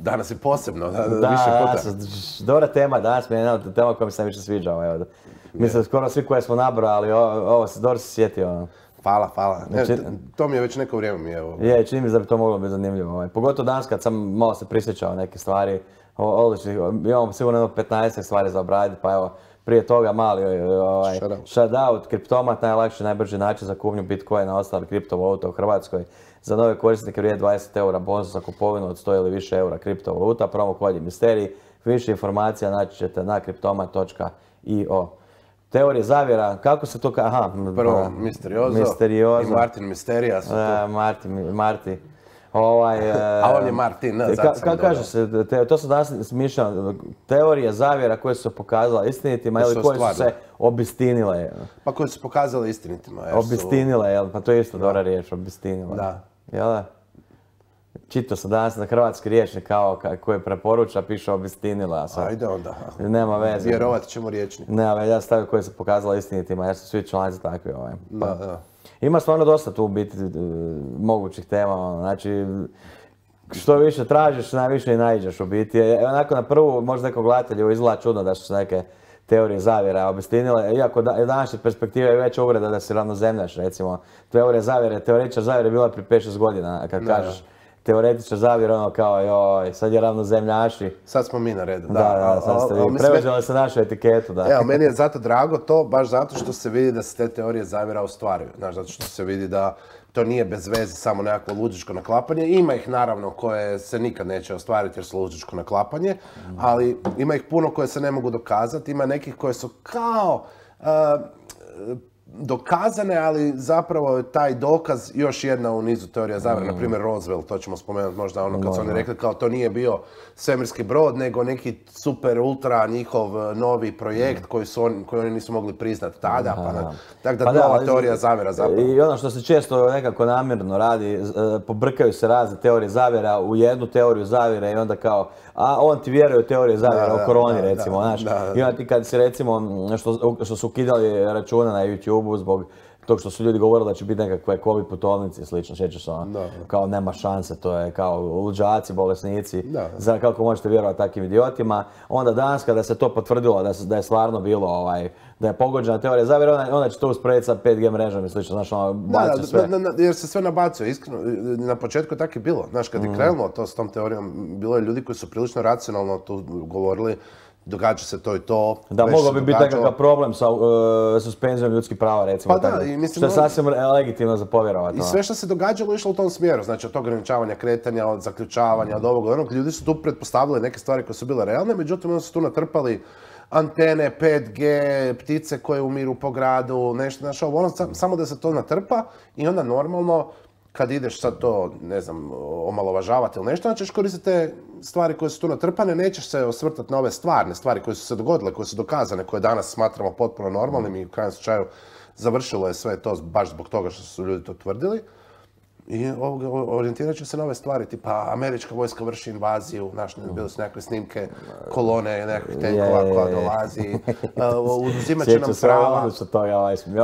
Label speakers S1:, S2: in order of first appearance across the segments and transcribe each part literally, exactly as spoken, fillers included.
S1: danas je posebno, da,
S2: Da,
S1: više puta.
S2: danas, dobra tema, danas mi je jedna od tema koja mi se najviše sviđa. Evo. Mislim, skoro svi koje smo nabrali, ovo se dobro se sjetio.
S1: Hvala, hvala. Ne,
S2: Znači,
S1: to, to mi je već neko vrijeme mi je ovo.
S2: Je, čini mi se da bi to moglo biti zanimljivo. Ovaj. Pogotovo danas kad sam malo se prisjećao neke stvari, odlični, imamo sigurno petnaest stvari za obraditi, pa evo, prije toga mali ovaj, shoutout, kriptomat, najlakši, najbrži način za kupnju Bitcoina, ostale kriptovaluta u Hrvatskoj. Za nove korisnike vrijedi dvadeset eura bonus za kupovinu od sto ili više eura kriptovaluta, promo kod je Misterij. Više informacija naći ćete na kriptomat točka i o. Teorije zavjera, kako se to ka... Aha,
S1: prvo Misteriozo,
S2: Misteriozo.
S1: I Martin Misterija su
S2: to. Marti, Marti. Ovaj,
S1: a on je Martin, ne, zato sam
S2: Kako kaže se, te, to su danas smišljeno, teorije zavjera koje su se pokazale istinitima ili koje su se obistinile.
S1: Pa koje su pokazale istinitima.
S2: Obistinile, jel? Pa to je isto dobra riječ, obistinile.
S1: Da.
S2: Jel da? Čitao sam danas na hrvatski rječnik kao koji preporuča, piše obistinila.
S1: Ajde onda.
S2: Nema veze.
S1: Vjerovat ćemo rječnik.
S2: Nema veze, ja stavio koje se pokazala istinitima, jer su svi članci takvi. Ovaj.
S1: Da, da.
S2: Ima stvarno dosta tu biti mogućih tema, znači što više tražiš, najviše i naiđeš u biti. Onako na prvu, možda nekog gledatelju izgleda čudno da su se neke teorije zavjera obistinile, iako da, današnje perspektive je veća uvreda da si ravnozemljaš, recimo. Teorija zavjere, teoretičar zavjere je bila prije pet šest godina, kad
S1: da,
S2: kažeš teoretičar zavjere, ono kao joj, sad je ravnozemljaši.
S1: Sad smo mi na redu, da.
S2: Da, da, sad ste vi preuzeli se našu etiketu, da.
S1: Evo, meni je zato drago to, baš zato što se vidi da se te teorije zavjera ostvaruju. Znaš, zato što se vidi da to nije bez veze samo nekakvo luđičko naklapanje. Ima ih naravno koje se nikad neće ostvariti jer su luđičko naklapanje, ali ima ih puno koje se ne mogu dokazati. Ima nekih koje su kao uh, dokazane, ali zapravo je taj dokaz još jedna u nizu teorija zavjera. Mm. Na primjer Roswell, to ćemo spomenuti možda ono kad su oni rekli kao to nije bio svemirski brod, nego neki super ultra njihov novi projekt koji, su on, koji oni nisu mogli priznati tada. Pa, tako da, pa da nova teorija zavjera zapravo.
S2: I ono što se često nekako namjerno radi, pobrkaju se razne teorije zavjera u jednu teoriju zavjera i onda kao, a on ti vjeruje u teorije zavjera da, o koroni da, recimo, da, znaš. Da, da. I onda ti kad si recimo, što, što su ukidali račune na YouTube zbog tog što su ljudi govorili da će biti nekakve covid putovnice i slično, sjećaš ono, kao nema šanse, to je kao luđaci, bolesnici, da. Za kako možete vjerovati takvim idiotima. Onda danas kada se to potvrdilo da, da je stvarno bilo, ovaj, da je pogođena teorija zavjera, onda, onda će to usporediti sa pet G mrežom i slično, znaš ono, baci sve.
S1: Da, da, jer se sve nabacuje, iskreno, na početku tako je bilo, znaš, kad je mm. krenulo to s tom teorijom, bilo je ljudi koji su prilično racionalno tu govorili, događa se to i to.
S2: Da, mogao bi biti nekakav problem sa uh, suspenzijom ljudskih prava, recimo.
S1: Pa da, i mislim...
S2: Što je sasvim legitimno za povjerovati.
S1: I sve što se događalo išlo u tom smjeru, znači od ograničavanja kretanja, od zaključavanja, od ovog, onog. Ljudi su tu pretpostavili neke stvari koje su bile realne, međutim onda su tu natrpali antene, pet G, ptice koje umiru po gradu, nešto, znači ovo, ono, samo da se to natrpa i onda normalno kad ideš sad to, ne znam, omalovažavati ili nešto, onda ćeš koristiti te stvari koje su tu natrpane, nećeš se osvrtati na ove stvarne stvari koje su se dogodile, koje su dokazane, koje danas smatramo potpuno normalnim i u krajnjem slučaju završilo je sve to baš zbog toga što su ljudi to tvrdili. I orijentirat ću se na ove stvari, tipa američka vojska vrši invaziju, znaš, bile su nekakve snimke kolone, nekakvih tenkova koja dolazi, uzimat će nam prava.
S2: Sjećam se toga,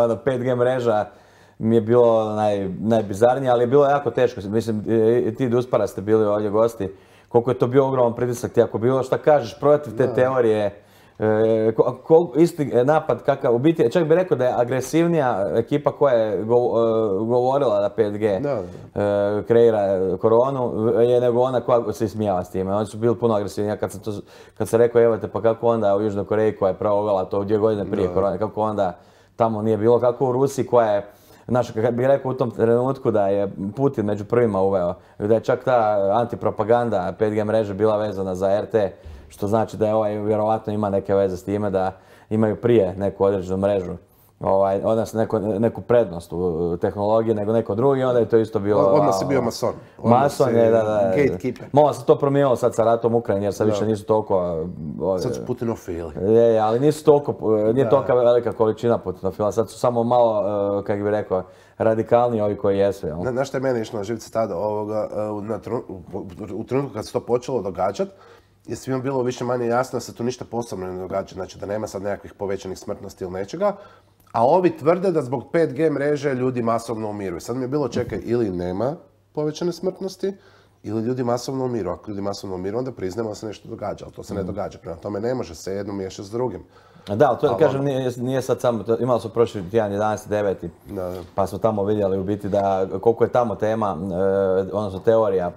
S2: ono pet G mreža mi je bilo naj, najbizarnije, ali je bilo jako teško. Mislim, i ti Duspara ste bili ovdje gosti, koliko je to bio ogroman pritisak, ti ako bilo šta kažeš protiv te teorije, e, ko, ko, isti napad kakav, u biti, čak bih rekao da je agresivnija ekipa koja je go, uh, govorila da pet G da, da. Uh, kreira koronu, je nego ona koja se ismijava s time. Oni su bili puno agresivniji. Kad sam, to, kad sam rekao, evo te, pa kako onda u Južnoj Koreji koja je provela to dvije godine prije da. korone, kako onda tamo nije bilo, kako u Rusiji koja je, znaš, kad bih rekao u tom trenutku da je Putin među prvima uveo, da je čak ta antipropaganda pet G mreže bila vezana za R T, što znači da je ovaj vjerovatno ima neke veze s time da imaju prije neku određenu mrežu, ovaj, odnosno neku, neku prednost u tehnologiji nego neko drugi, onda je to isto bilo...
S1: Odmah si bio mason.
S2: Mason je, da, da.
S1: Gatekeeper.
S2: Malo se to promijenilo sad sa ratom u Ukrajini jer sad više nisu toliko...
S1: Sad su putinofili.
S2: Je, ali nisu toliko, nije tolika velika količina putinofila, sad su samo malo, kako bih rekao, radikalni ovi koji jesu. Jel?
S1: Znaš što je meni išlo na živce tada? Ovoga, na tru, u trenutku kad se to počelo događati, je svima bilo više manje jasno da se tu ništa posebno ne događa, znači da nema sad nekakvih povećanih smrtnosti ili nečega, a ovi tvrde da zbog pet G mreže ljudi masovno umiru. Sad mi je bilo čekaj, ili nema povećane smrtnosti, ili ljudi masovno umiru. Ako ljudi masovno umiru, onda priznamo da se nešto događa, ali to se ne događa. Prema tome ne može se jedno miješati s drugim.
S2: Da, ali to ali, kažem, nije, nije sad samo, to, imali su prošli tjedan jedanaesti deveti pa smo tamo vidjeli u biti da koliko je tamo tema, e, odnosno teorija,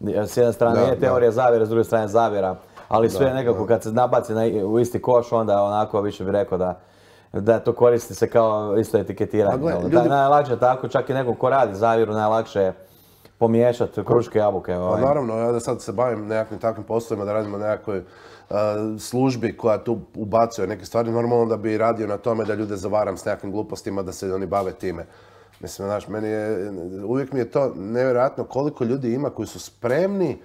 S2: s jedne strane da, je teorija da. zavjera, s druge strane zavjera, ali sve da, nekako da. kad se nabaci na, u isti koš, onda onako više bih rekao da da to koristi se kao isto etiketiranje. Gle, ljudi... Da, najlakše tako, čak i nekom ko radi zavjeru, najlakše je pomiješati kruške jabuke.
S1: Ovaj. Pa naravno, ja da sad se bavim nekakvim takvim poslovima, da radimo nekakvoj uh, službi koja tu ubacuje neke stvari, normalno da bi radio na tome da ljude zavaram s nekakvim glupostima, da se oni bave time. Mislim, znaš, meni je, uvijek mi je to nevjerojatno koliko ljudi ima koji su spremni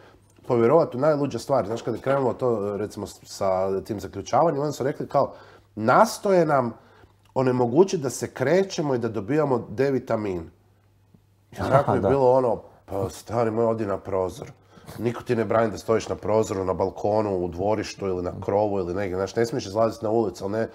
S1: povjerovati u najluđe stvari. Znaš, kad je krenulo to, recimo, sa tim zaključavanjem, oni su rekli kao, nastoje nam onemogućiti da se krećemo i da dobijamo D vitamin. I onako je bilo ono, pa stari moj, odi na prozor. Niko ti ne brani da stojiš na prozoru, na balkonu, u dvorištu ili na krovu ili negdje. Znaš, ne smiješ izlaziti na ulicu, ali ne...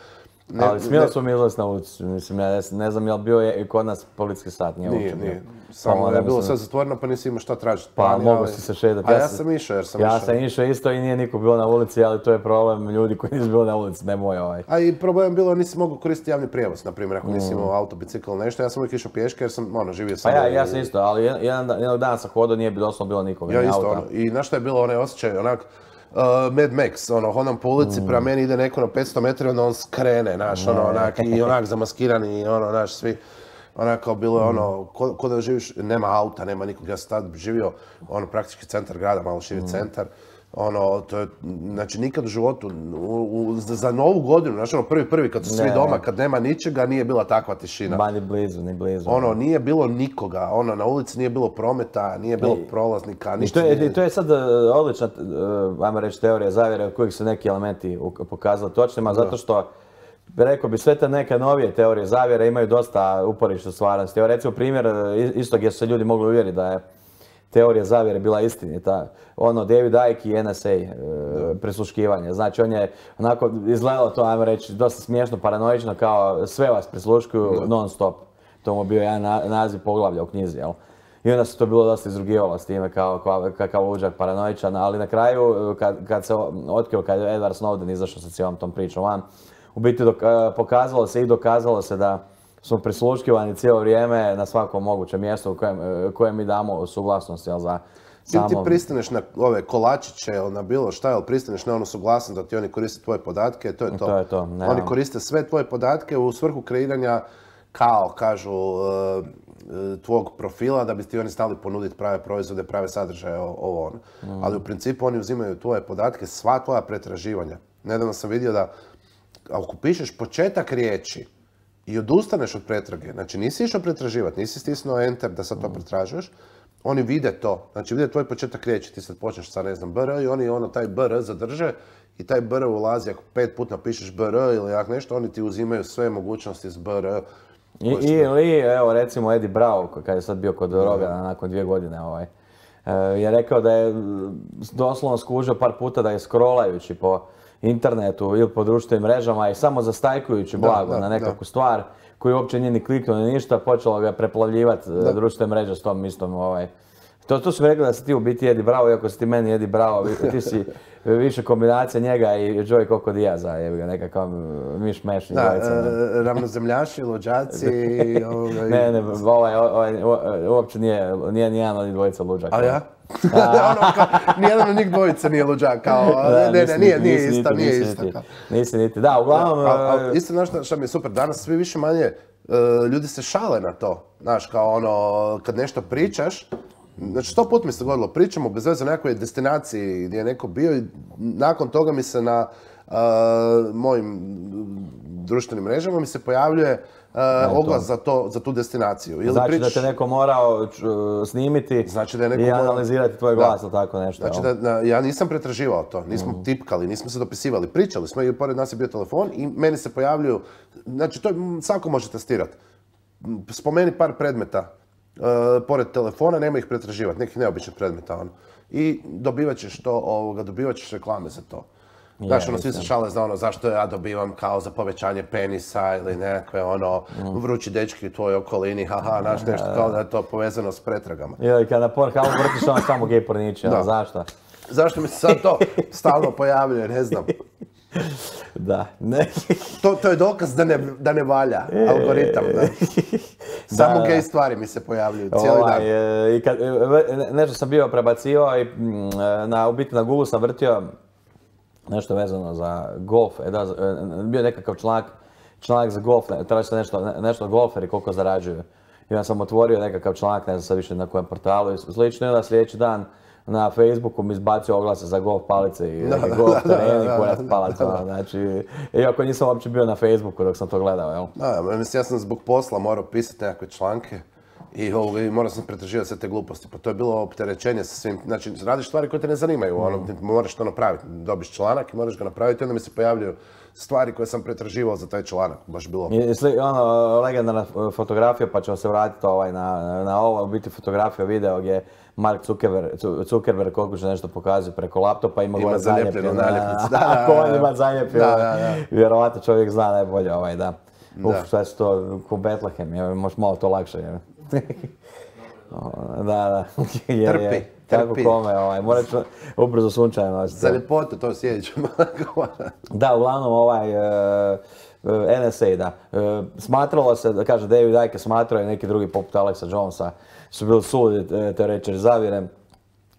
S2: Ne, ali smijeli smo mi izlaziti na ulicu, mislim, ja ne znam je li bio je i kod nas policijski sat, nije
S1: Nije, nije. Samo je bilo sve zatvoreno pa nisi imao šta tražiti.
S2: Pa mogu si se šetati.
S1: A ja sam išao jer sam išao.
S2: Ja sam išao isto i nije niko bio na ulici, ali to je problem ljudi koji nisu bili na ulici, ne moj ovaj.
S1: A i problem bilo nisi mogao koristiti javni prijevoz, na primjer, ako nisi imao auto, bicikl, nešto. Ja sam uvijek išao pješke jer sam, ono, živio sam...
S2: Pa ja, ja sam isto, ali jedan, jednog dana sam hodao, nije doslovno bilo nikoga,
S1: ja isto, ono, i znaš šta je bilo onaj osjećaj, onak, Uh, Mad Max, ono, hodam po ulici, mm. prema meni ide neko na petsto metara, onda on skrene, znaš, ono, onak, i onak zamaskirani, i ono, znaš, svi, onako, bilo je ono, ko, ko da živiš, nema auta, nema nikog, ja sam tad živio, ono, praktički centar grada, malo širi mm. centar, ono, to je, znači, nikad u životu, u, u, za novu godinu, znaš, ono, prvi, prvi, kad su svi ne, doma, kad nema ničega, nije bila takva tišina.
S2: Ba, ni blizu, ni blizu.
S1: Ono, nije bilo nikoga, ono, na ulici nije bilo prometa, nije bilo I, prolaznika, ništa.
S2: To je,
S1: nije...
S2: to je sad odlična, ajmo reći, teorija zavjere od kojih su neki elementi pokazali točnima, zato što, rekao bi, sve te neke novije teorije zavjere imaju dosta uporišta stvarnosti. Evo, recimo, primjer isto gdje su se ljudi mogli uvjeriti da je teorija zavjere bila istinita. Ono, David Icke i N S A, e, prisluškivanje. Znači, on je onako izgledalo to, ajmo reći, dosta smiješno, paranoično, kao sve vas prisluškuju non stop. To mu bio jedan na, naziv poglavlja u knjizi, jel? I onda se to bilo dosta izrugivalo s time kao, kao, kao luđak paranoičan, ali na kraju, kad, kad se otkrio, kad je Edward Snowden izašao sa cijelom tom pričom van, u biti dok, pokazalo se i dokazalo se da smo prisluškivani cijelo vrijeme na svakom mogućem mjestu u kojem, kojem mi damo suglasnost, jel, za samo...
S1: Ti pristaneš na ove kolačiće ili na bilo šta, jel pristaneš na onu suglasnost da ti oni koriste tvoje podatke, to je to.
S2: To je to,
S1: oni koriste sve tvoje podatke u svrhu kreiranja, kao kažu, tvog profila da bi ti oni stali ponuditi prave proizvode, prave sadržaje, ovo ono. Mm. Ali u principu oni uzimaju tvoje podatke, sva tvoja pretraživanja. Nedavno sam vidio da ako pišeš početak riječi i odustaneš od pretrage, znači nisi išao pretraživati, nisi stisnuo enter da sad to pretražuješ, oni vide to, znači vide tvoj početak riječi, ti sad počneš sa ne znam br i oni ono taj br zadrže i taj br ulazi, ako pet puta napišeš br ili jak nešto, oni ti uzimaju sve mogućnosti s br.
S2: I, ili, evo recimo Eddie Bravo, kad je sad bio kod Rogana nakon dvije godine, ovaj, je rekao da je doslovno skužio par puta da je scrollajući po internetu ili po društvenim mrežama i samo zastajkujući blago da, da, na nekakvu da. stvar koju uopće nije ni kliknuo ni ništa, počelo ga preplavljivati društvene mreže s tom istom. Ovaj. To, to su mi rekli da si ti u biti Eddie Bravo, iako si ti meni Eddie Bravo, ti si više kombinacija njega i Joey Coco Diaza, je ga nekakav miš-meš.
S1: Da, e, ravnozemljaši, luđaci...
S2: ovaj... Ne, ne, ovaj, ovaj, uopće nije, nije nijedan od njih dvojica luđaka.
S1: A ja? ono kao, nijedan od njih dvojica nije luđak, kao, da, ne, ne, nije, nije isto, niti, nije isto. Niti,
S2: nisi niti, da, uglavnom...
S1: Da, a, a, isto, znaš šta mi je super, danas svi više manje, uh, ljudi se šale na to, znaš, kao ono, kad nešto pričaš, znači sto put mi se dogodilo, pričamo bez veze o nekoj destinaciji gdje je neko bio i nakon toga mi se na uh, mojim društvenim mrežama mi se pojavljuje Uh, oglas za, to, za tu destinaciju.
S2: Ili znači prič... da te neko morao snimiti znači da je neko i analizirati tvoj glas ili tako nešto.
S1: Znači da, da, ja nisam pretraživao to, nismo mm. tipkali, nismo se dopisivali, pričali smo i pored nas je bio telefon i meni se pojavljuju, znači to svako može testirati. Spomeni par predmeta uh, pored telefona, nema ih pretraživati, nekih neobičnih predmeta. Ono. I dobivat ćeš to, ovoga, dobivat ćeš reklame za to. Znaš, ono, svi se šale za ono, zašto ja dobivam kao za povećanje penisa ili nekakve ono, vrući dečki u tvojoj okolini, haha, znaš, nešto kao da je to povezano s pretragama.
S2: Ili kada na Pornhubu vrtiš ono samo gej porniče, ono, zašto?
S1: Zašto mi se sad to stalno pojavljuje, ne znam.
S2: Da, ne.
S1: To, to je dokaz da ne, da ne valja algoritam, da. Samo
S2: Da,
S1: gej
S2: da.
S1: stvari mi se pojavljuju cijeli
S2: Ovaj,
S1: dan.
S2: e, i kad, e, ve- nešto sam bio prebacio i mm, e, na, u biti na Google sam vrtio nešto vezano za golf. E, da, z- e, bio je nekakav članak, članak za golf, ne, traži se nešto, ne- nešto golferi koliko zarađuju. I onda sam otvorio nekakav članak, ne znam sad više na kojem portalu i slično, i onda sljedeći dan na Facebooku mi izbacio oglase za golf palice i neke golf tereni, kurac palaca, ono, znači, iako nisam uopće bio na Facebooku dok sam to gledao, jel?
S1: Da, mislim, ja sam zbog posla morao pisati nekakve članke i, ovoga, i morao sam pretraživati sve te gluposti. Pa to je bilo opterećenje sa svim, znači radiš stvari koje te ne zanimaju, ono, ti moraš to napraviti. Dobiš članak i moraš ga napraviti i onda mi se pojavljaju stvari koje sam pretraživao za taj članak. Baš bilo...
S2: I, sli- ono, legendarna fotografija, pa ćemo se vratiti ovaj, na, na ovo, u biti fotografija video gdje Mark Zuckerberg, Zu- Zuckerberg koliko će nešto pokazuje preko laptopa, ima,
S1: Ima
S2: gore
S1: zalijepljenu
S2: zalijepljeno,
S1: naljepnicu, da, da,
S2: ako
S1: da,
S2: on
S1: da.
S2: ima zalijepljeno,
S1: Da, da, da.
S2: vjerovatno čovjek zna najbolje, ovaj, da. Uf,
S1: Da.
S2: šta su to, ko Betlehem, je, možeš malo to lakše, je. Da, da, je, je.
S1: Trpi,
S2: Kako
S1: trpi.
S2: kome, ovaj, morat ću ubrzo sunčanje nositi.
S1: Za ljepotu to sjećam.
S2: Da, uglavnom ovaj e, e, N S A, da. E, smatralo se, da kaže David Icke smatrao i neki drugi poput Alexa Jonesa su bili sudi e, teoretičari zavjere,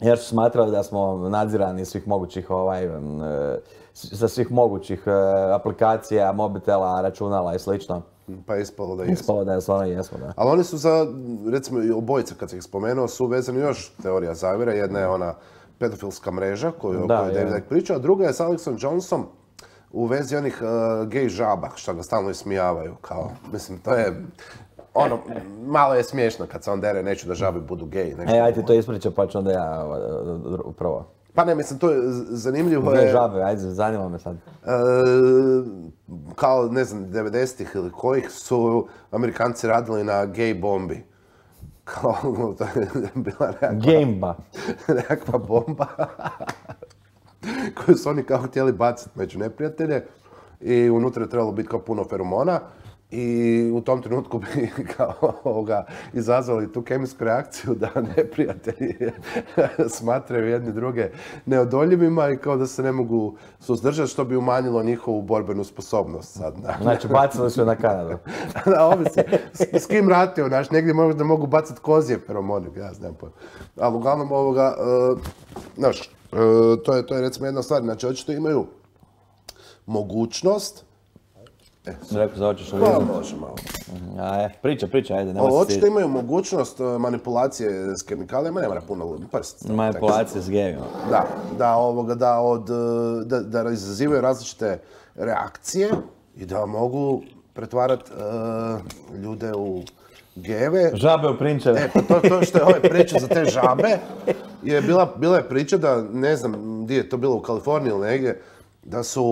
S2: jer su smatrali da smo nadzirani iz svih mogućih ovaj, e, sa svih mogućih e, aplikacija, mobitela, računala i slično.
S1: Pa je ispalo da jesu.
S2: Ispalo da je stvarno jesmo, da.
S1: Ali oni su za, recimo i obojica kad sam ih spomenuo, su vezani još teorija zavjera. Jedna je ona pedofilska mreža koju,
S2: Da,
S1: o kojoj
S2: je.
S1: David Icke priča, a druga je s Alexom Jonesom u vezi onih uh, gej žaba, što ga stalno ismijavaju. Kao, mislim, to je, ono, malo je smiješno kad se on dere, neću da žabe budu gej. nešto.
S2: E, ajde ti to ispričaj pa ću onda ja ovaj, prvo.
S1: Pa ne, mislim, to je z- zanimljivo.
S2: Gdje
S1: je,
S2: žabe, ajde, zanima me sad.
S1: e, kao, ne znam, devedesetih ili kojih su Amerikanci radili na gej bombi. Kao, to je bila nekakva,
S2: Gameba.
S1: nekakva bomba koju su oni kao htjeli baciti među neprijatelje i unutra je trebalo biti kao puno feromona i u tom trenutku bi kao ovoga izazvali tu kemijsku reakciju da neprijatelji smatraju jedni druge neodoljivima i kao da se ne mogu suzdržati, što bi umanjilo njihovu borbenu sposobnost sad. Da.
S2: Znači, bacili su je na Kanadu.
S1: Da, ovisi. S, s kim ratio, znaš, negdje možda mogu bacati kozije feromone, ja znam pojma. Ali uglavnom ovoga, uh, znaš, uh, to, je, to je recimo jedna stvar, znači očito imaju mogućnost,
S2: Rekao za hoćeš li
S1: pa
S2: vidjeti?
S1: može malo,
S2: Aj, priča, priča, ajde, nema
S1: ali
S2: se
S1: očito
S2: stidjeti.
S1: imaju mogućnost uh, manipulacije s kemikalijama, ne mora puno prst.
S2: Manipulacije s gejima.
S1: Da, da, ovoga, da, od, uh, da, da izazivaju različite reakcije i da mogu pretvarati uh, ljude u gejeve.
S2: Žabe u prinčeve.
S1: E, pa to, to što je ove priče za te žabe, je bila, bila je priča da, ne znam, gdje je to bilo, u Kaliforniji ili negdje, da su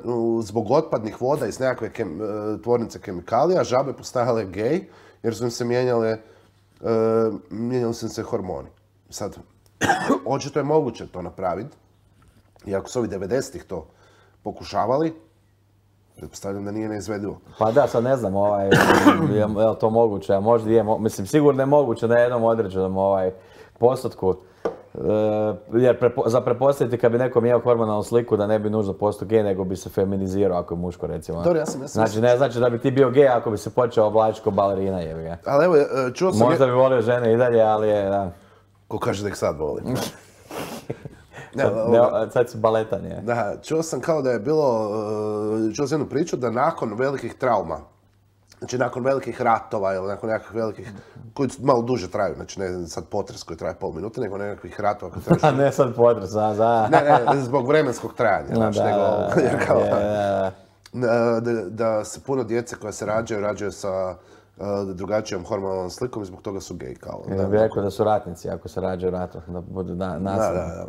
S1: u- zbog otpadnih voda iz nekakve kem, e, tvornice kemikalija žabe postajale gej, jer su im se mijenjale, e, mijenjali su im se hormoni. Sad, očito je moguće to napraviti, iako su ovi devedesetih to pokušavali, pretpostavljam da nije neizvedivo.
S2: Pa da, sad ne znam, ovaj, je, je li to moguće, a možda je, mo- mislim, sigurno je moguće na jednom određenom ovaj, postotku. E, jer prepo, za pretpostaviti kad bi neko imao hormonalnu sliku da ne bi nužno postao gej, nego bi se feminizirao ako je muško, recimo.
S1: Dobro, ja sam- ja sam-
S2: Znači, ne znači da bi ti bio gej ako bi se počeo oblačiti kao balerina, jebi ga.
S1: Ali evo, e, čuo sam...
S2: Možda bi volio žene i dalje, ali je, da.
S1: Ko kaže da ih sad voli. Ne,
S2: Sad,
S1: ovoga-
S2: ne, sad si baletan, je.
S1: Da, čuo sam kao da je bilo, uh, čuo sam jednu priču da nakon velikih trauma, znači nakon velikih ratova ili nakon nekakvih velikih, koji malo duže traju, znači ne sad potres koji traje pol minute, nego nekakvih ratova koji traju...
S2: A ne sad potres, a za...
S1: Ne, ne, zbog vremenskog trajanja,
S2: No,
S1: znači,
S2: da,
S1: nego,
S2: da,
S1: jer kao,
S2: je, da.
S1: da, da, da se puno djece koja se rađaju, rađaju sa uh, drugačijom hormonalnom slikom i zbog toga su gej, kao.
S2: Ja bih rekao da su ratnici ako se rađaju ratu, da budu na,
S1: Da,
S2: nasilni.
S1: da, da.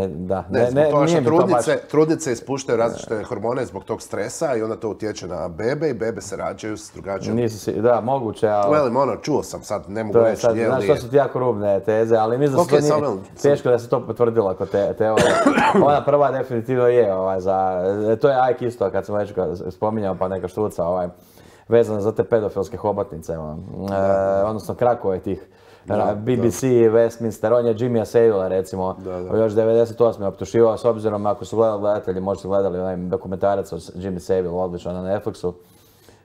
S2: Da,
S1: ne,
S2: ne,
S1: zbog
S2: ne,
S1: toga što
S2: nije mi to baš...
S1: trudnice, trudnice ispuštaju različite hormone zbog tog stresa i onda to utječe na bebe i bebe se rađaju s drugačijom...
S2: Nisu si, da, moguće, ali...
S1: Velim, ono, čuo sam, sad ne mogu
S2: To je
S1: reći,
S2: sad,
S1: je
S2: znaš,
S1: li...
S2: to su ti jako rubne teze, ali mislim da se
S1: Ok,
S2: to nije
S1: samo-
S2: teško da se to potvrdilo kod te, teorije. Ona prva definitivno je, ovaj, za, to je Ike isto, kad sam već spominjao pa neka štuca, ovaj, vezana za te pedofilske hobotnice, ono, e, odnosno krakove tih.
S1: Da,
S2: B B C, Westminster, on je Jimmya Savila recimo,
S1: Da, da.
S2: još devedeset osme optuživao, s obzirom ako su gledali gledatelji, možda su gledali onaj dokumentarac o Jimmy Savile, odličan na Netflixu.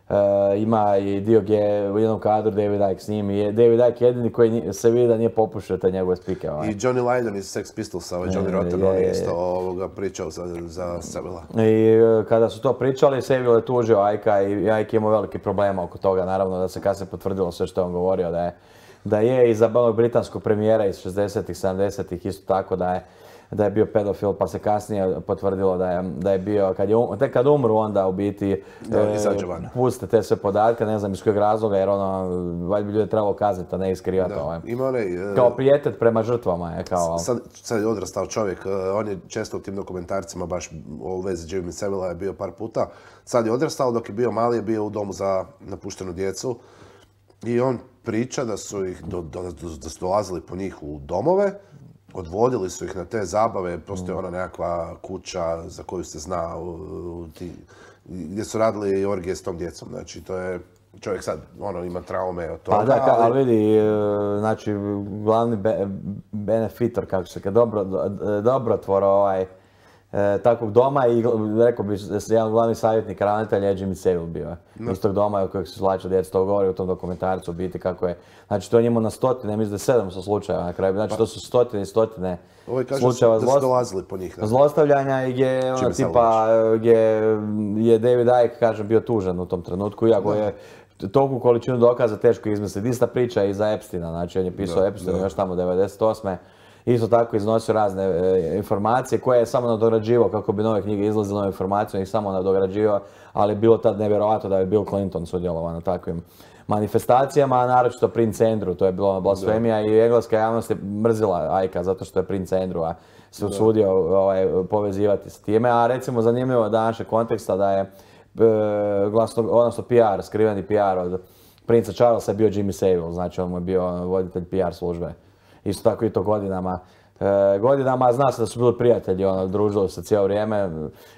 S2: E, ima i dio gdje u jednom kadru David Icke s njim i je David Icke jedini koji ni- se vidi da nije popušio te njegove spike. Ovaj.
S1: I Johnny Lydon iz Sex Pistolsa, ovaj Johnny
S2: Je,
S1: Rotten,
S2: je,
S1: on je
S2: je.
S1: isto ovoga pričao za, za Savila.
S2: I e, kada su to pričali, Savile je tužio Icke i Icke je imao veliki problema oko toga, naravno da se kasnije potvrdilo sve što je on govorio da je da je i za onog britanskog premijera iz šezdesetih, sedamdesetih isto tako da je da je bio pedofil, pa se kasnije potvrdilo da je, da je bio, kad je, um- tek kad umru onda u biti
S1: Da, izađe van.
S2: puste te sve podatke, ne znam iz kojeg razloga, jer ono, valjda bi ljude trebalo kazniti, a ne iskrivati.
S1: Da,
S2: Ovaj.
S1: ima onaj... e,
S2: Kao prijetet prema žrtvama je kao...
S1: Sad, sad je odrastao čovjek, e, on je često u tim dokumentarcima baš u vezi Jimmy Savila je bio par puta. Sad je odrastao, dok je bio mali je bio u domu za napuštenu djecu. I on priča da su ih do, do- da su dolazili po njih u domove, odvodili su ih na te zabave, postoji ona nekakva kuća za koju se zna u- u ti- gdje su radili orgije s tom djecom. Znači, to je čovjek sad ono, ima traume od toga.
S2: Pa da, ka-
S1: ali-
S2: ali vidi, e, znači, glavni be- benefitor, kako se kaže, dobro, do- dobrotvor ovaj, e, takvog doma i gl- rekao bi da se jedan glavni savjetnik ravnatelja je Jimmy Savile bio. Iz tog doma u kojeg se slaču djeca, to govori u tom dokumentarcu u biti kako je. Znači to je njemu na stotine, mislim da je sedamsto slučajeva na kraju. Znači to su stotine i stotine
S1: Ovo kaže
S2: slučajeva
S1: da su
S2: zlost-
S1: dolazili po njih. Da.
S2: zlostavljanja i gdje ono,
S1: Čime se
S2: tipa gdje je David Icke, kažem, bio tužan u tom trenutku, iako je toliku količinu dokaza teško izmisliti. Ista priča i za Epsteina, znači on je pisao
S1: Da,
S2: Epsteinu
S1: da.
S2: još tamo devedeset osme Isto tako iznosio razne e, informacije koje je samo nadograđivao kako bi nove knjige izlazile, nove informacije, on ih samo nadograđivao, ali je bilo tad nevjerojatno da je Bill Clinton sudjelovao na takvim manifestacijama, a naročito princ Andrew, to je bilo blasfemija i engleska javnost je mrzila Icke zato što je princ Andrew se usudio ovaj, povezivati s time, a recimo zanimljivo je današnjeg konteksta da je e, glasno, odnosno P R, skriveni P R od princa Charlesa je bio Jimmy Savile, znači on mu je bio voditelj P R službe. Isto tako i to godinama. E, godinama zna se da su bili prijatelji, ono, družili se cijelo vrijeme,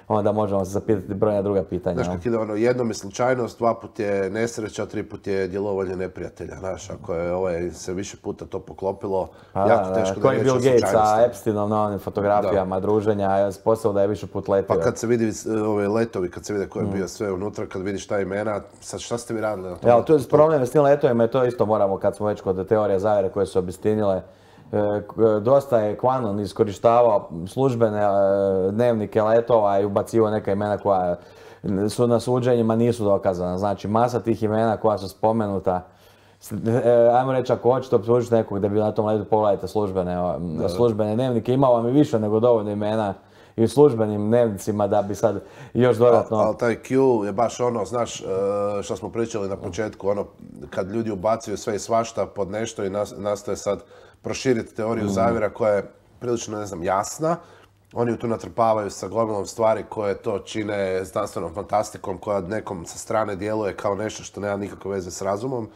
S2: onda možemo se zapitati brojna druga pitanja.
S1: Znaš, kak ide ono, jednom je slučajnost, dva put je nesreća, tri put je djelovanje neprijatelja. Znaš, ako je ovaj, se više puta to poklopilo,
S2: Pa
S1: jako
S2: da,
S1: teško
S2: da,
S1: da
S2: koji
S1: je
S2: je
S1: riječ o
S2: Bill Gates sa
S1: slučajnosti.
S2: Epsteinom na onim fotografijama druženja, sposobno da je više put letio.
S1: Pa kad se vidi e, ove letovi, kad se vide ko je
S2: Mm.
S1: bio sve unutra, kad vidiš ta imena, sad šta ste vi radili na tom?
S2: Ja, to je problem s tim letovima, to isto moramo, kad smo već kod teorije zavjere koje su obistinile, e, k- dosta je Quanon iskorištavao službene e, dnevnike letova i ubacivao neka imena koja su na suđenjima nisu dokazana. Znači, masa tih imena koja su spomenuta, s- e, ajmo reći, ako hoćete optužiti nekog da bi na tom letu, pogledajte službene, o, službene dnevnike, ima vam i više nego dovoljno imena i u službenim dnevnicima da bi sad još dodatno...
S1: Ali taj Q je baš ono, znaš, e, što smo pričali na početku, ono, kad ljudi ubacuju sve i svašta pod nešto i nas- nastoje sad proširiti teoriju zavjera koja je prilično, ne znam, jasna. Oni ju tu natrpavaju sa gomilom stvari koje to čine znanstvenom fantastikom koja nekom sa strane djeluje kao nešto što nema nikakve veze s razumom.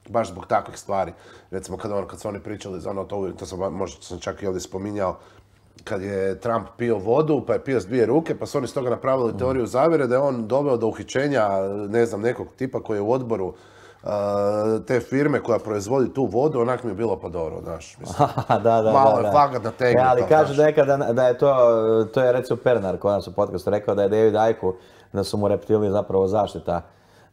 S1: Baš zbog takvih stvari. Recimo kad, ono, kad su oni pričali za ono to, uvijek, to sam, ba- možda sam čak i ovdje spominjao, kad je Trump pio vodu, pa je pio s dvije ruke, pa su oni s toga napravili teoriju zavjere da je on doveo do uhićenja, ne znam, nekog tipa koji je u odboru uh, te firme koja proizvodi tu vodu, onak mi je bilo pa dobro, znaš. Mislim.
S2: da, da, da.
S1: Malo je
S2: da.
S1: fakat nategnuto,
S2: E, ali kaže
S1: znaš.
S2: nekada da je to, to je recimo Pernar kod nas u podcastu rekao da je David Icke da su mu reptili zapravo zaštita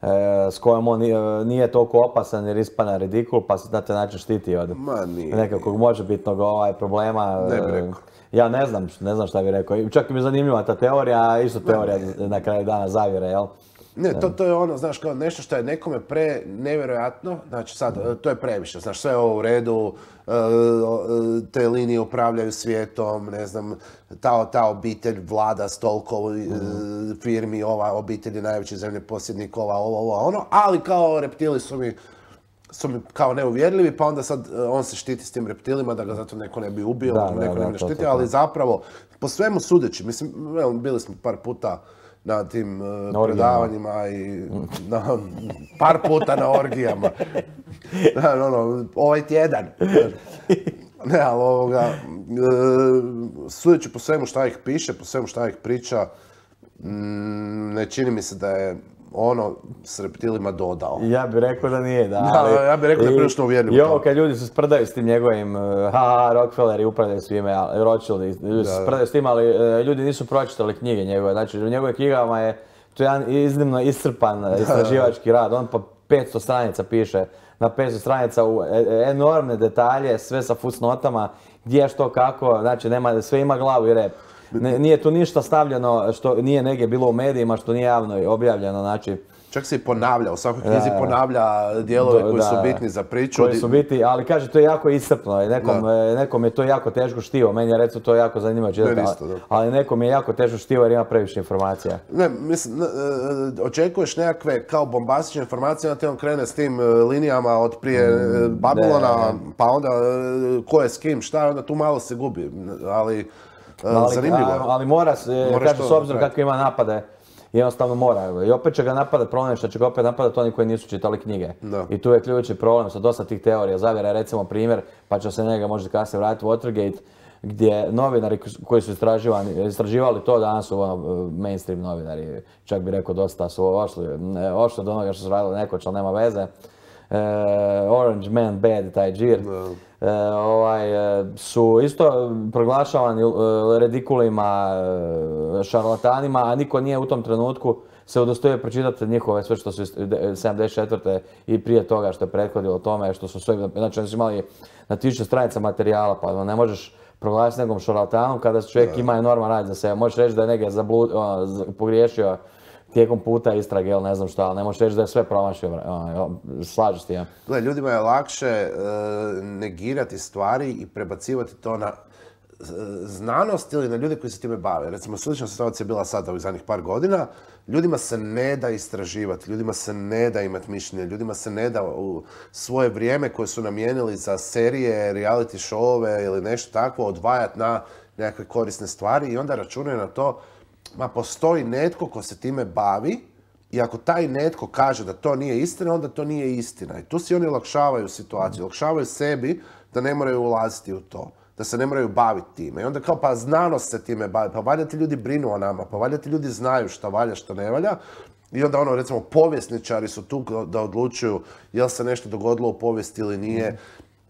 S2: e, s kojom on nije, nije toliko opasan jer ispada ridikul pa se na taj način štiti od
S1: Ma nije.
S2: nekakvog možebitnog ovaj, problema.
S1: Ne bi
S2: E,
S1: rekao.
S2: Ja ne znam, ne znam šta bi rekao. I čak mi je zanimljiva ta teorija, a isto teorija na kraju dana zavjere, jel?
S1: Ne, to, to je ono, znaš, kao nešto što je nekome pre nevjerojatno, znači sad, to je previše, znaš, sve je ovo u redu, e, te linije upravljaju svijetom, ne znam, ta, ta obitelj vlada s toliko e, firmi, ova obitelj je najveći zemljoposjednik, ova, ovo, ovo, ono, ali kao reptili su mi su mi kao neuvjerljivi, pa onda sad on se štiti s tim reptilima da ga zato neko ne bi ubio,
S2: Da,
S1: da, neko
S2: da,
S1: ne
S2: da,
S1: bi
S2: to,
S1: štitio,
S2: to, to.
S1: ali zapravo, po svemu sudeći, mislim, evo, bili smo par puta na tim uh, predavanjima i na, par puta na orgijama. Da, ono, ovaj tjedan. Ne, ali ovoga, e, sudeći po svemu šta ih piše, po svemu šta ih priča, m, ne čini mi se da je ono s reptilima dodao.
S2: Ja bih rekao da nije, da.
S1: Da,
S2: ali,
S1: ja bih rekao da je prilično uvjerljivo
S2: I ovo
S1: to.
S2: kad ljudi se sprdaju s tim njegovim, uh, ha, Rockefeller i upravljaju svime, Rothschild, ljudi se sprdaju s tim, ali uh, ljudi nisu pročitali knjige njegove. Znači, u njegovim knjigama je to jedan iznimno iscrpan istraživački rad. On pa petsto stranica piše, na petsto stranica u enormne detalje, sve sa fusnotama, gdje, što, kako, znači nema, sve ima glavu i rep. Ne, nije tu ništa stavljeno što nije negdje bilo u medijima, što nije javno objavljeno, znači...
S1: Čak se i ponavlja, u svakoj knjizi ponavlja dijelove koji su bitni za priču.
S2: Koji su bitni, ali kaže to je jako iscrpno, nekom, nekom je to jako teško štivo, meni je recimo to jako zanimljivo čitati, ali, ali nekom je jako teško štivo jer ima previše informacija.
S1: Ne, mislim, očekuješ nekakve kao bombastične informacije, onda ti on krene s tim linijama od prije mm, Babilona, ne. Pa onda ko je s kim, šta, onda tu malo se gubi, ali, ali zanimljivo.
S2: Ali, ali mora se, kaže s obzirom kako ima napade, jednostavno mora. I opet će ga napadat problem što će ga opet napadat oni koji nisu čitali knjige. Da. I tu je ključni problem sa dosta tih teorija zavjera. Recimo primjer, pa će se njega možda kasnije vratiti, Watergate, gdje novinari koji su istraživali to, danas su ono, mainstream novinari, čak bi rekao dosta su ošli, ošli od onoga što su radili nekoć, ali nema veze. Uh, Orange Man Bad, taj džir, no. uh, ovaj, uh, su isto proglašavani uh, redikulima, uh, šarlatanima, a niko nije u tom trenutku se udostojio pročitati njihove sve što su sedamdeset četvrte i prije toga što je prethodilo tome, što su sve, znači oni su imali na tisuću stranica materijala, pa ne možeš proglasiti nekom šarlatanom kada čovjek no. ima enorman rad za sebe. Možeš reći da je negdje zablud, uh, pogriješio tijekom puta istrage ili ne znam šta, ali ne možeš reći da je sve promašio, slažeš ti ja.
S1: Gle, ljudima je lakše e, negirati stvari i prebacivati to na e, znanost ili na ljude koji se time bave. Recimo, slična situacija je bila sada ovih zadnjih par godina. Ljudima se ne da istraživati, ljudima se ne da imati mišljenje, ljudima se ne da u svoje vrijeme koje su namijenili za serije, reality showove ili nešto takvo odvajati na nekakve korisne stvari i onda računaju na to ma postoji netko ko se time bavi i ako taj netko kaže da to nije istina, onda to nije istina. I tu si oni olakšavaju situaciju, olakšavaju sebi da ne moraju ulaziti u to, da se ne moraju baviti time. I onda kao pa znanost se time bavi, pa valjda ti ljudi brinu o nama, pa valjda ti ljudi znaju šta valja, šta ne valja. I onda ono, recimo, povjesničari su tu da odlučuju jel se nešto dogodilo u povijesti ili nije.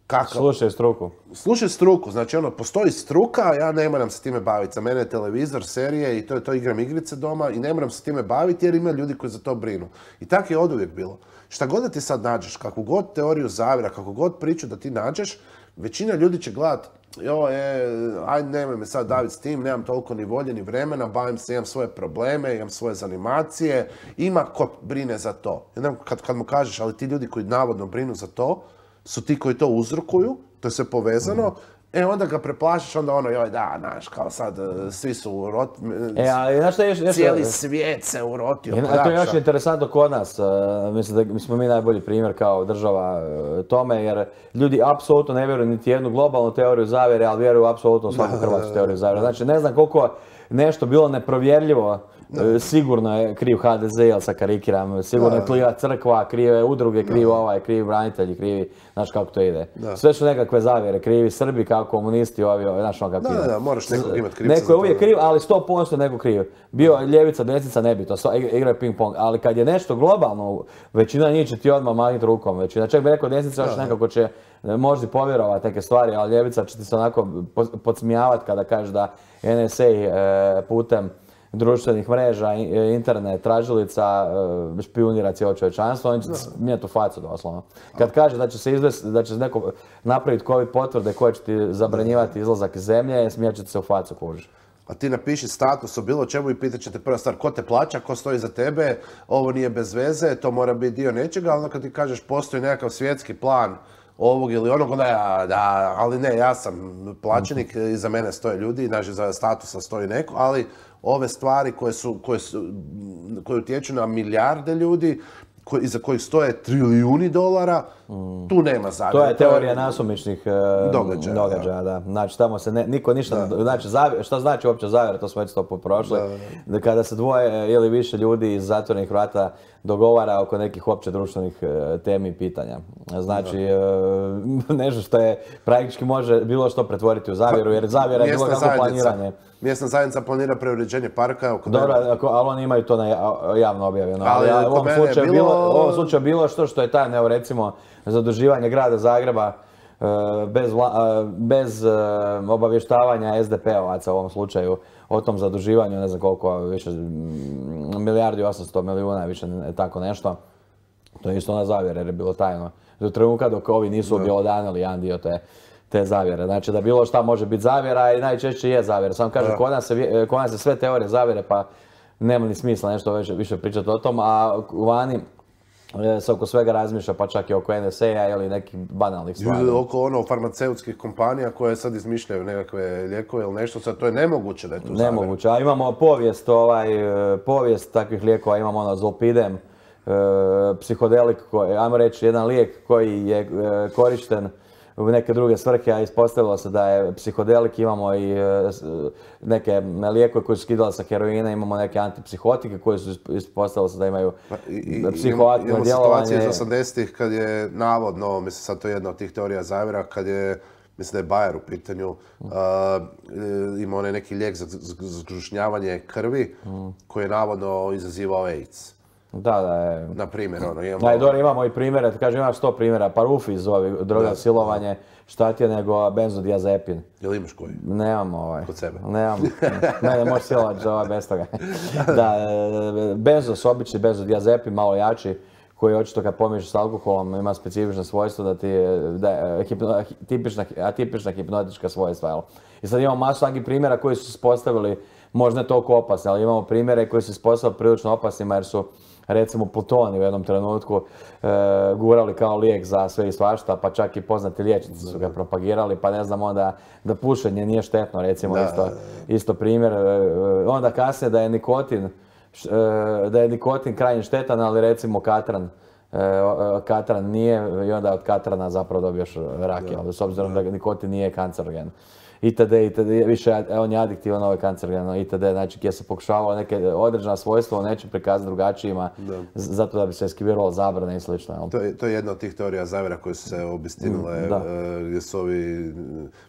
S1: Kakav?
S2: Slušaj struku.
S1: Slušaj struku, znači ono, postoji struka, ja ne moram se time baviti. Za mene je televizor, serije i to, to igram igrice doma i ne moram se time baviti jer ima ljudi koji za to brinu. I tako je oduvijek bilo. Šta god da ti sad nađeš, kakvu god teoriju zavjera, kakvu god priču da ti nađeš, većina ljudi će gledat, joj, e, ajde nemoj me sad daviti s tim, nemam toliko ni volje ni vremena, bavim se, imam svoje probleme, imam svoje zanimacije, ima ko brine za to. Kad, kad mu kažeš, ali ti ljudi koji navodno brinu za to, su ti koji to uzrokuju, to je sve povezano, mm. e onda ga preplašiš, onda ono, joj da, znaš, kao sad, svi su uroti,
S2: e, ali, znaš šta, još, još,
S1: cijeli svijet se urotio.
S2: E, to je još interesantno kod nas, uh, mislim da mi smo mi najbolji primjer kao država uh, tome, jer ljudi apsolutno ne vjeruju niti jednu globalnu teoriju zavjere, ali vjeruju apsolutno u svaku hrvatsku teoriju zavjere. Znači, ne znam koliko nešto bilo neprovjerljivo, no. Sigurno je kriv ha de ze, jel sa karikiram, sigurno je kriva crkva, krive udruge, krivi no. ovaj, krivi branitelji, krivi, znaš kako to ide. No. Sve su nekakve zavjere, krivi Srbi kao komunisti, ovi, ovi, znaš ono kako
S1: ide. Da, da, moraš nekog imati krivca.
S2: Neko je uvijek kriv, ali sto posto neko kriv. Bio ljevica, desnica, nebitno, igraju ping pong, ali kad je nešto globalno, većina njih će ti odmah mahniti rukom, većina. Čak bi rekao desnica još nekako će možda povjerovati neke stvari, ali ljevica će ti se onako podsmijavati kada kažeš da en es a e, putem društvenih mreža, internet, tražilica, špijunira cijelo čovječanstvo, on će smijeti u facu doslovno. Kad kaže da će se izvesti, da će neko napraviti covid potvrde koje će ti zabranjivati izlazak iz zemlje, smijet će se u facu kuži.
S1: A ti napiši status o bilo čemu i pitat će te prva stvar ko te plaća, ko stoji za tebe, ovo nije bez veze, to mora biti dio nečega, ali kad ti kažeš postoji nekakav svjetski plan ovog ili onog, onda ja, da, ali ne, ja sam plaćenik, iza mene stoje ljudi, znači za statusa stoji neko, ali ove stvari koje, su, koje, su, koje utječu na milijarde ljudi, iza kojih stoje trilijuni dolara, tu nema zavjera.
S2: To je teorija nasumičnih
S1: događaja.
S2: događaja, da. Znači, tamo se ne, niko ništa, znači, zavjera, šta znači uopće zavjera, to smo već sto put prošli. Da. Kada se dvoje ili više ljudi iz zatvorenih vrata dogovara oko nekih opće društvenih temi i pitanja. Znači, da. Nešto što je praktički može bilo što pretvoriti u zavjeru, jer zavjera je bilo kako planiranje.
S1: Mjesna zajednica planira preuređenje parka.
S2: Dobro, ali oni imaju to na javno objavljeno. Ali, ali u ovom slučaju bilo... bilo, u ovom slučaju bilo što što je tajno, recimo, zaduživanje grada Zagreba bez, vla, bez obavještavanja es de pe ovaca u ovom slučaju o tom zaduživanju, ne znam koliko, više milijardi osamsto milijuna, više tako nešto. To je isto na zavjere jer je bilo tajno. Do trenutka dok ovi nisu objelodanili jedan dio te te zavjere. Znači da bilo šta može biti zavjera i najčešće je zavjera. Samo kažem, kod nas se, kod nas se sve teorije zavjere pa nema ni smisla nešto više, više pričati o tom, a vani se oko svega razmišlja, pa čak i oko en es a ili nekih banalnih stvari.
S1: Oko ono farmaceutskih kompanija koje sad izmišljaju nekakve lijekove ili nešto, sad to je nemoguće da je tu zavjera.
S2: Nemoguće, a imamo povijest, ovaj, povijest takvih lijekova, imamo ono Zolpidem, psihodelik, koji, ajmo reći jedan lijek koji je korišten u neke druge svrhe, a ispostavilo se da je psihodelik, imamo i neke lijekove koji su skidali sa heroina, imamo neke antipsihotike koji su ispostavilo se da imaju psihoaktivno djelovanje.
S1: Imamo situacije iz osamdesetih kad je navodno, mislim sad to je jedna od tih teorija zavjera, kad je, mislim da je Bayer u pitanju, uh, imao onaj neki lijek za zgrušnjavanje krvi koji je navodno izazivao AIDS.
S2: Da, da je.
S1: Na primjer, ono, imamo...
S2: Da, dobro, imamo i primjere, kažem, imaš sto primjera, Parufi zove droga silovanje, šta ti je nego benzodiazepin.
S1: Jel imaš koji?
S2: Nemam ovaj.
S1: Kod sebe?
S2: Nemam. Ne, ne možeš silovati za ovaj bez toga. Da, benzos, obični benzodiazepin, malo jači, koji očito kad pomiješaš s alkoholom ima specifično svojstvo da ti je hipno, tipična, atipična hipnotička svojstva. Jel? I sad imamo masu takvih primjera koji su se ispostavili možda ne toliko opasni, ali imamo primjere koji su se ispostavili prilično opasnima jer su recimo Plutoni u jednom trenutku e, gurali kao lijek za sve i svašta, pa čak i poznati liječnici su ga propagirali, pa ne znam onda da pušenje nije štetno, recimo da, isto, isto primjer. E, onda kasnije da je nikotin, e, da je nikotin krajnje štetan, ali recimo katran, e, katran nije i onda od katrana zapravo dobiješ rak, ali s obzirom da nikotin nije kancerogen. itd. itd. Više on je adiktivan, ovo je kancerogeno, itd. Znači gdje se pokušavalo neke određena svojstva u nečem prikazati drugačijima, zato da bi se eskiviralo zabrane i slično.
S1: To je, to je jedna od tih teorija zavjera koje su se obistinile, uh, gdje su ovi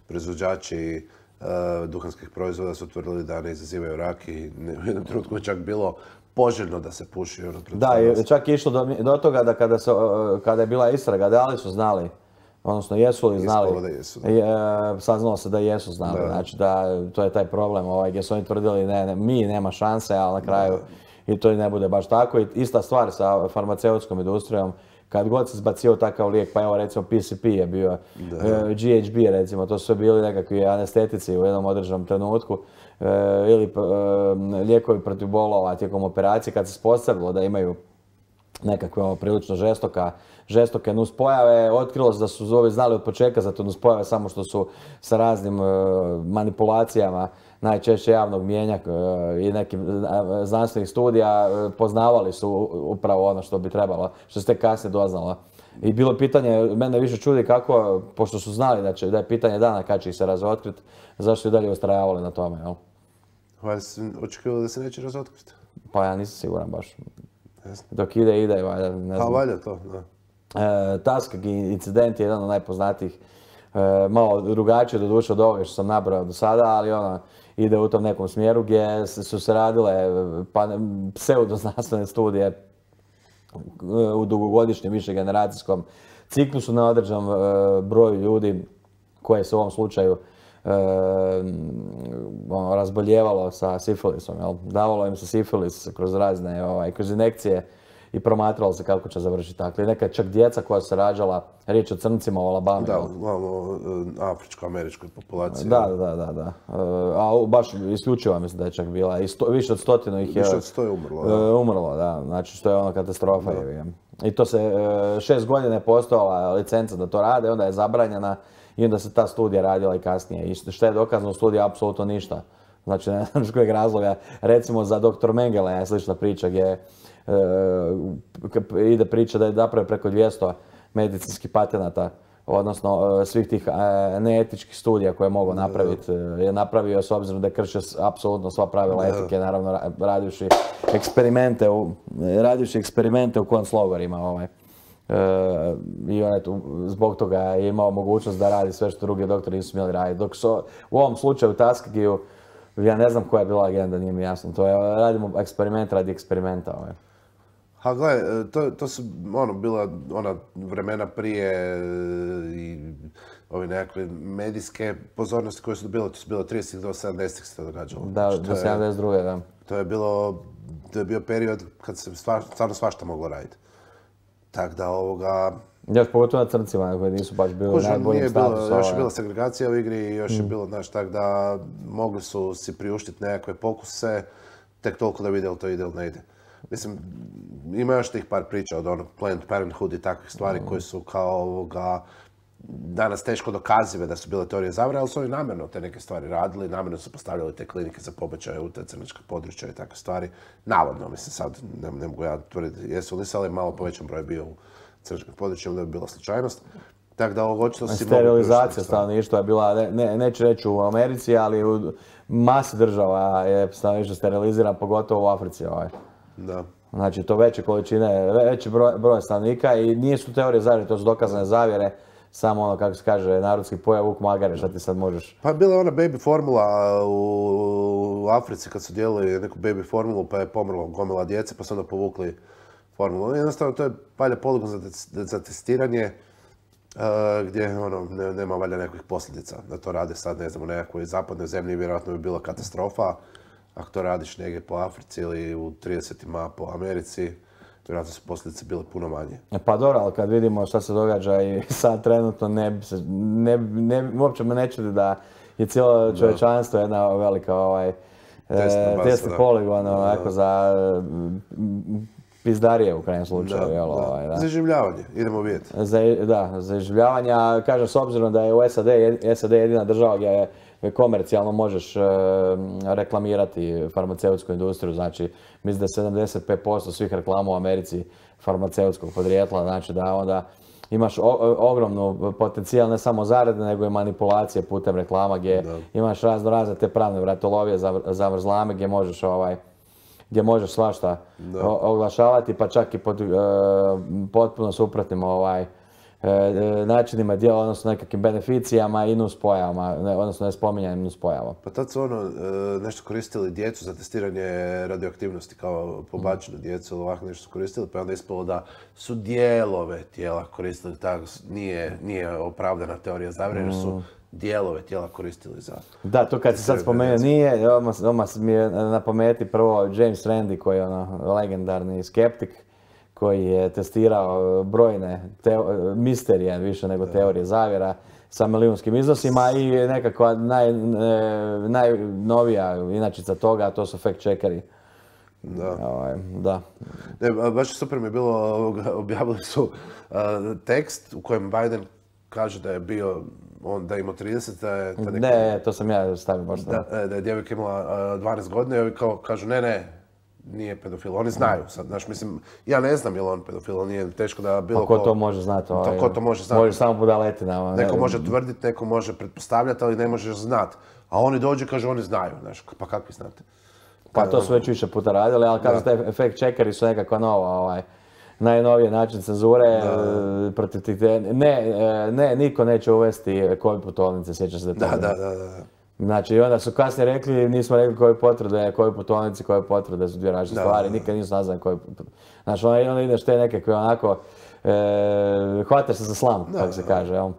S1: proizvođači uh, duhanskih proizvoda su tvrdili da ne izazivaju rak i u jednom trenutku je čak bilo poželjno da se puši.
S2: Da, i čak je išlo do, do toga da kada, se, kada je bila istraga, da li su znali, odnosno jesu li znali,
S1: da jesu, da.
S2: Je, saznalo se da jesu znali, da. Znači da to je taj problem ovaj, gdje su oni tvrdili ne, ne, mi nema šanse, ali na kraju da. I to i ne bude baš tako. I ista stvar sa farmaceutskom industrijom, kad god se zbacio takav lijek, pa evo recimo P C P je bio, da. G H B recimo, to su bili nekakvi anestetici u jednom određenom trenutku, ili lijekovi protiv bolova tijekom operacije, kad se ispostavilo da imaju nekakve ono, prilično žestoka, žestoke nuspojave, otkrilo se da su ovi znali od početka za te nuspojave samo što su sa raznim uh, manipulacijama, najčešće javnog mijenja uh, i nekim uh, znanstvenih studija uh, poznavali su upravo ono što bi trebalo, što se tek kasnije doznalo. I bilo pitanje, mene više čudi kako, pošto su znali da, će, da je pitanje dana kad će ih se razotkriti, zašto i dalje ustrajavali na tome, jel?
S1: Valjda si očekivali da se neće razotkriti?
S2: Pa ja nisam siguran baš. Dok ide, ide, valjda, ne znam.
S1: Pa valjda to, da.
S2: E, Tuskegee incident je jedan od najpoznatijih, e, malo drugačije doduše od ovoga što sam nabrao do sada, ali ono, ide u tom nekom smjeru gdje su se radile pa, pseudoznanstvene studije u dugogodišnjem višegeneracijskom ciklusu na određenom e, broju ljudi koje se u ovom slučaju e, ono, razboljevalo sa sifilisom. Jel? Davalo im se sifilis kroz razne, ovaj, kroz injekcije i promatralo se kako će završiti tako. I neka čak djeca koja su se rađala, riječ o crncima u Alabami.
S1: Da, malo afričko-američkoj populaciji.
S2: Da, da, da, da. A baš isključivo mislim da je čak bila. I sto, više od stotinu ih je...
S1: Više od sto je umrlo, da.
S2: Umrlo, da. Znači što je ono katastrofa. Je. I to se šest godina je postojala licenca da to rade, onda je zabranjena i onda se ta studija radila i kasnije. I što je dokazano u studiji, apsolutno ništa. Znači ne znam iz kojeg razloga. Recimo za doktor Mengele je slična priča gdje e, ide priča da je napravio preko dvjesto medicinskih patenata, odnosno e, svih tih e, neetičkih studija koje je mogao napraviti, e, je napravio s obzirom da je kršio apsolutno sva pravila etike, naravno ra- radivši eksperimente u, radivši eksperimente u konclogorima. Ovaj. E, I on je tu, zbog toga je imao mogućnost da radi sve što drugi doktori nisu smjeli raditi. Dok so, u ovom slučaju Tuskegee-u, ja ne znam koja je bila agenda, nije mi jasno. To je, radimo eksperiment radi eksperimenta. Ovaj.
S1: Ha, gledaj, to, to su ono, bila ona vremena prije e, i ove nekakve medijske pozornosti koje su dobile, to su bilo tridesetih do sedamdesetih se to događalo.
S2: Da,
S1: Znači,
S2: do sedamdeset druge da.
S1: To je bilo, to je bio period kad se stvar, stvarno svašta moglo raditi. Tako da ovoga...
S2: Još pogotovo na crncima koji nisu baš bili u
S1: Kužim,
S2: najboljem
S1: nije bilo,
S2: statusu.
S1: još je
S2: ovaj.
S1: bila segregacija u igri i još je bilo, znaš, tako da mogli su si priuštiti nekakve pokuse, tek toliko da vide li to ide ili ne ide. Mislim, ima još tih par priča od onog Planned Parenthood i takvih stvari koje su kao ovoga, danas teško dokazive da su bile teorije zavere, ali su oni namjerno te neke stvari radili, namjerno su postavljali te klinike za pobačaje u te crnačka područja i takve stvari. Navodno, mislim, sad ne, ne mogu ja tvrditi jesu li se, ali malo povećan broj bio u crnačkim područjima, da je bila slučajnost. Tako da ovo očito si mogu
S2: Sterilizacija stanovništva je bila, ne, ne, neću reći u Americi, ali u masi država je stanovništvo sterilizirano, pogotovo u Africi. Ovaj.
S1: Da.
S2: Znači, to veće količine, veći broj, broj stanovnika i nisu teorije zavjere, to su dokazane zavjere, samo ono, kako se kaže, narodski pojam vuk magare, šta ti sad možeš.
S1: Pa bila je ona baby formula u, u Africi kad su dijelili neku baby formulu pa je pomrlo gomila djece pa su onda povukli formulu. Jednostavno to je valjda poligon za, za testiranje uh, gdje ono, ne, nema valjda nekakvih posljedica da to rade sad, ne znam, u nekakvoj zapadnoj zemlji vjerojatno bi bila katastrofa. Ako to radiš negdje po Africi ili u tridesetima po Americi, vjerojatno su posljedice bile puno manje.
S2: Pa dobro, ali kad vidimo šta se događa i sad trenutno ne bi se, ne, ne, uopće me ne čudi da je cijelo čovječanstvo jedna velika ovaj, testni poligon onako za mm, pizdarije u krajnjem slučaju.
S1: Da,
S2: jel,
S1: da.
S2: ovaj, da.
S1: Za iživljavanje, idemo vidjeti.
S2: Za, da, za iživljavanje, a kažem s obzirom da je u S A D, S A D jedina država gdje je komercijalno možeš e, reklamirati farmaceutsku industriju, znači mislim da je sedamdeset pet posto svih reklama u Americi farmaceutskog podrijetla, znači da onda imaš o, ogromnu potencijal ne samo zarade, nego i manipulacije putem reklama gdje da. Imaš razno razne te pravne vratologije, zavrzlame gdje možeš ovaj gdje možeš svašta o, oglašavati, pa čak i pod e, potpuno suprotnim ovaj načinima djela, odnosno nekakvim beneficijama i nuspojavama, odnosno ne spominjanjem nuspojava.
S1: Pa tad su ono, nešto koristili djecu za testiranje radioaktivnosti, kao pobačenu djecu ili ovako nešto su koristili, pa je onda ispalo da su dijelove tijela koristili, tako nije, nije opravdana teorija zavjere, jer su dijelove tijela koristili za...
S2: Da, to kad si sad spomenuo nije, odmah mi je na pameti prvo James Randi koji je ono legendarni skeptik, koji je testirao brojne teo, misterije više nego teorije zavjera sa milijunskim iznosima i nekakva naj, najnovija inačica toga, a to su fact checkeri.
S1: Da.
S2: Ovaj, da.
S1: Ne, baš super mi je bilo, objavili su uh, tekst u kojem Biden kaže da je bio, on da je imao trideset, da je... Da neka,
S2: ne, to sam ja stavio baš
S1: da. Da, da je djevojka imala uh, dvanaest godina i ovi kao kažu ne, ne, nije pedofil, oni znaju sad, znaš, mislim, ja ne znam je li on pedofil, on nije teško da bilo
S2: ko... ko to može znati? Ovaj,
S1: ko to može znati?
S2: Može samo budaletina.
S1: Neko može tvrditi, neko može pretpostavljati, ali ne možeš znati. A oni dođu i kažu oni znaju, znaš, pa kakvi znate?
S2: Pa to su već više puta radili, ali kažu te fact checkeri su nekakva nova, ovaj, najnoviji način cenzure protiv tih... Ne, ne, niko neće uvesti covid putovnice, sjećaš se da to...
S1: Da, da, da, da.
S2: Znači, onda su kasnije rekli, nismo rekli koje potvrde, koje putovnice, koje potvrde su dvije različite stvari, nikad nisu nazvani koje potvrde. Znači, onda ideš te nekakve onako, e, hvataš se za slamku, kako se kaže, jel?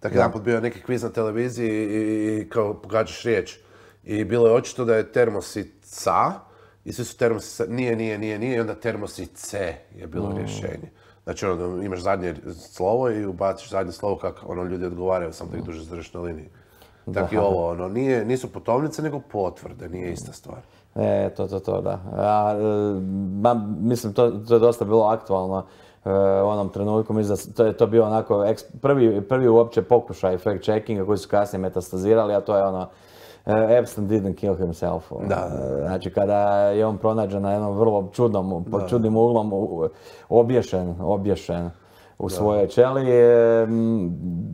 S1: Tako jedan put bio neki kviz na televiziji i, i kao pogađaš riječ. I bilo je očito da je termosica, i svi su termosica, nije, nije, nije, nije, i onda termosice je bilo mm. rješenje. Znači, ono, imaš zadnje slovo i ubaciš zadnje slovo kako ono ljudi odgovaraju, samo da ih duže zadržiš na liniji. Tako i ovo, ono, nije, nisu putovnice, nego potvrde, nije ista stvar.
S2: E, to, to, to, da. A, ma, mislim, to, to je dosta bilo aktualno e, u onom trenutku. Mislim da to je to bio onako eks, prvi, prvi uopće pokušaj fact checkinga koji su kasnije metastazirali, a to je ono Epstein didn't kill himself.
S1: Da.
S2: Znači, kada je on pronađen na jednom vrlo čudnom, pod čudnim uglom, obješen, obješen u svojoj ćeliji.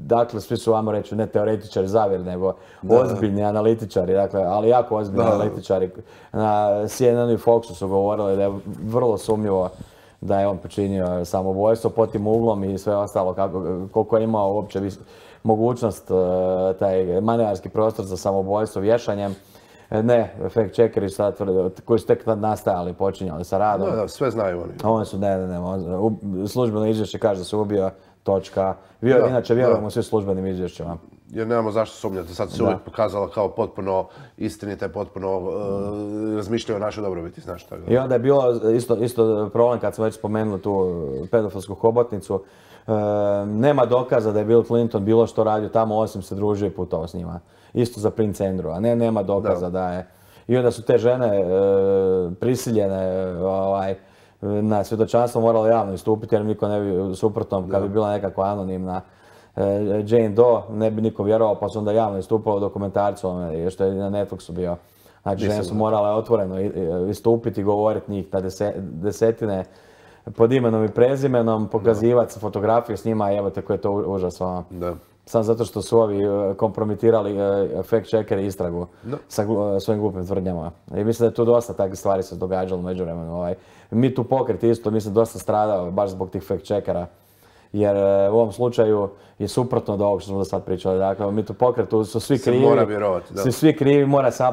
S2: Dakle, svi su, ajmo reći, ne teoretičari zavjer, nego ozbiljni analitičari, dakle, ali jako ozbiljni analitičari. Na C N N i Foxu su govorili da je vrlo sumnjivo da je on počinio samoubojstvo pod tim uglom i sve ostalo, koliko je imao uopće mogućnost, taj manevarski prostor za samoubojstvo vješanjem. Ne, fact checkeri sad tvrde, koji su tek nastajali, počinjali sa radom.
S1: Da, da, sve znaju oni.
S2: Oni su, ne, ne, ne, službeno izvješće kaže da se ubio, točka. Inače, vjerujemo svi službenim izvješćima.
S1: Jer nemamo zašto sumnjati. Sad se uvijek pokazala kao potpuno istinite, potpuno razmišljaju o našoj dobrobiti, znaš tako.
S2: I onda je bilo isto problem kad smo već spomenuli tu pedofilsku hobotnicu. Nema dokaza da je Bill Clinton bilo što radio tamo, osim se družio i putovao s njima. Isto za Prince Andrew, a ne, nema dokaza da je. I onda su te žene prisiljene na svjedočanstvo morale javno istupiti, jer niko ne bi suprotno, kad bi bila nekakva anonimna Jane Doe, ne bi niko vjerovao, pa su onda javno istupalo u dokumentarcu, što je na Netflixu bio. Znači, žene su morale otvoreno istupiti, govoriti njih na desetine pod imenom i prezimenom, pokazivati fotografije s njima, evo te koje je to užasno. Samo zato što su ovi kompromitirali fact checkeri istragu sa svojim glupim tvrdnjama. I mislim da je tu dosta takvih stvari se događalo u međuvremenu. Me Too pokret isto, mislim, dosta stradao baš zbog tih fact checkera. Jer u ovom slučaju je suprotno od ovog što smo do sad pričali. Dakle, u Me Too pokretu su svi krivi.
S1: Se mora vjerovati, da.
S2: Svi krivi, mora se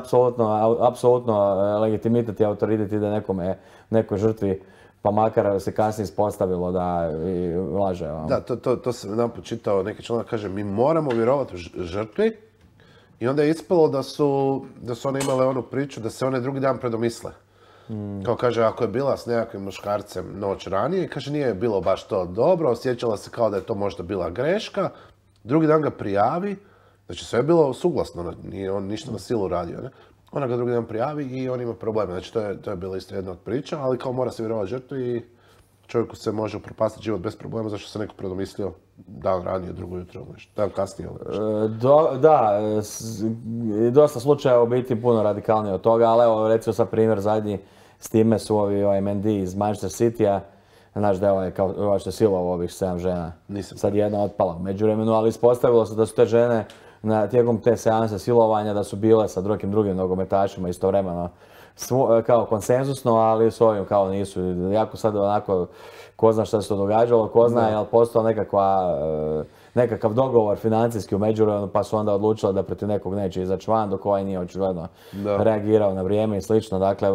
S2: apsolutno legitimitet i autoritet ide nekome, nekoj žrtvi. Pa makar se kasnije ispostavilo da laže.
S1: Da, to, to, to sam jedan počitao, neki članak kaže mi moramo vjerovati žrtvi i onda je ispalo da su, da su one imale onu priču da se one drugi dan predomisle. Mm. Kao kaže, ako je bila s nekakvim muškarcem noć ranije, kaže nije bilo baš to dobro, osjećala se kao da je to možda bila greška, drugi dan ga prijavi, znači sve je bilo suglasno, nije on ništa na silu radio, ne? Ona ga drugi dan prijavi i on ima probleme. Znači, to je, to je bila isto jedna od priča, ali kao mora se vjerovati žrtvi i čovjeku se može upropastiti život bez problema zašto se neko predomislio dan ranije, drugo jutro, nešto, dan kasnije.
S2: E, do, da, s, dosta slučaja u biti puno radikalnije od toga, ali evo recimo sad primjer zadnji s time su ovi ovaj M D iz Manchester City-a, znaš da je ovaj kao ovaj što je silovao ovih sedam žena.
S1: Nisam.
S2: Sad je jedna otpala u međuvremenu, ali ispostavilo se da su te žene na tijekom te seanse silovanja da su bile sa drugim drugim nogometašima istovremeno svo, kao konsensusno, ali s ovim kao nisu. Jako sad onako, ko zna šta se to događalo, ko zna je li postao nekakva, nekakav dogovor financijski u međuvremenu, pa su onda odlučili da protiv nekog neće izaći van, dok ovaj nije očigledno reagirao na vrijeme i slično. Dakle,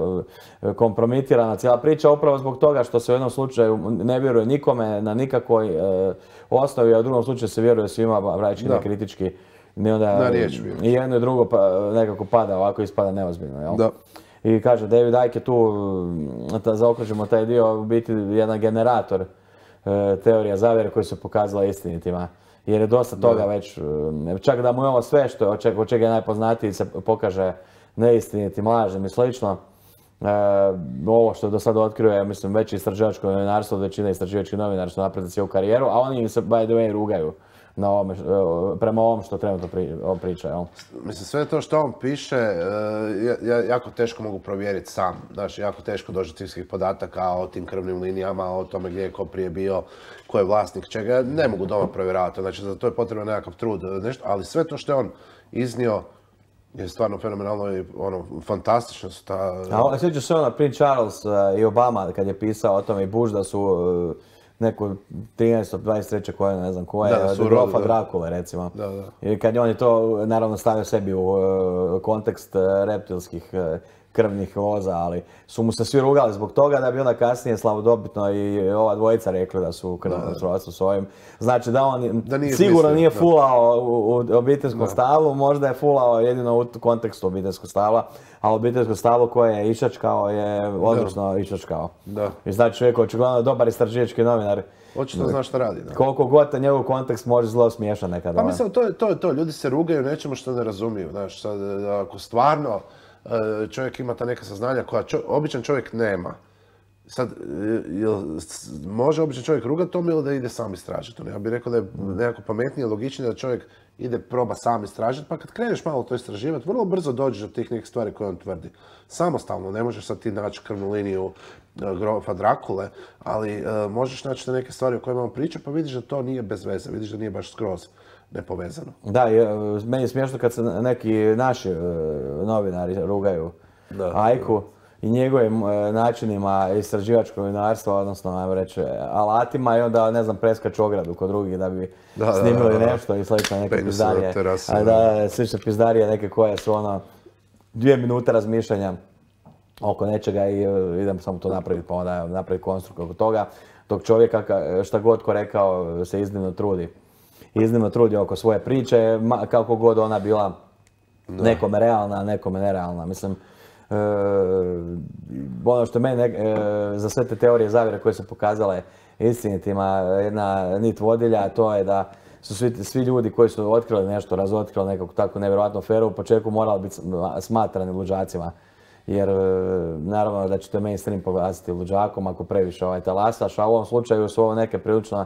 S2: kompromitirana cijela priča upravo zbog toga što se u jednom slučaju ne vjeruje nikome na nikakvoj e, osnovi, a u drugom slučaju se vjeruje svima praktički nekritički. I onda i jedno i drugo pa, nekako pada, ovako ispada neozbiljno, jel?
S1: Da.
S2: I kaže, David Icke je tu, da zaokružimo taj dio, u biti jedan generator e, teorija zavjere koji se pokazala istinitima. Jer je dosta toga već, čak da mu je ovo sve što, od čega je najpoznatiji se pokaže neistinitim, lažnim i slično. E, ovo što do sada otkrio je, mislim, već istraživačko novinarstvo, većina istraživačkih novinara su napredili cijelu karijeru, a oni se, by the way, rugaju na ovome, prema ovom što trenutno pri, priča, jel?
S1: Mislim, sve to što on piše, ja, jako teško mogu provjeriti sam. Znači, jako teško doći do svih podataka o tim krvnim linijama, o tome gdje je ko prije bio, ko je vlasnik čega. Ne mogu doma provjeravati, znači za to je potrebno nekakav trud, nešto, ali sve to što je on iznio je stvarno fenomenalno i ono, fantastično su ta...
S2: A sjećaš se ona, Prince Charles i Obama, kad je pisao o tome i Bush da su neku trinaesto dvadeset treće koje, ne znam koje, od grofa Drakule recimo.
S1: Da, da.
S2: I kad je on je to naravno stavio sebi u uh, kontekst uh, reptilskih uh, krvnih loza, ali su mu se svi rugali zbog toga da bi onda kasnije slavodobitno i ova dvojica rekli da su u krvnom srodstvu s ovim. Znači da on da nije sigurno mislio, nije fulao u, u obiteljskom stablu, možda je fulao jedino u kontekstu obiteljskog stabla, a obiteljsko stablo koje je išačkao je odlično išačkao.
S1: Da.
S2: I znači čovjek očigledno dobar istraživački novinar.
S1: Očito zna šta radi. Da.
S2: Koliko god njegov kontekst može zlo smiješan nekada.
S1: Pa mislim, to je to, to. Ljudi se rugaju nečemu što ne razumiju. Znaš, sad, ako stvarno čovjek ima ta neka saznanja koja čo, običan čovjek nema. Sad, jel, može običan čovjek rugati tome ili da ide sam istražiti? Ja bih rekao da je nekako pametnije, logičnije da čovjek ide proba sam istražiti, pa kad kreneš malo to istraživati, vrlo brzo dođeš do tih nekih stvari koje on tvrdi. Samostalno, ne možeš sad ti naći krvnu liniju grofa Drakule, ali uh, možeš naći neke stvari o kojima on priča, pa vidiš da to nije bez veze, vidiš da nije baš skroz nepovezano.
S2: Da, je, meni je smiješno kad se neki naši uh, novinari rugaju da, Ajku i njegovim uh, načinima istraživačkog novinarstva, odnosno, ajmo reći, alatima i onda, ne znam, preskaču ogradu kod drugih da bi da, snimili da, da, da. nešto i slično neke pizdarije. A da, slične pizdarije neke koje su ono dvije minute razmišljanja oko nečega i uh, idem samo to napraviti, pa onda napraviti konstrukt oko toga. Dok čovjeka, šta god ko rekao, se iznimno trudi. Iznimno trudi oko svoje priče, kako god ona bila da. nekome realna, nekome nerealna. Mislim, e, ono što mene, e, za sve te teorije zavjere koje su pokazale istinitima, jedna nit vodilja, to je da su svi, svi ljudi koji su otkrili nešto, razotkrili nekakvu takvu nevjerojatnu aferu, u početku morali biti smatrani luđacima. Jer naravno da ćete mainstream poglasiti luđakom ako previše ovaj talasaš, a u ovom slučaju su ovo neke prilično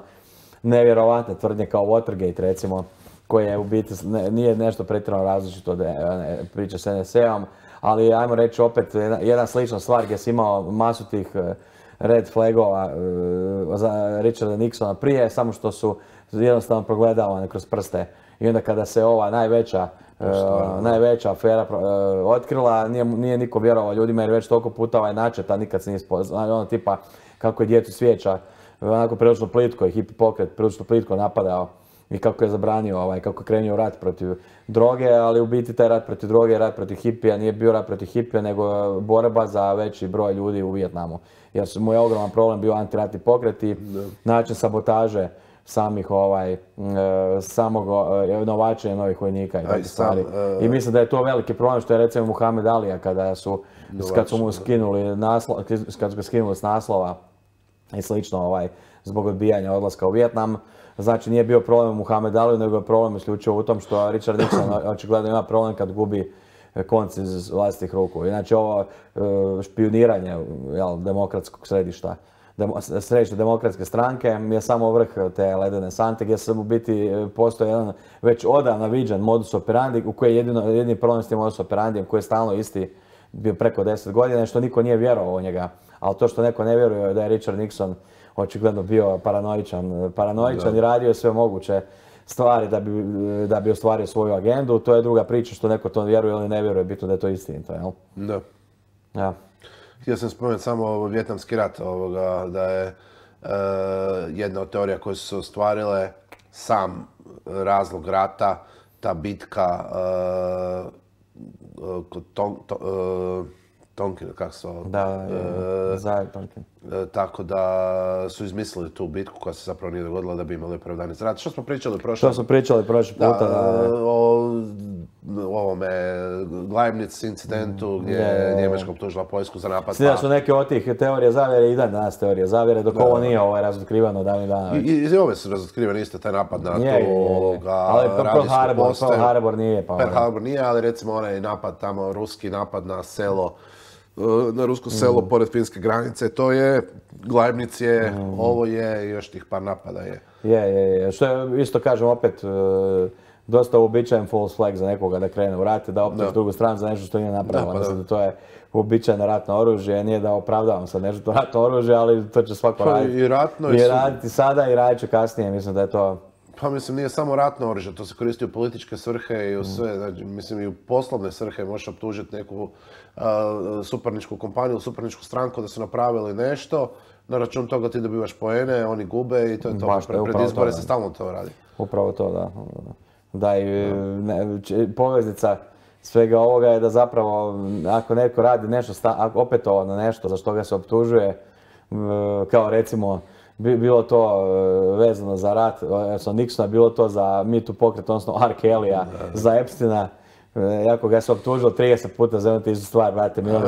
S2: nevjerovatne tvrdnje kao Watergate recimo, koje u biti ne, nije nešto pretjerano različito od priče s en es a-om, ali ajmo reći opet jedna, jedna slična stvar gdje si imao masu tih red flagova uh, za Richarda Nixona prije, samo što su jednostavno progledavane kroz prste. I onda kada se ova najveća Uh, najveća afera uh, otkrila, nije, nije niko vjerovao ljudima jer već toliko puta ovaj načet, a nikad se nije spoznao, ono tipa kako je djecu svijeća, onako prilično plitko i hippie pokret prilično plitko napadao i kako je zabranio, ovaj, kako je krenuo rat protiv droge, ali u biti taj rat protiv droge, rat protiv hipija, nije bio rat protiv hipija, nego borba za veći broj ljudi u Vijetnamu. Jer mu je ogroman problem bio antiratni pokret i način sabotaže samih ovaj, e, samog e, novačenja novih vojnika i takve stvari. E, I mislim da je to veliki problem što je recimo Muhammed Alija kada su, kad su mu skinuli naslov, kad su ga skinuli s naslova i slično ovaj, zbog odbijanja odlaska u Vijetnam. Znači nije bio problem u Muhammed Aliju, nego je problem isključivo u tom što Richard Nixon očigledno ima problem kad gubi konci iz vlastitih ruku. Inače ovo e, špijuniranje jel, demokratskog središta, Demo, središte demokratske stranke je samo vrh te ledene sante gdje se u biti postoji jedan već odavno viđen modus operandi u koji je jedino, jedini problem s tim modus operandijem koji je stalno isti bio preko deset godina što niko nije vjerovao u njega. Ali to što neko ne vjeruje da je Richard Nixon očigledno bio paranoičan, paranoičan da. I radio sve moguće stvari da bi, da bi ostvario svoju agendu. To je druga priča što neko to vjeruje ili ne vjeruje, bitno da je to istinito, jel?
S1: Da.
S2: Ja.
S1: Htio sam spomenuti samo Vijetnamski rat, ovoga, da je e, jedna od teorija koje su se ostvarile sam razlog rata, ta bitka e, kod Ton, to, e, Tonkin, kako se ovo?
S2: Da, e, Zaje Tonkin.
S1: E, tako da su izmislili tu bitku koja se zapravo nije dogodila da bi imali opravdani rat. Što smo pričali prošle?
S2: Što smo pričali prošli puta?
S1: Da, da, o, o ovome Glajbnic incidentu gdje je Njemačka optužila Poljsku za napad.
S2: Svi da su neke od tih teorije zavjere i dan danas teorije zavjere, dok da, ovo nije ovaj razotkrivano davnih dana.
S1: I, i, I ove su razotkrivane isto, taj napad na je, tu ovoga
S2: ali radijsku postaju. Pearl Harbor nije. Pa
S1: Pearl Harbor nije, ali recimo onaj napad tamo, ruski napad na selo, na rusko selo mm. pored finske granice, to je, Glajbnic je, mm. ovo je i još tih par napada je.
S2: Je, je, je. Što je, isto kažem opet, dosta uobičajen false flag za nekoga da krene u rat, da optuži drugu stranu za nešto što nije napravila. Da, pa da. Da to je uobičajeno ratno oružje, nije da opravdavam sad nešto ratno oružje, ali to će svako
S1: pa
S2: raditi.
S1: I ratno
S2: I raditi sada i radit će kasnije, mislim da je to...
S1: Pa mislim, nije samo ratno oružje, to se koristi u političke svrhe i u sve, znači, mislim i u poslovne svrhe možeš optužiti neku uh, suparničku kompaniju, suparničku stranku da su napravili nešto, na račun toga ti dobivaš poene, oni gube i to je to.
S2: Baš,
S1: Pre, pred izbore se stalno to radi.
S2: Upravo to, da. Da, i ne, poveznica svega ovoga je da zapravo ako neko radi nešto, sta, opetovano nešto za što ga se optužuje, kao recimo bilo to vezano za rat sa Nixona, bilo to za Me Too pokret, odnosno R. Kelly-a, za Epsteina. Jako ga se optužilo trideset puta za jednu istu stvar, brate mili,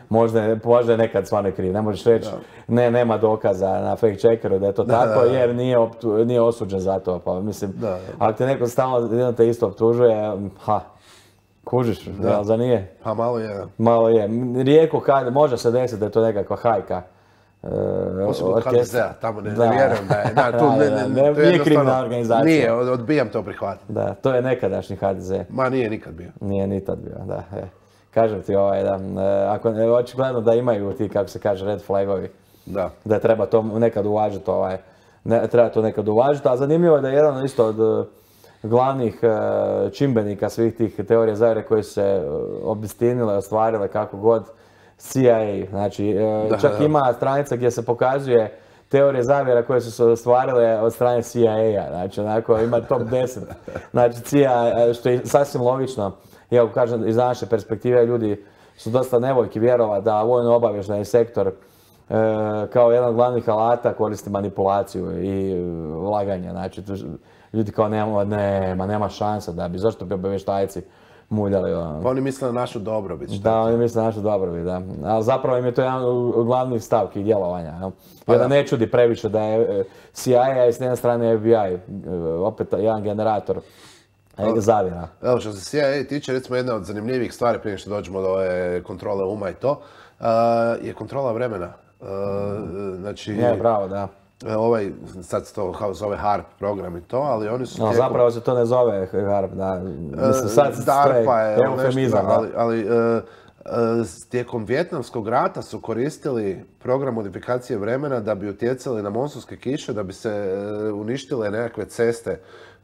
S2: možda, možda je nekad stvarno kriv. Ne možeš reći, ne, nema dokaza na fake checkeru da je to da, tako, da, da. Jer nije, optu, nije osuđen za to. Pa, mislim, da, da. Ako te neko stalno jedno te isto optužuje, ha, kužiš, da. Da, za nije?
S1: Pa malo je.
S2: Malo je. Rijetko kad, može se desiti da je to nekakva hajka.
S1: Osim od ha de zea, tamo ne, ne vjerujem da je, da, tu
S2: Da,
S1: ne,
S2: da,
S1: ne,
S2: ne,
S1: to je
S2: nije kriminalna
S1: jednostavno-
S2: organizacija.
S1: Nije, od- odbijam to prihvatiti.
S2: Da, to je nekadašnji ha de ze.
S1: Ma nije nikad bio.
S2: Nije ni tad bio, da. E. Kažem ti, ovaj, da, e, ako, e, očigledno da imaju ti, kako se kaže, red flagovi.
S1: Da.
S2: Da treba to nekad uvažiti, ovaj, ne, treba to nekad uvažiti, a zanimljivo je da je jedan isto od e, glavnih e, čimbenika svih tih teorija zavjere koje su se e, obistinile, ostvarile kako god, C I A. Znači, e,
S1: Da,
S2: čak
S1: da.
S2: ima stranica gdje se pokazuje teorije zavjera koje su se ostvarile od strane C I A. Znači, onako, ima top deset. Znači, C I A, što je sasvim logično, iako kažem, iz naše perspektive ljudi su dosta nevoljki vjerovati da vojno-obavještajni sektor e, kao jedan od glavnih alata koristi manipulaciju i e, laganje. Znači, tu, ljudi kao nema, nema, nema šanse da bi, zašto bi obavještajci muljali. Ono.
S1: Pa oni misle na našu dobrobit. Što
S2: Da,
S1: je to?
S2: oni misle na našu dobrobit, da. Ali zapravo im je to jedan od glavnih stavki djelovanja. Jel?
S1: Pa
S2: I onda
S1: da.
S2: ne čudi previše da je e, C I A i s jedne strane F B I, e, opet jedan generator e, zavjera.
S1: Evo što se C I A tiče, recimo jedna od zanimljivih stvari prije što dođemo do ove kontrole uma i to, uh, je kontrola vremena. Uh, znači,
S2: Je, bravo, da.
S1: ovaj, sad se to kao zove HARP program i to, ali oni su
S2: No,
S1: tijekom-
S2: zapravo se to ne zove HARP, da. Mislim, sad se
S1: DARPA je
S2: eufemizam,
S1: nešto,
S2: da.
S1: ali, ali e, e, tijekom Vijetnamskog rata su koristili program modifikacije vremena da bi utjecali na monsunske kiše, da bi se e, uništile nekakve ceste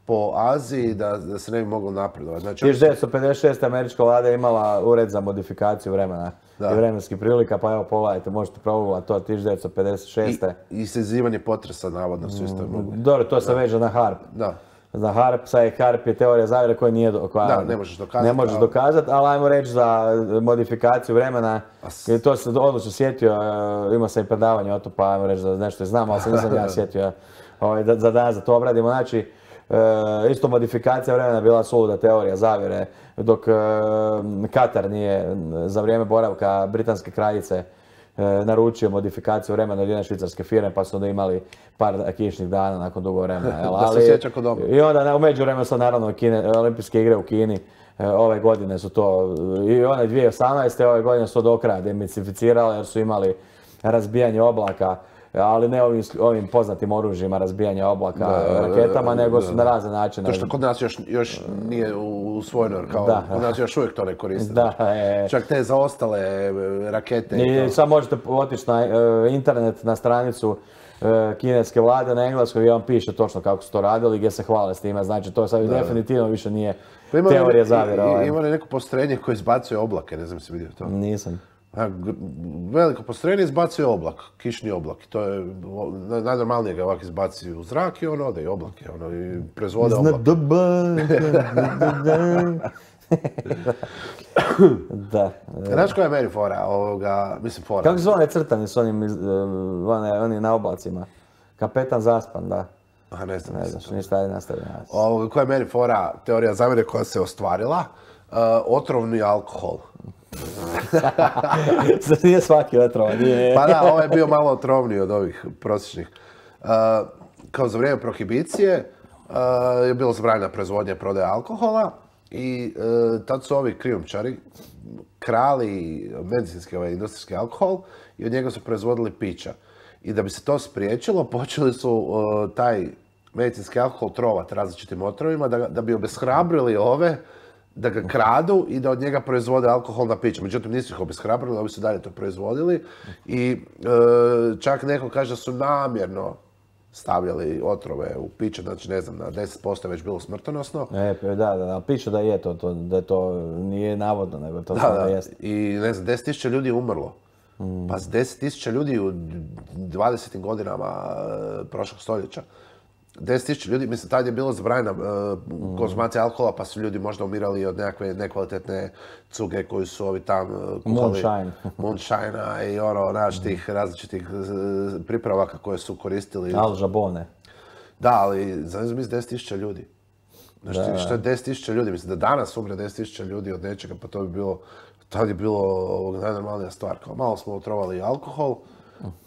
S1: po Aziji, da, da se ne bi moglo napredovati. Znači,
S2: tisuću devetsto pedeset šeste. američka vlada je imala ured za modifikaciju vremena
S1: Da.
S2: i vremenskih prilika, pa evo pogledajte, možete provugati to tisuću devetsto pedeset šeste.
S1: i, i sazivanje potresa, navodno, su isto mogli.
S2: Dobro, to se veže na HARP.
S1: Da.
S2: Za HARP, sad je HARP je teorija zavjere koja nije do, koja
S1: Da, ne možeš dokazati,
S2: Ne možeš
S1: ali-
S2: dokazati, ali ajmo reći za modifikaciju vremena.
S1: s-
S2: I to se odlično sjetio, e, imao sam i predavanje o to, pa ajmo reći da nešto znam, ali se nisam ja sjetio ovaj, da, za danas da to obradimo. Znači, e, isto modifikacija vremena je bila suluda teorija zavjere, dok e, Katar nije za vrijeme boravka britanske kraljice e, naručio modifikaciju vremena od jedne švicarske firme, pa su onda imali par kišnih dana nakon dugo vremena. jel?
S1: Da se
S2: Ali-
S1: sjeća ko dobro.
S2: I onda na- u međuvremenu sad naravno Kine, olimpijske igre u Kini e, ove godine su to, i one dvije tisuće osamnaeste. ove godine su do kraja demicificirale jer su imali razbijanje oblaka, ali ne ovim, ovim poznatim oružjima razbijanja oblaka
S1: Da,
S2: raketama, nego su
S1: da.
S2: na razne načine.
S1: To što kod nas još, još nije usvojeno, jer kao
S2: Da.
S1: kod nas još uvijek to ne koriste.
S2: Da, e,
S1: Čak te zaostale e, rakete i
S2: I
S1: to.
S2: sad možete otići na e, internet, na stranicu e, kineske vlade na engleskoj gdje vam piše točno kako su to radili, gdje se hvale s time. Znači to sad definitivno više nije
S1: Pa ima li-
S2: teorija
S1: i-
S2: zavjera.
S1: i-
S2: ovaj.
S1: Ima li neko postrojenje koje izbacuje oblake, ne znam si vidio to.
S2: Nisam.
S1: A, gr- veliko postrojenje izbacuje oblak, kišni oblak. To je, o, naj- najnormalnije ga ovako izbaci u zrak i on ode i oblak je, ono, i proizvode oblak.
S2: Da.
S1: Znaš koja je meni fora ovoga, mislim fora?
S2: Kako se zove onaj crtani s onim, iz- e, one, oni na oblacima? Kapetan Zaspan, da.
S1: A, ne znam,
S2: Ne
S1: mislim.
S2: znaš, ništa, ajde nastavi.
S1: Ovoga, koja je meni fora, teorija zavjere koja se ostvarila, uh, otrovni alkohol.
S2: Zar nije svaki otrovan? Nije.
S1: Pa da, ovo je bio malo otrovniji od ovih prosječnih. Uh, kao za vrijeme prohibicije uh, je bilo zabranjena proizvodnja i prodaja alkohola i uh, tad su ovi krijumčari krali medicinski ovaj industrijski alkohol i od njega su proizvodili pića. I da bi se to spriječilo, počeli su uh, taj medicinski alkohol trovati različitim otrovima da, ga- da bi obeshrabrili ove da ga kradu i da od njega proizvode alkoholna pića. Međutim, nisu ih obeshrabrili, ovi su dalje to proizvodili i e, čak neko kaže da su namjerno stavljali otrove u piće, znači ne znam, na deset posto je već bilo smrtonosno.
S2: E, da, da, da, piše da je to, to, da je to nije navodno, nego to
S1: Da,
S2: stvarno
S1: da.
S2: jest.
S1: I ne znam, deset tisuća ljudi je umrlo. Pa s deset tisuća ljudi u dvadesetim godinama e, prošlog stoljeća. deset tisuća ljudi, mislim, tad je bilo zabranjena e, konzumacija alkohola, pa su ljudi možda umirali od nekakve nekvalitetne cuge koju su ovi tam e, kuhali.
S2: Moonshine.
S1: Moonshine-a i ono, znaš, tih različitih e, pripravaka koje su koristili.
S2: Al Jabone.
S1: Da, ali za ne znam, mislim, deset tisuća ljudi. Znaš, ti, što je deset tisuća ljudi? Mislim da danas umre deset tisuća ljudi od nečega, pa to bi bilo, tad je bilo ovog, najnormalnija stvar. Kao, malo smo otrovali alkohol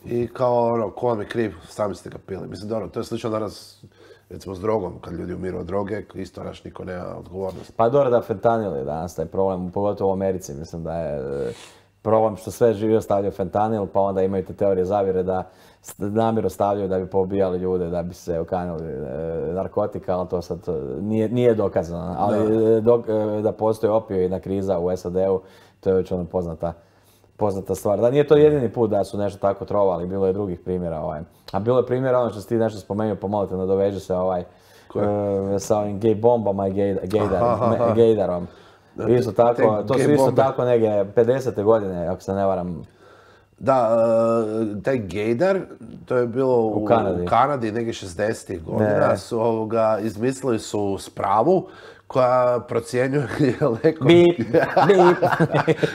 S1: i kao, ono, ko vam je kriv, sami ste ga pili. Mislim, dobro, to je slično danas, recimo, s drogom, kad ljudi umiru od droge, isto, naš, niko nema odgovornost.
S2: Pa dobro da fentanil je danas taj problem, pogotovo u Americi, mislim da je, problem što sve živo stavljaju fentanil, pa onda imaju te teorije zavjere da namjerno stavljaju da bi pobijali ljude, da bi se okanili e, narkotika, ali to sad nije, nije dokazano. Ali da, dok, e, da postoji opioidna kriza u S A D-u, to je već ono poznata, poznata stvar. Da nije to jedini put da su nešto tako trovali, bilo je drugih primjera. Ovaj. A bilo je primjera, ono što si ti nešto spomenuo, pomalo te nadoveže se ovaj, e, sa ovim gay bombama i gay, gaydar, gaydarom. Isto tako, to su isto tako neke pedesete godine, ako se ne varam.
S1: Da, uh, taj gaydar, to je bilo u, u Kanadi, u Kanadi nekih šezdesetih godina, su ovoga, izmislili su spravu koja procjenjuje je neko...
S2: Bip, bip.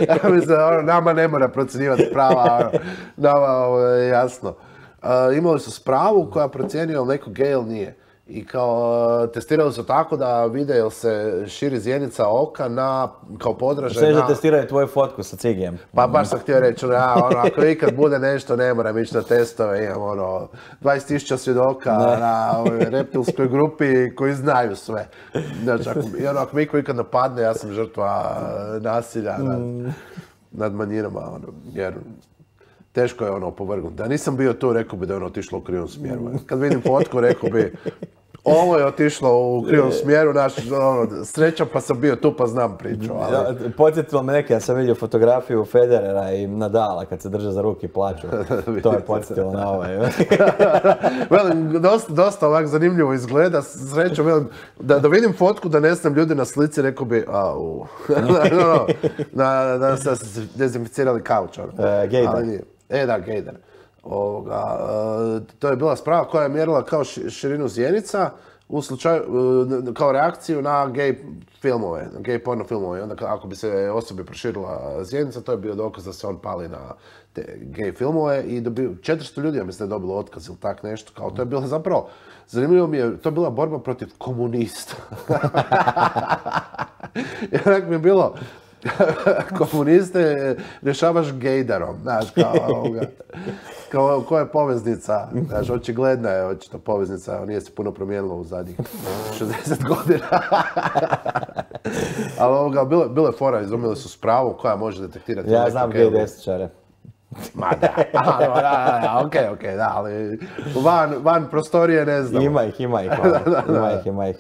S1: Ja mislim, ono, nama ne mora procjenjivati sprava, ono, nama ovo, je jasno. Uh, imali su spravu koja procjenjuje je li neko gay ili nije. I kao testirali su tako da vide jel se širi zjenica oka na, kao podražaj
S2: Sve
S1: na...
S2: da testiraju tvoju fotku sa cigijem.
S1: Pa baš sam htio reći, ja, ono, ako ikad bude nešto, ne moram ići na testove, imam ono, dvadeset tisuća svjedoka na ovoj reptilskoj grupi koji znaju sve. Znači, ako, i ono, ako mi iko ikad napadne, ja sam žrtva nasilja nad, nad manjinama, ono, jer... Teško je ono opovrgnuti. Da nisam bio tu, rekao bi da je ono otišlo u krivom smjeru. Kad vidim fotku, rekao bi ovo je otišlo u krivom smjeru, naš, ono, sreća pa sam bio tu pa znam priču. Ali...
S2: Ja, podsjetilo me neke, ja sam vidio fotografiju Federera i Nadala kad se drže za ruke i plaću. To je podsjetilo na ovaj.
S1: Velim, dosta, dosta ovak zanimljivo izgleda, srećom, velim, da, da vidim fotku, da ne znam ljudi na slici, rekao bi, au, no, no, da, da se dezinficirali kauč. Ono.
S2: E, gaydar.
S1: E da, gaydar. Ovoga, to je bila sprava koja je mjerila kao širinu zjenica u slučaju, kao reakciju na gay filmove, na gay porno filmove. I onda ako bi se osobi proširila zjenica, to je bio dokaz da se on pali na te gay filmove i dobio, četiristo ljudi, ja mislim da je dobilo otkaz ili tak nešto. Kao, to je bilo zapravo, zanimljivo mi je, to je bila borba protiv komunista. I onak mi je bilo, komuniste rješavaš gejdarom, znaš, kao ovoga, kao koja je poveznica, znaš, očigledna je očito poveznica, nije se puno promijenilo u zadnjih šezdeset godina. Ali ovoga, bilo, bilo je fora, izumili su spravu koja može detektirati...
S2: Ja znam gej desničare.
S1: Ma da, a, da, da, da, okej, okej, da, ali van, van prostorije ne znam.
S2: Ima ih, ima ih, ono, ima ih, ima ih.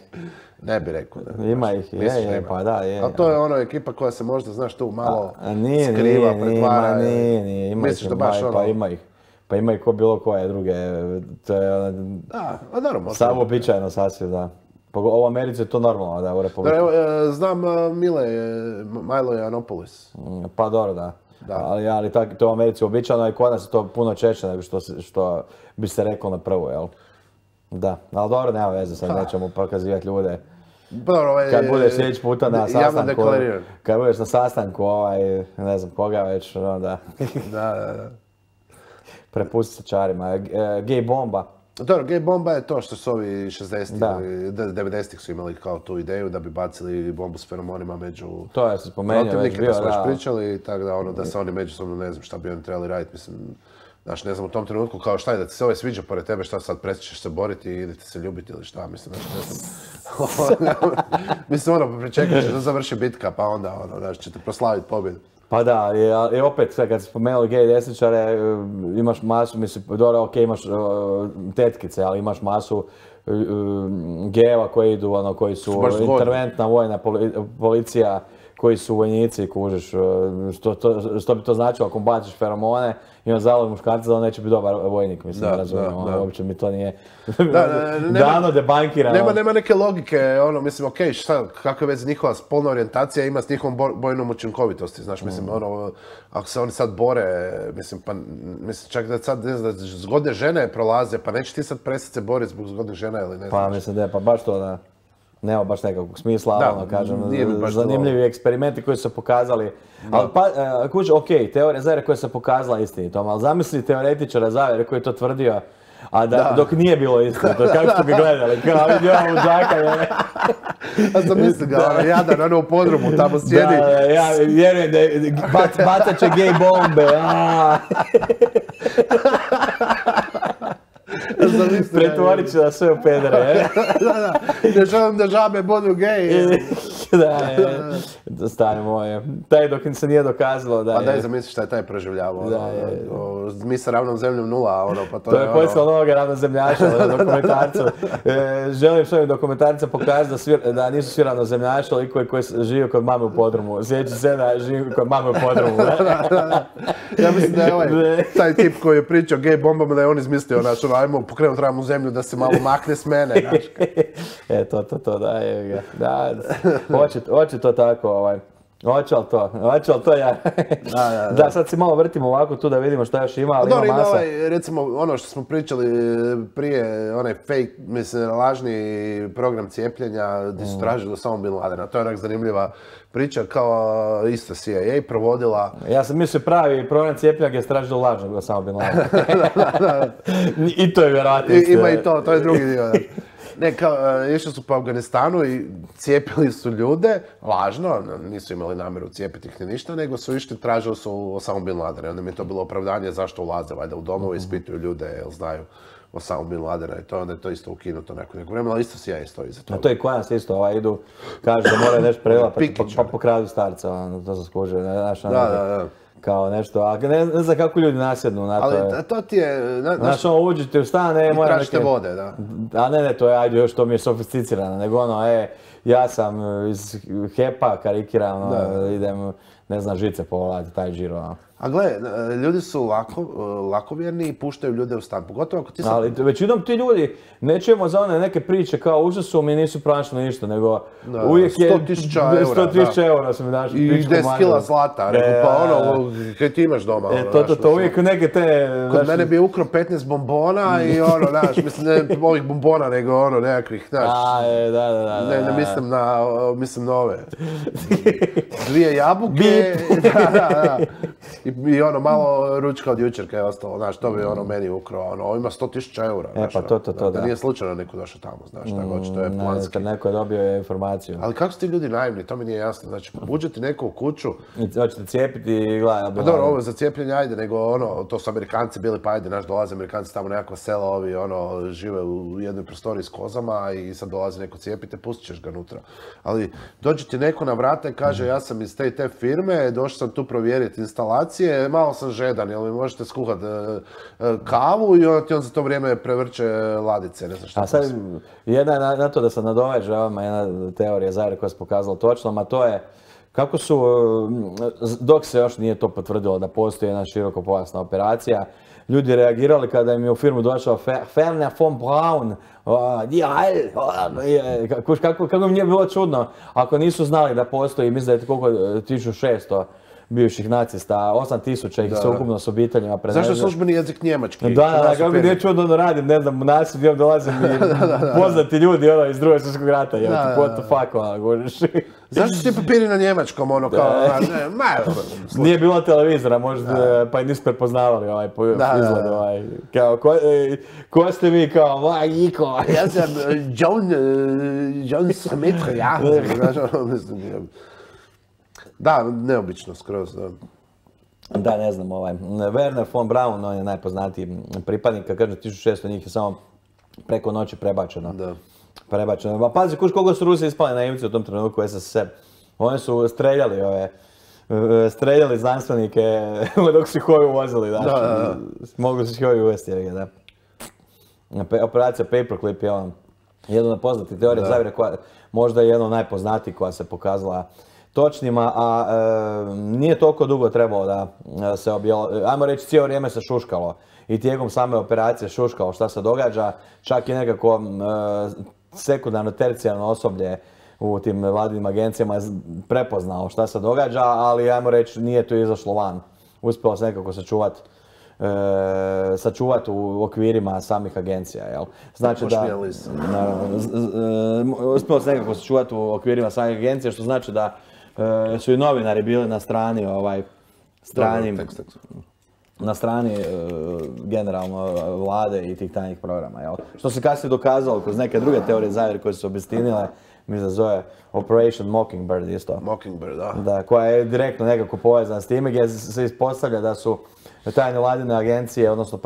S1: Ne bi rekao. Da,
S2: ima ih, je, je, pa da, je.
S1: Ali to je ono ekipa koja se možda, znaš, tu malo
S2: a, nije,
S1: skriva,
S2: nije,
S1: pretvara.
S2: Nije, nije, ima
S1: misliš
S2: ih,
S1: da baš
S2: pa,
S1: ono...
S2: pa ima ih. Pa ima ih ko bilo koje druge, to je...
S1: Da, a naravno.
S2: Samo običajno sasvim, da. U Americi je to normalno, da, u Republiku.
S1: Evo, znam Mile, Milo Yiannopoulos.
S2: Pa dobro, da.
S1: Da.
S2: Ali, ali tak, to u Americi uobičajeno i kod nas je to puno češće nego što, što bi se reklo na prvu, jel? Da, ali dobro, nema veze, sad nećemo prokazivati ljude.
S1: Dobro, ovaj,
S2: kad budeš sljedeći puta na sastanku, kad budeš na sastanku, ovaj, ne znam koga već, onda...
S1: da, da, da.
S2: Prepusti se čarima. E, gay bomba.
S1: Dobro, gay bomba je to što su ovi šezdesetih ili devedesetih su imali kao tu ideju da bi bacili bombu s feromonima među...
S2: To je se spomenuo već bio,
S1: da. smo već
S2: da.
S1: pričali, tako da ono, da se oni međusobno, ne znam šta bi oni trebali raditi, mislim... Znaš, ne znam, u tom trenutku kao šta je da ti se ovaj sviđa pored tebe, šta sad prestićeš se boriti i idete se ljubiti ili šta, mislim, znaš, ne znam. Mislim, ono, pričekaš da završi bitka, pa onda, ono, znaš, ćete proslaviti pobjedu.
S2: Pa da, i opet, kad si spomenuli gej desničare, imaš masu, mislim, dobro, ok, imaš uh, tetkice, ali imaš masu uh, gejeva koji idu, ono, koji su interventna vojna poli, policija, koji su vojnici, kužiš, što, to, što bi to značilo ako baciš feromone i on zalog muškarca da on neće biti dobar vojnik, mislim, da, razumijem, ono, uopće mi to nije da, da, dano debankirano.
S1: Nema, nema neke logike, ono, mislim, okej, okay, šta, kakve veze njihova spolna orijentacija ima s njihovom bojnom učinkovitosti, znaš, mislim, ono, ako se oni sad bore, mislim, pa, mislim, čak da sad, ne znam, da zgodne žene prolaze, pa neće ti sad prestati se boriti zbog zgodnih žena ili ne znam.
S2: Pa, mislim, da, pa baš to, da. Nema baš nekakvog smisla, da, ono, kažem, zanimljivi to... eksperimenti koji su se pokazali. Da. Ali, pa, uh, kuć, ok, teorija zavjere koja se pokazala istinitom, ali zamisli teoretičara zavjere koji je to tvrdio, a da, da. dok nije bilo istinito, kako su ga gledali, kao vidi ovo luđaka, je.
S1: A zamisli ga, ono, jadan, ono u podrumu, tamo sjedi.
S2: Da, ja vjerujem da je, bac, bacat će gej bombe, aaa. Pretvorit ću da sve u pedere, je?
S1: Da, da, ne želim da žabe budu geji.
S2: Da, je, stani moje. Taj dok im se nije dokazalo da je...
S1: Pa daj zamisli šta je taj proživljavao.
S2: Da, je.
S1: Mi sa ravnom zemljom nula, ono, pa to,
S2: to
S1: je
S2: je
S1: ono...
S2: poslao novoga ravnozemljaša na dokumentarcu. E, želim s ovim dokumentarcem pokazati da, svir, da nisu svi ravnozemljaši, ali koji, koji žive kod mame u podrumu. Sjeći se da živi kod mame u podrumu.
S1: Ja mislim da je ovaj, taj tip koji je pričao gej bombama, da je on izmislio, znaš, ono, ajmo pokrenuti ravnu zemlju da se malo makne s mene, znaš.
S2: E, to, to, to, da, je ga. Da, hoće, hoće to tako, ovaj. Hoće li to, hoće li to ja? Da, da, da. Da, sad si malo vrtimo ovako tu da vidimo šta još ima, ali
S1: dobro,
S2: ima masa.
S1: Ovaj, recimo, ono što smo pričali prije, onaj fake, mislim, lažni program cijepljenja, gdje su tražili do samo Bin Ladena. To je onak zanimljiva priča, kao isto C I A provodila.
S2: Ja sam mislio pravi program cijepljenja gdje je tražilo lažnog do samo Bin Ladena. I to je vjerojatno.
S1: Ima i to, to je drugi dio. Ne, kao, išli su po Afganistanu i cijepili su ljude, lažno, nisu imali namjeru cijepiti ih ni ništa, nego su išli, tražili su Osamu Bin Ladena. Onda mi je to bilo opravdanje zašto ulaze, valjda u domove, ispituju ljude, jel znaju Osamu Bin Ladena i to, onda je to isto ukinuto neko neko vremena, ali isto C I A stoji za to.
S2: A to i kod nas isto, ovaj, idu, kažu da moraju nešto prelapati, pa, pa pokradu starca, ono, to se skuže, znaš, ono,
S1: da, da, da.
S2: Kao nešto, a ne, ne znam kako ljudi nasjednu na to.
S1: Ali to ti je... Na,
S2: znaš, ono, uđete u stan, e, moram
S1: tražite neke... vode, da.
S2: A ne, ne, to je, ajde, još to mi je sofisticirano, nego ono, e, ja sam iz Hepa, karikiram, ono, idem, ne znam, žice povladati, taj džiro, ono.
S1: A gle, ljudi su lako, lakovjerni i puštaju ljude u stan, pogotovo ako ti sam...
S2: Ali većinom ti ljudi, ne čujemo za one neke priče kao užasno su mi nisu pronašli ništa, nego da, uvijek je...
S1: sto tisuća eura,
S2: sto tisuća eura su mi našli.
S1: I deset kila zlata, nego pa ono, kaj ti imaš doma, ono,
S2: e, to, to, to, uvijek neke te...
S1: Kod naš... mene bi ukro petnaest bombona i ono, znaš, mislim, ne ovih bombona, nego ono, nekakvih, znaš...
S2: A, e, da, da, da.
S1: Ne, ne mislim na, mislim na ove. Dvije jabuke, da, da, da. I, I ono, malo ručka od jučer kad je ostalo, znaš, to bi ono meni ukrao, ono, ovo ima sto tisuća eura,
S2: e, pa to, to, to,
S1: da, da nije slučajno neko došao tamo, znaš, tako hoće, to je planski.
S2: Ne, neko je dobio informaciju.
S1: Ali kako su ti ljudi naivni, to mi nije jasno, znači, uđe ti neko u kuću...
S2: I hoćete cijepiti i gledaj...
S1: Pa dobro, ovo za cijepljenje, ajde, nego ono, to su Amerikanci bili, pa ajde, znaš, dolaze Amerikanci tamo nekakva sela, ovi, ono, žive u jednoj prostoriji s kozama i sad dolazi neko cijepite, pustit ćeš ga unutra. Ali dođe ti neko na vrata i kaže, ja sam iz te i te firme, došao sam tu provjeriti instalacije, malo sam žedan, jel mi možete skuhat e, e, kavu i onda ti on za to vrijeme prevrće ladice, ne znam šta.
S2: A sad, jedna je na, na to da se nadoveže ovama jedna teorija zavjere koja se pokazala točno, a to je kako su, dok se još nije to potvrdilo da postoji jedna širokopojasna operacija, ljudi reagirali kada im je u firmu došao Ferner von Braun, kako, kako, kako im nije bilo čudno ako nisu znali da postoji, mislim da je koliko, tisuću šesto bivših nacista, osam tisuća ih se ukupno s obiteljima prevezli.
S1: Zašto je službeni jezik njemački?
S2: Da, da, kako mi nije čudno da radim, ne znam, u nasilju dolazim i poznati ljudi ono, iz drugog svjetskog rata, jel ti, what the fuck, ono, govoriš.
S1: Zašto su ti papiri na njemačkom, ono, kao, ne, ma,
S2: nije bilo televizora, možda, pa i nisu prepoznavali ovaj izgled, ovaj, kao, ko, ko ste vi, kao, vaj, Iko.
S1: Ja sam John, John Smith, ja, znaš, ono, mislim, da, neobično skroz, da.
S2: Da, ne znam, ovaj, Werner von Braun, on je najpoznatiji pripadnik, kad kažem tisuću šesto njih je samo preko noći prebačeno. Da. Prebačeno. Pa pazi, kuš koliko su Rusi ispali naivci u tom trenutku u S S S R. Oni su streljali ove, streljali znanstvenike dok su ih ovi uvozili, da. Da, da. Mogli su ih ovi uvesti, da. Operacija Paperclip je on, jedna od poznatih teorija zavjere koja možda je jedna od najpoznatijih koja se pokazala točnima, a e, nije toliko dugo trebalo da se objelo, ajmo reći cijelo vrijeme se šuškalo i tijekom same operacije šuškalo šta se događa, čak i nekako e, sekundarno, tercijarno osoblje u tim vladinim agencijama je prepoznalo šta se događa, ali ajmo reći nije to izašlo van. Uspjelo se nekako sačuvati E, sačuvati u okvirima samih agencija, jel? Znači da, naravno, uspjelo se nekako sačuvati u okvirima samih agencija, što znači da e, su i novinari bili na strani, ovaj, strani, na strani e, generalno vlade i tih tajnih programa, jel? Što se kasnije dokazalo kroz neke druge teorije zavjere koje su obistinile mislim da zove Operation Mockingbird isto.
S1: Mockingbird, da.
S2: Da, koja je direktno nekako povezana s time gdje se ispostavlja da su tajne vladine agencije, odnosno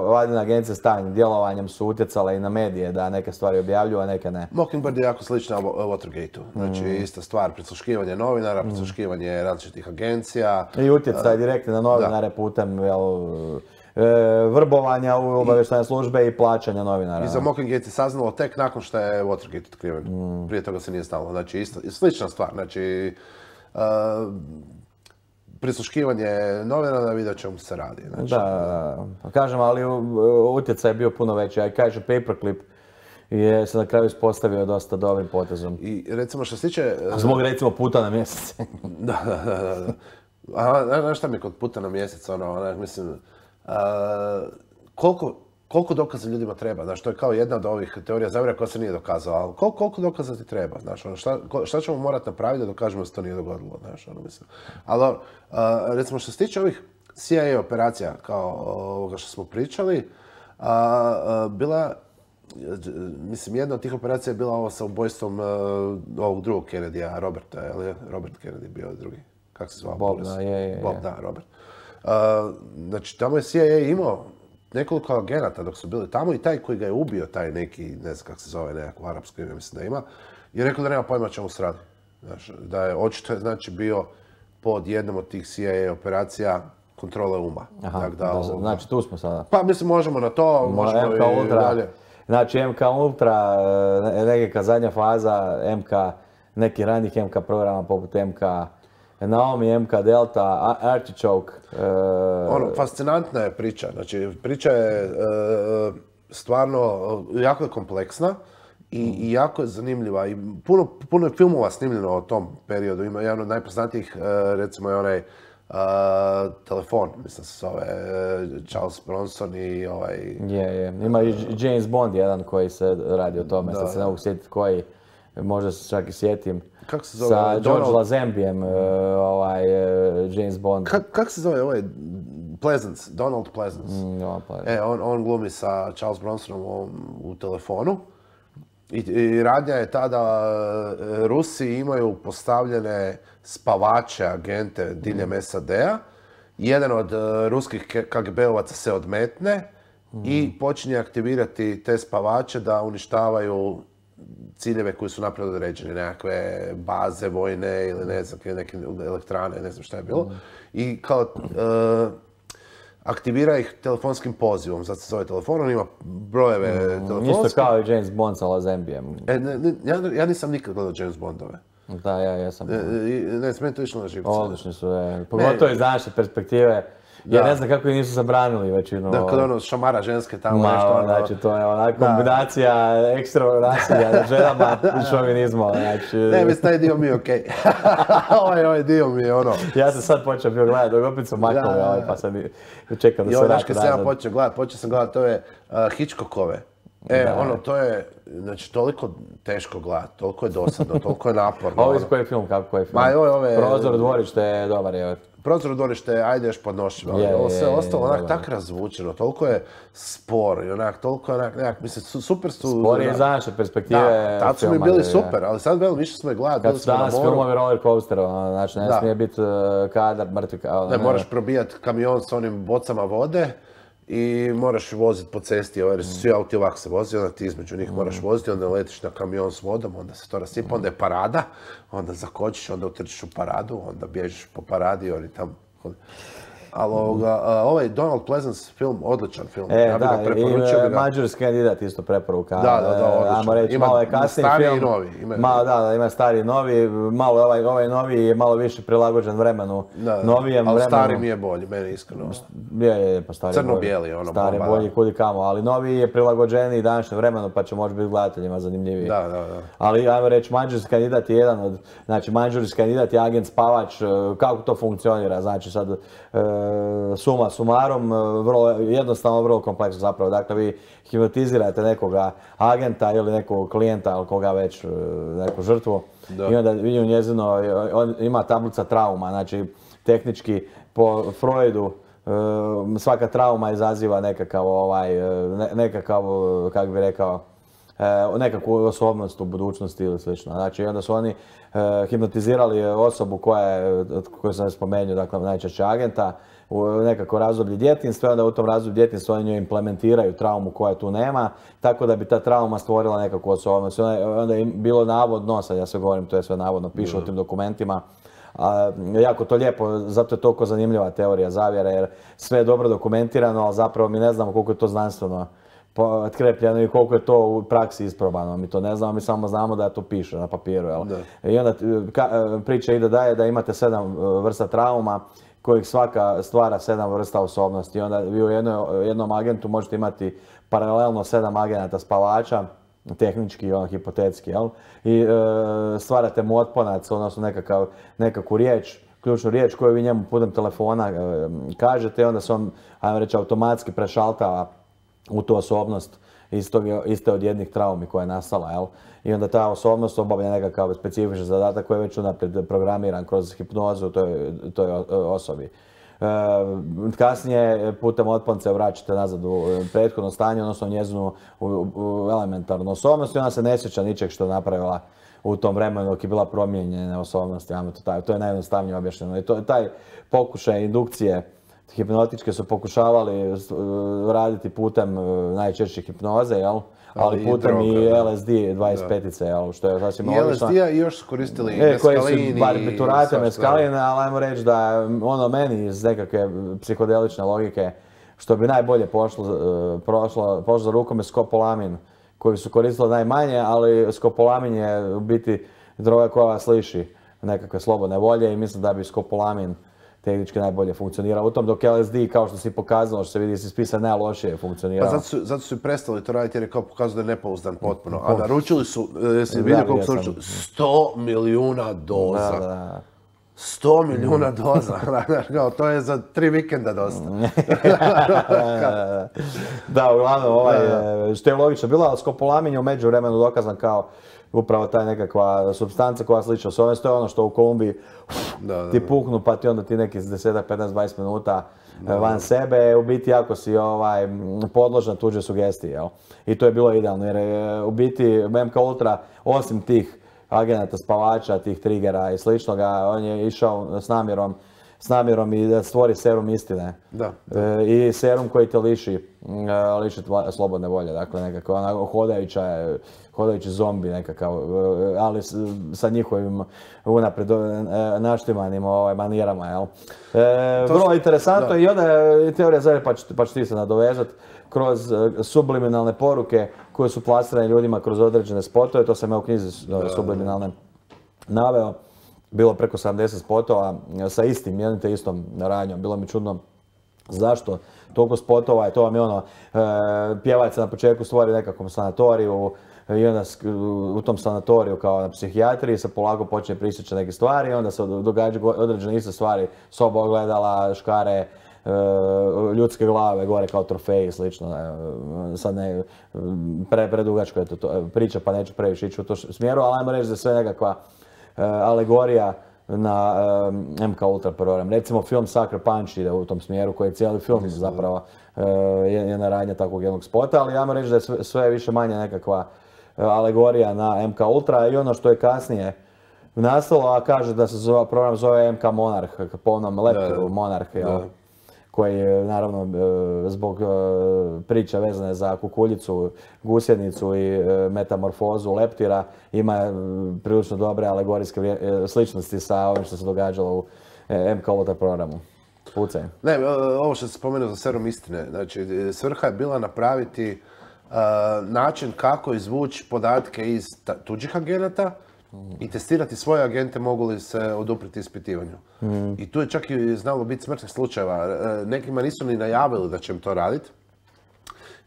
S2: vladine agencije s tajnim djelovanjem su utjecale i na medije da neke stvari objavljuju, a neke ne.
S1: Mockingbird je jako slična Watergate-u. Znači, mm. ista stvar, prisluškivanje novinara, prisluškivanje različitih agencija.
S2: I utjecaj direktni na novinare da. putem jel, e, vrbovanja u obavještajne službe i plaćanja novinara.
S1: I za Mockinggate se saznalo tek nakon što je Watergate otkriven. Mm. Prije toga se nije znalo. Znači, isto, slična stvar. Znači, uh, prisluškivanje novinara, vidjet ćemo se radi. Znači,
S2: da, kažem, ali utjecaj je bio puno veći. A kaže, Paperclip je se na kraju ispostavio dosta dobrim potezom.
S1: I recimo što se tiče...
S2: Zbog recimo puta na mjesec.
S1: da, da, da, da. A, znaš šta mi je kod puta na mjesec, ono, onak, mislim, a, koliko, koliko dokaza ljudima treba, znaš, to je kao jedna od ovih teorija zavjera koja se nije dokazala, ali koliko, koliko dokaza ti treba, znaš, ono, šta, šta ćemo morati napraviti da dokažemo da se to nije dogodilo, znaš, ono, mislim. Ali, a, recimo, što se tiče ovih C I A operacija, kao ovoga što smo pričali, a, a, bila, mislim, jedna od tih operacija je bila ovo sa ubojstvom uh, ovog drugog Kennedy-a, Roberta, je li Robert Kennedy bio drugi? Kako se zvao?
S2: Bob, da, je, je, je.
S1: Bob, da, Robert. Uh, znači, tamo je C I A imao nekoliko agenata dok su bili tamo i taj koji ga je ubio, taj neki, ne znam kako se zove, nekako arapsko ime, mislim da ima, je rekao da nema pojma čemu se radi. Znači, da je očito je, znači, bio pod jednom od tih C I A operacija kontrole uma.
S2: Aha,
S1: tak da,
S2: da, znači tu smo sada.
S1: Pa, mislim, možemo na to,
S2: Mo,
S1: možemo
S2: M K
S1: i
S2: Ultra.
S1: dalje.
S2: Znači M K Ultra, neka zadnja faza, M K, neki ranijih M K programa poput M K Naomi, M K Delta, Artichoke. E...
S1: Ono, fascinantna je priča. Znači, priča je e, stvarno jako je kompleksna i, mm. i jako je zanimljiva. I puno, puno je filmova snimljeno o tom periodu. Ima jedan od najpoznatijih, e, recimo je onaj Uh, telefon, mislim se zove uh, Charles Bronson i ovaj...
S2: Je, je. Ima i James Bond jedan koji se radi o tome, sad se ne mogu sjetiti koji, možda se čak i sjetim.
S1: Kako se zove?
S2: Sa
S1: Donald...
S2: George Lazenbyjem, uh, ovaj, uh, James Bond.
S1: Ka, kako se zove ovaj? Pleasance, Donald Pleasance.
S2: Mm, no, Pleasance.
S1: E, on, on glumi sa Charles Bronsonom u, u telefonu. I, i radnja je ta da uh, Rusi imaju postavljene spavače, agente diljem S A D-a. Jedan od uh, ruskih K G B-ovaca se odmetne mm. i počinje aktivirati te spavače da uništavaju ciljeve koji su naprijed određeni, nekakve baze vojne ili ne znam, neke elektrane, ne znam šta je bilo. Mm. I kao uh, aktivira ih telefonskim pozivom, zato se zove telefon, on ima brojeve mm, telefonske.
S2: Isto kao i James Bond sa Lazenbyjem.
S1: E, ne, ne, ja, ja nisam nikad gledao James Bondove.
S2: Da, ja jesam.
S1: E, ne, meni to išlo na živce.
S2: Odlični su, je. Pogotovo iz naše perspektive. Ja ne znam kako ih nisu zabranili većinu.
S1: Da, kad ono šamara ženske tamo
S2: Ma,
S1: nešto. Ono,
S2: znači, to je ona kombinacija ekstremnog nasilja nad ženama i šovinizma. Znači...
S1: Ne, mislim, taj dio mi je okej. Okay. ovaj, ovaj dio mi je ono...
S2: Ja sam sad počeo bio gledati, dok opet sam maknuli, da, ovaj, pa sam čekam da se vrati nazad. I
S1: ovaj, sam počeo gledati, počeo sam gledati, to je uh, Hitchcockove. E, da. ono, to je, znači, toliko teško gledati, toliko je dosadno, toliko je naporno.
S2: Ovo iz koji je film, kako koji je film?
S1: Ma, ove, ove...
S2: Prozor u dvorište je dobar, je.
S1: Prozor u dvorište, ajde još podnošljivo, ali ovo sve ostalo onak tak razvučeno, toliko je spor i onak, toliko je onak, nekak, mislim, super su...
S2: Spor je iz naše perspektive
S1: da, tad su mi bili super, ali sad velim, više smo je gledati,
S2: bili smo na moru. Kad su danas filmovi roller coaster, znači ne smije biti kadar, mrtvi kadar.
S1: Ne, moraš probijati kamion s onim bocama vode i moraš voziti po cesti, jer su svi auti ovako se vozi, onda ti između njih moraš voziti, onda letiš na kamion s vodom, onda se to rasipa, onda je parada, onda zakočiš, onda utrčiš u paradu, onda bježiš po paradi, oni tam... Ali ovaj Donald Pleasance film, odličan film.
S2: E, ja da, i Mađarski kandidat isto preporuka.
S1: Da, da, da, odličan.
S2: Ajmo reći, malo je kasniji film.
S1: Stari i novi. Ima,
S2: malo, da, da, ima stari i novi. Malo ovaj, ovaj novi je malo više prilagođen vremenu.
S1: Da,
S2: novijem
S1: ali
S2: vremenu.
S1: Stari mi je bolji, meni iskreno.
S2: Je, je, pa stari
S1: crno-bijeli, ono.
S2: Stari
S1: bomba,
S2: bolji kudi kamo, ali novi je prilagođeniji današnjem vremenu, pa će možda biti gledateljima zanimljiviji.
S1: Da, da, da.
S2: Ali ajmo reći, Mađarski kandidat je jedan od, znači Mađarski kandidat je agent spavač, kako to funkcionira, znači sad e, suma sumarom, vrlo jednostavno, vrlo kompleksno zapravo. Dakle, vi hipnotizirate nekoga agenta ili nekog klijenta ili koga već, neku žrtvu. Da. I onda vi u njezino, on ima tablica trauma, znači tehnički po Freudu svaka trauma izaziva nekakav ovaj, nekakav, kako bi rekao, nekakvu osobnost u budućnosti ili slično. Znači, onda su oni hipnotizirali osobu koja je, koju sam spomenuo, dakle, najčešće agenta, u nekako razdoblje djetinjstva i onda u tom razdoblju djetinjstva oni njoj implementiraju traumu koja tu nema, tako da bi ta trauma stvorila nekakvu osobnost. Onda je bilo navodno, sad ja sve govorim, to je sve navodno, piše u tim dokumentima, a, jako to lijepo, zato je toliko zanimljiva teorija zavjere, jer sve je dobro dokumentirano, ali zapravo mi ne znamo koliko je to znanstveno potkrepljeno i koliko je to u praksi isprobano. Mi to ne znamo, mi samo znamo da to piše na papiru. Jel? I onda ka, priča ide dalje da imate sedam vrsta trauma, kojih svaka stvara sedam vrsta osobnosti. I onda vi u jednoj, jednom agentu možete imati paralelno sedam agenata spavača, tehnički i ono hipotetski, jel? I e, stvarate mu otponac, odnosno nekakav, nekakvu riječ, ključnu riječ koju vi njemu putem telefona e, kažete i onda se on, ajmo reći, automatski prešaltava u tu osobnost istog, iste od jednih traumi koja je nastala, jel? I onda ta osobnost obavlja nekakav specifičan zadatak koji je već unaprijed programiran kroz hipnozu toj, toj osobi. E, kasnije putem otponce vraćate nazad u prethodno stanje, odnosno njezinu u, u elementarnu osobnost i ona se ne sjeća ničeg što je napravila u tom vremenu dok je bila promijenjena osobnost. To, to je najjednostavnije objašnjeno. I to je taj pokušaj indukcije hipnotičke su pokušavali raditi putem najčešće hipnoze, jel? Ali putem i L S D dvadeset pet, jel? Što je sasvim logično.
S1: I L S D-a i još su koristili
S2: meskalini. Koji su barbiturate, meskaline, ali ajmo reći da ono meni iz nekakve psihodelične logike, što bi najbolje pošlo, pošlo, pošlo za rukom je skopolamin, koji su koristili najmanje, ali skopolamin je u biti droga koja vas liši nekakve slobodne volje i mislim da bi skopolamin tehnički najbolje funkcionira u tom, dok L S D, kao što si pokazalo, što se vidi, si spisa najlošije funkcionirao.
S1: Pa zato su, zato su i prestali to raditi jer je kao pokazao da je nepouzdan potpuno. A naručili su, jesi vidio koliko su naručili? sto milijuna doza. Da, da. sto milijuna doza. To je za tri vikenda dosta.
S2: Da, uglavnom, ovaj, što je logično bilo, ali skopolamin je u međuvremenu dokazan kao upravo ta nekakva supstanca koja slična osobnost. To je ono što u Kolumbiji da, da, ti puknu pa ti onda ti neki deset, petnaest, dvadeset minuta da, van da. sebe, u biti ako si ovaj, podložan tuđe sugestije. Jel? I to je bilo idealno jer je, u biti M K Ultra osim tih agenata spavača, tih triggera i sličnoga, on je išao s namjerom s namjerom i da stvori serum istine.
S1: Da, da.
S2: E, I serum koji te liši, liši tva, slobodne volje, dakle nekako ona hodajuća, hodajući zombi nekakav, ali s, sa njihovim unaprijed naštimanim ovaj, manirama, jel? E, vrlo su, interesantno da. I onda je teorija zavjere, pa, pa ću ti se nadovezat, kroz subliminalne poruke koje su plasirane ljudima kroz određene spotove, to sam ja u knjizi da, subliminalne naveo. Bilo preko sedamdeset spotova sa istim, jednim te istom radnjom. Bilo mi čudno zašto toliko spotova i to vam je ono, e, pjevač se na početku stvori nekakvom sanatoriju i onda u tom sanatoriju kao na psihijatriji se polako počne prisjećati neke stvari i onda se događaju određene iste stvari, soba ogledala, škare, e, ljudske glave gore kao trofeji i slično. E, sad ne, pre, predugačko je to, to priča pa neću previše ići u to smjeru, ali ajmo reći da je sve nekakva Uh, alegorija na uh, M K Ultra program. Recimo film Sucker Punch ide u tom smjeru koji je cijeli film zapravo uh, jedna radnja takvog jednog spota, ali ajmo reći da je sve, sve više manje nekakva uh, alegorija na M K Ultra i ono što je kasnije nastalo, a kaže da se zove, program zove M K Monarch, po onom leptiru Monarch, jel? Koji je naravno zbog priča vezane za kukuljicu, gusjenicu i metamorfozu leptira ima prilično dobre alegorijske sličnosti sa ovim što se događalo u M K Ultra programu. Pucaj.
S1: Ne, ovo što se spomenuo za serum istine, znači svrha je bila napraviti uh, način kako izvući podatke iz tuđih agenata i testirati svoje agente mogu li se odupriti ispitivanju. Mm. I tu je čak i znalo biti smrtnih slučajeva. Nekima nisu ni najavili da će im to raditi.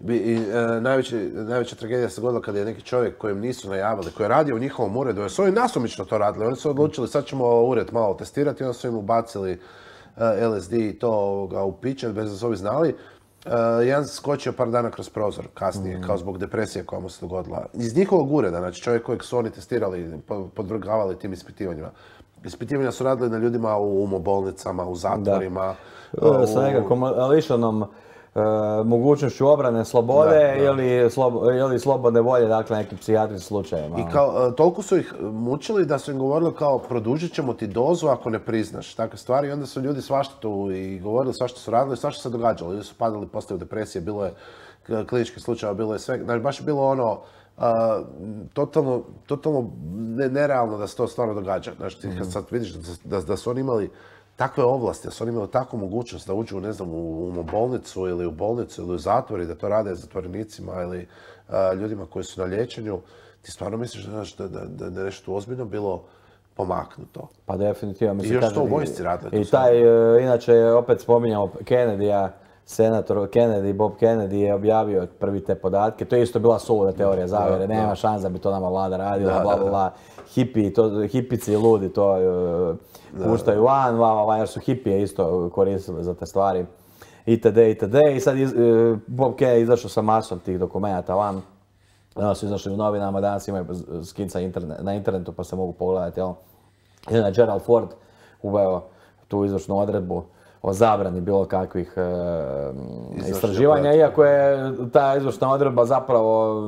S1: I, e, najveći, najveća tragedija se dogodila kada je neki čovjek kojem nisu najavili, koji je radio u njihovom uredu, jer su oni nasumično to radili. Oni su odlučili sad ćemo ured malo testirati i onda su im ubacili e, L S D i to ga u piće, bez da su ovi znali. Uh, jedan se skočio par dana kroz prozor kasnije, mm. kao zbog depresije koja mu se dogodila. Iz njihovog ureda, znači čovjek kojeg su oni testirali, podvrgavali tim ispitivanjima. Ispitivanja su radili na ljudima u umobolnicama, u zatvorima.
S2: Da. U... Sa nekakvom lišanom mogućnošću obrane slobode da, da. Ili, slobo, ili slobodne volje, dakle nekim psihijatrijskim slučajevima.
S1: I kao, toliko su ih mučili da su im govorili kao produžit ćemo ti dozu ako ne priznaš takve stvari i onda su ljudi svašta tu i govorili svašta su radili, svašta se događalo. Ljudi su padali, postali u depresije, bilo je kliničkih slučajeva, bilo je sve, znači baš je bilo ono Uh, totalno, totalno ne, nerealno da se to stvarno događa. Znači, kad sad vidiš da, da, da su oni imali takve ovlasti, da su oni imali takvu mogućnost da uđu, ne znam, u, u bolnicu ili u bolnicu ili u zatvor i da to rade zatvorenicima ili uh, ljudima koji su na liječenju, ti stvarno misliš da, da, da, da je nešto ozbiljno bilo pomaknuto.
S2: Pa definitivno.
S1: I još to u vojsci radili.
S2: I taj, uh, inače, opet spominjamo Kennedy-a, senator Kennedy, Bob Kennedy je objavio prvi te podatke. To je isto bila suluda teorija zavjere. Nema da. šansa da bi to nama vlada radila, da, bla, bla, bla. Hipi, to, hipici i ludi to uh, puštaju van, va, va, jer su hipije isto koristili za te stvari. Itd. itd. I sad iz, uh, Bob Kennedy izašao sa masom tih dokumenata van. Danas su izašli u novinama, danas imaju skica interne, na internetu pa se mogu pogledati. Jel? Jedan Gerald Ford uveo tu izvršnu odredbu o zabrani bilo kakvih e, istraživanja, iako je ta izvršna odredba zapravo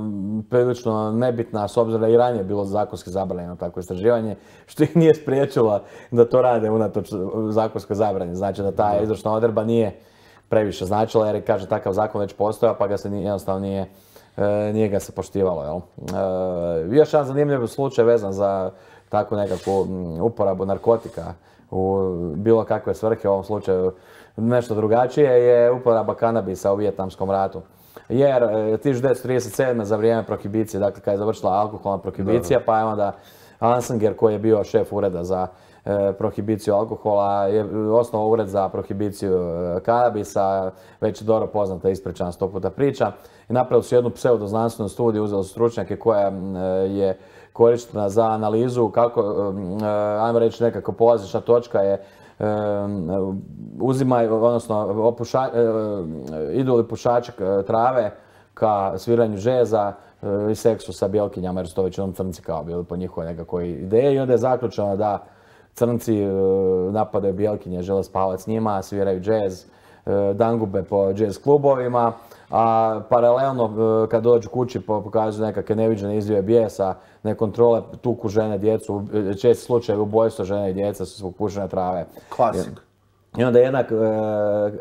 S2: prilično nebitna, s obzirom da i ranije bilo zakonski zabranjeno takvo istraživanje, što ih nije spriječilo da to rade unatoč zakonskoj zabrani. Znači da ta izvršna odredba nije previše značila, jer kaže takav zakon već postojao, pa ga se jednostavno nije, e, nije ga se poštivalo. Jel? E, još jedan zanimljiv slučaj vezan za takvu nekakvu uporabu narkotika u bilo kakve svrhe, u ovom slučaju nešto drugačije, je uporaba kanabisa u Vijetnamskom ratu. Jer tisuću devetsto trideset sedme. za vrijeme prohibicije, dakle kad je završila alkoholna prohibicija, pa je onda Ansinger, koji je bio šef ureda za e, prohibiciju alkohola, je osnovao ured za prohibiciju e, kanabisa, već je dobro poznata, ispričana sto puta priča. I napravili su jednu pseudoznanstvenu studiju, uzeli su stručnjake koja e, je korištena za analizu kako, ajmo reći, nekako polazišna točka je uzimaju, odnosno opuša, idu li pušači trave ka sviranju džeza i seksu sa bjelkinjama, jer su to većinom crnci kao bili po njihovoj nekakvoj ideji. I onda je zaključeno da crnci napadaju bjelkinje, žele spavati s njima, sviraju džez, dangube po džez klubovima, a paralelno kad dođu kući pokazuju nekakve neviđene izljeve bijesa, nekontrole, tuku žene, djecu, česti slučaj ubojstva žene i djeca su zbog pušenja trave.
S1: Klasik.
S2: I onda jedna e,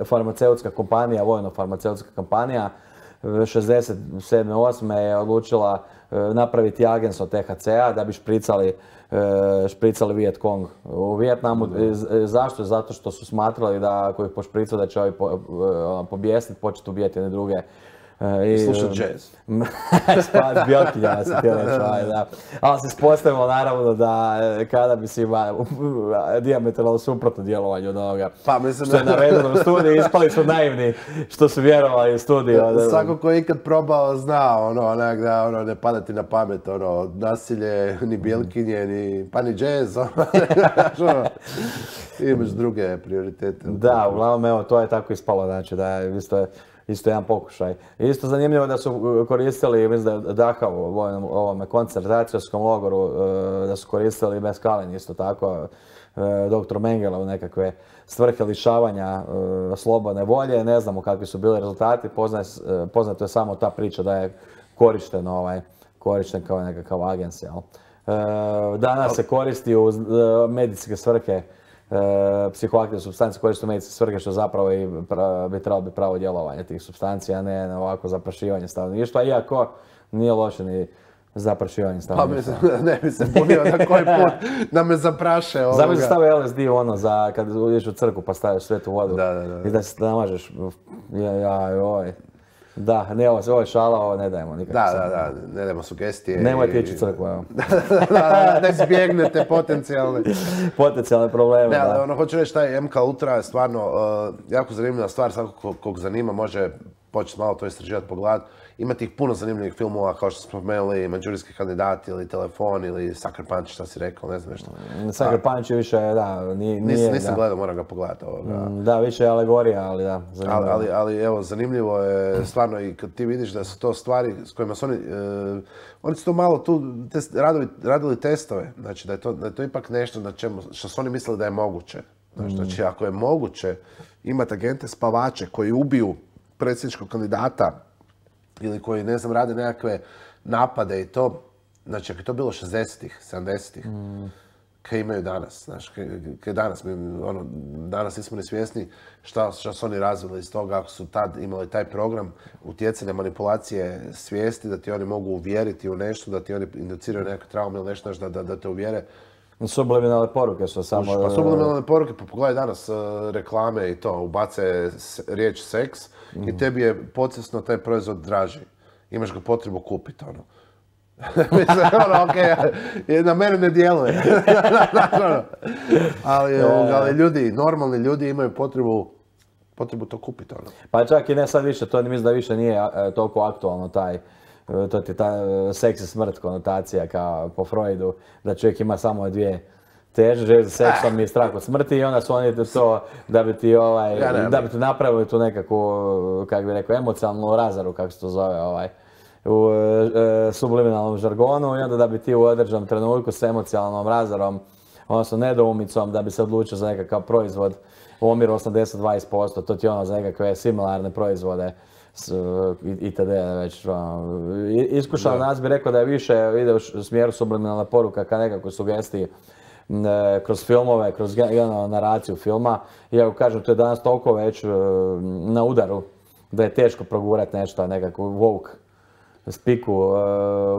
S2: farmaceutska kompanija, vojno-farmaceutska kompanija, šezdeset sedme osme je odlučila e, napraviti agens od T H C-a da bi špricali, e, špricali Viet Cong u Vijetnamu. E, zašto? Zato što su smatrali da ako ih pošpricaju da će ovi po, e, pobjesniti, početi ubijati jedne druge.
S1: I slušat džez.
S2: Spas bjelkinja se htio reći, da. Ali se ispostavilo naravno da kada bi si ima dijametralno suprotno djelovanje od onoga
S1: pa, mislim,
S2: što je navedeno u studiju, ispali su naivni što su vjerovali u studiju.
S1: Svako ko je ikad probao zna, ono, onak da ono, ne pada ti na pamet, ono, nasilje, ni bjelkinje, ni, pa ni džez, ono, imaš druge prioritete.
S2: Da, uglavnom, evo, to je tako ispalo, znači da je isto Isto jedan pokušaj. Isto zanimljivo da su koristili, mislim da je Dachau u ovome koncentracijskom logoru, da su koristili meskalin isto tako, doktor Mengele u nekakve svrhe lišavanja slobodne volje. Ne znamo kakvi su bili rezultati, poznato je samo ta priča da je korišten, ovaj, korišten kao nekakav agens. Danas se koristi u medicinske svrhe. E, psihoaktivne supstance koriste u medicinske svrhe, što zapravo i pra, bi trebalo biti pravo djelovanje tih supstancija, a ne na ovako zaprašivanje stanovništva, iako nije loše ni zaprašivanje stanovništva.
S1: Pa mislim, ne bi se punio na koji put da me zapraše ovoga.
S2: Zamisli stavio L S D ono za kad uđeš u crkvu pa staviš svetu vodu
S1: da, da, da.
S2: i da se namažeš. Ja, ja, oj. Da, ne, ovo, ovo je šala, ovo ne dajemo nikako.
S1: Da, da, da, ne dajemo sugestije.
S2: Nemojte ići u crkvu, evo.
S1: da, da, da izbjegnete potencijalne...
S2: potencijalne probleme,
S1: ne,
S2: da.
S1: ali ono, hoću reći, taj M K Ultra je stvarno uh, jako zanimljiva stvar, svako kog zanima može početi malo to istraživati, pogledati. Ima tih puno zanimljivih filmova, kao što smo spomenuli, Manđurijski kandidati ili Telefon ili Sucker Punch, šta si rekao, ne znam nešto.
S2: Sucker Punch je više, da, nije...
S1: Nis, nisam da. gledao, moram ga pogledati ovoga.
S2: Da, više je alegorija, ali da, zanimljivo.
S1: Ali, ali, ali evo, zanimljivo je stvarno i kad ti vidiš da su to stvari s kojima su oni... Uh, oni su to malo tu test, radili, radili testove, znači da je, to, da je to ipak nešto na čemu, što su oni mislili da je moguće. Znači, mm. znači ako je moguće imati agente spavače koji ubiju predsjedničkog kandidata ili koji, ne znam, rade nekakve napade i to, znači, ako je to bilo šezdesetih, sedamdesetih, mm. kaj imaju danas, znaš, kaj danas, mi, ono, danas nismo ni svjesni šta, šta su oni razvili iz toga, ako su tad imali taj program utjecanja, manipulacije svijesti, da ti oni mogu uvjeriti u nešto, da ti oni induciraju nekakve traume ili nešto, da, da, da te uvjere.
S2: Subliminalne poruke su samo...
S1: Pa subliminalne poruke, pa pogledaj danas uh, reklame i to, ubace s, riječ seks mm. i tebi je podsvjesno taj proizvod draži. Imaš ga potrebu kupiti, ono. Mislim, ono, okej, okay, na mene ne djeluje. ali, ali ljudi, normalni ljudi imaju potrebu, potrebu to kupiti, ono.
S2: Pa čak i ne sad više, to mislim da više nije toliko aktualno taj, to ti ta seks i smrt konotacija kao po Freudu, da čovjek ima samo dvije teže, želje za seksom i strah od smrti i onda su oni to da bi ti ovaj, ja, ne, da bi ti napravili tu nekakvu, kako bi rekao, emocionalnu razaru, kako se to zove, ovaj, u e, subliminalnom žargonu i onda da bi ti u određenom trenutku s emocionalnom razarom, odnosno nedoumicom, da bi se odlučio za nekakav proizvod u omjeru osamdeset dvadeset posto, to ti ono za nekakve similarne proizvode s, itd. Već, ono, iskušao nas bi rekao da je više ide u smjeru subliminalna poruka ka nekakvoj sugestiji e, kroz filmove, kroz generalnu naraciju filma. Iako kažem, to je danas toliko već e, na udaru da je teško progurati nešto, nekakvu woke spiku uh,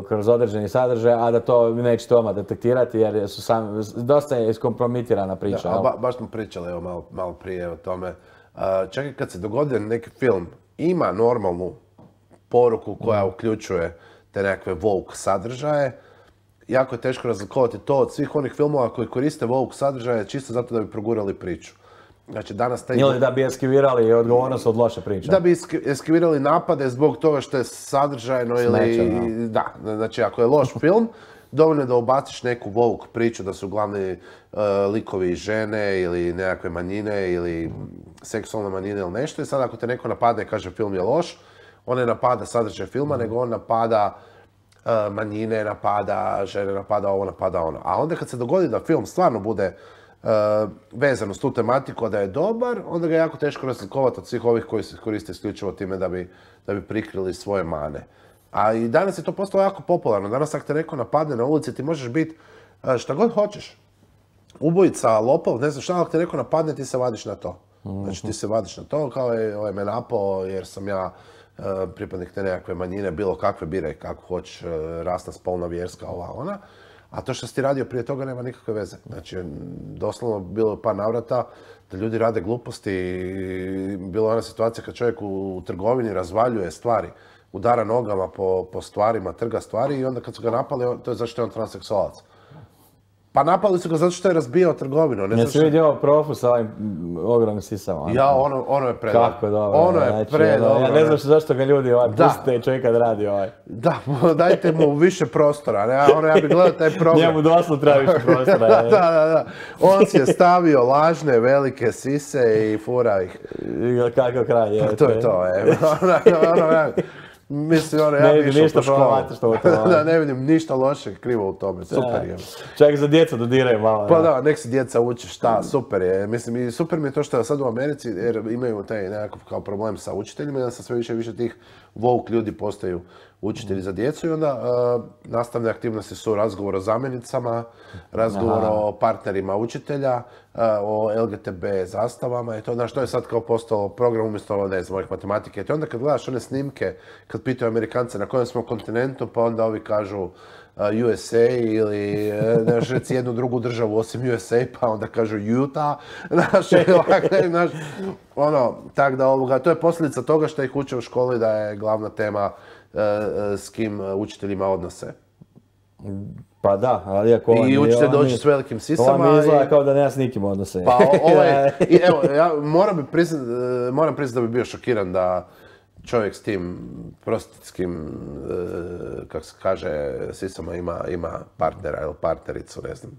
S2: kroz određeni sadržaj, a da to nećete odmah detektirati jer su sam, dosta je iskompromitirana priča.
S1: Da, ba, baš smo pričali evo, malo, malo prije o tome. Uh, čak i kad se dogodi neki film, ima normalnu poruku koja mm. uključuje te nekakve woke sadržaje. Jako je teško razlikovati to od svih onih filmova koji koriste woke sadržaje čisto zato da bi progurali priču. Znači, danas taj...
S2: Ili da bi eskivirali odgovornost od loše priče.
S1: Da bi eskivirali napade zbog toga što je sadržajno ili...
S2: Smeće,
S1: da, znači ako je loš film, dovoljno je da ubaciš neku woke priču da su glavni uh, likovi žene ili nekakve manjine ili seksualne manjine ili nešto. I sad ako te neko napadne i kaže film je loš, on ne napada sadržaj filma, mm. nego on napada uh, manjine, napada žene, napada ovo, napada ono. A onda kad se dogodi da film stvarno bude Uh, vezano s tu tematiku, da je dobar, onda ga je jako teško razlikovati od svih ovih koji se koriste isključivo time da bi, da bi prikrili svoje mane. A i danas je to postalo jako popularno. Danas ako te neko napadne na ulici, ti možeš biti uh, šta god hoćeš. Ubojica, lopov, ne znam šta, ako te neko napadne, ti se vadiš na to. Znači ti se vadiš na to, kao je ovaj me napao jer sam ja uh, pripadnik te nekakve manjine, bilo kakve, biraj kako hoćeš, uh, rasna, spolna, vjerska, ova, ona. A to što si ti radio prije toga nema nikakve veze. Znači, doslovno bilo je par navrata da ljudi rade gluposti. Bila je ona situacija kad čovjek u, u trgovini razvaljuje stvari, udara nogama po, po stvarima, trga stvari i onda kad su ga napali, to je zašto je on transseksualac. Pa napali su ga zato što je razbijao trgovinu. Ne
S2: Jesi vidio Profu sa ovim ogromnim sisama?
S1: Ja, ono, ono je predobro.
S2: Kako dobro.
S1: Ono je
S2: znači,
S1: predobro.
S2: Ja ne znam zašto ga ljudi ovaj, pustite čovjeka da radi ovaj.
S1: Da, dajte mu više prostora. Ne? Ono, ja bih gledao taj program.
S2: Njemu doslovno treba više prostora.
S1: da, da, da. On si je stavio lažne, velike sise i fura ih.
S2: Kakav kraj je.
S1: Pa to je to, je. ono, ono, ja, mislim, ono, ja bi išao po školu. Da, ne vidim ništa loše krivo u tome. Super je.
S2: Čak za djecu dodiraju malo.
S1: Pa da, nek si djeca uči šta, super je. Mislim, i super mi je to što je sad u Americi, jer imaju taj nekakav kao problem sa učiteljima, da sa sve više i više tih woke ljudi postaju učitelji za djecu i onda uh, nastavne aktivnosti su razgovor o zamjenicama, razgovor Aha. o partnerima učitelja, uh, o L G T B zastavama i to, znaš, to je sad kao postalo program umjesto, ne znam, ovih matematike. I onda kad gledaš one snimke, kad pitaju Amerikance na kojem smo kontinentu, pa onda ovi kažu uh, U S A ili, znaš, reci jednu drugu državu osim U S A, pa onda kažu Utah, znaš, znaš, ono, tak da ovoga, to je posljedica toga što ih uče u školi da je glavna tema s kim učiteljima odnose.
S2: Pa da, ali ako on...
S1: I učitelj dođe s velikim sisama.
S2: Ovo mi izgleda i... kao da nema s nikim odnose.
S1: Pa ovo je... I evo, ja moram priznat, moram priznat da bi bio šokiran da čovjek s tim prostitskim, kako se kaže, sisama ima, ima partnera ili partnericu, ne znam.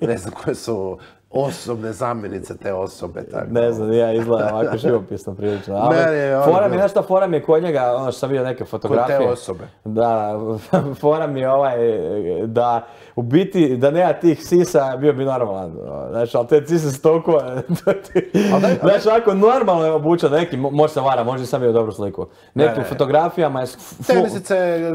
S1: Ne znam koje su osobne zamjenice te osobe. Tako.
S2: Ne znam, ja izgledam ovako živopisno prilično. Ali,
S1: je,
S2: fora mi, znaš šta, fora mi je kod njega, ono što sam vidio neke fotografije.
S1: Kod te osobe.
S2: Da, fora mi je ovaj, da u biti, da nema tih sisa, bio bi normalan. Znaš, ali te sise su toliko... Znaš, ovako normalno je obučen, neki, može se vara, može sam bio dobru sliku. Nekim fotografijama je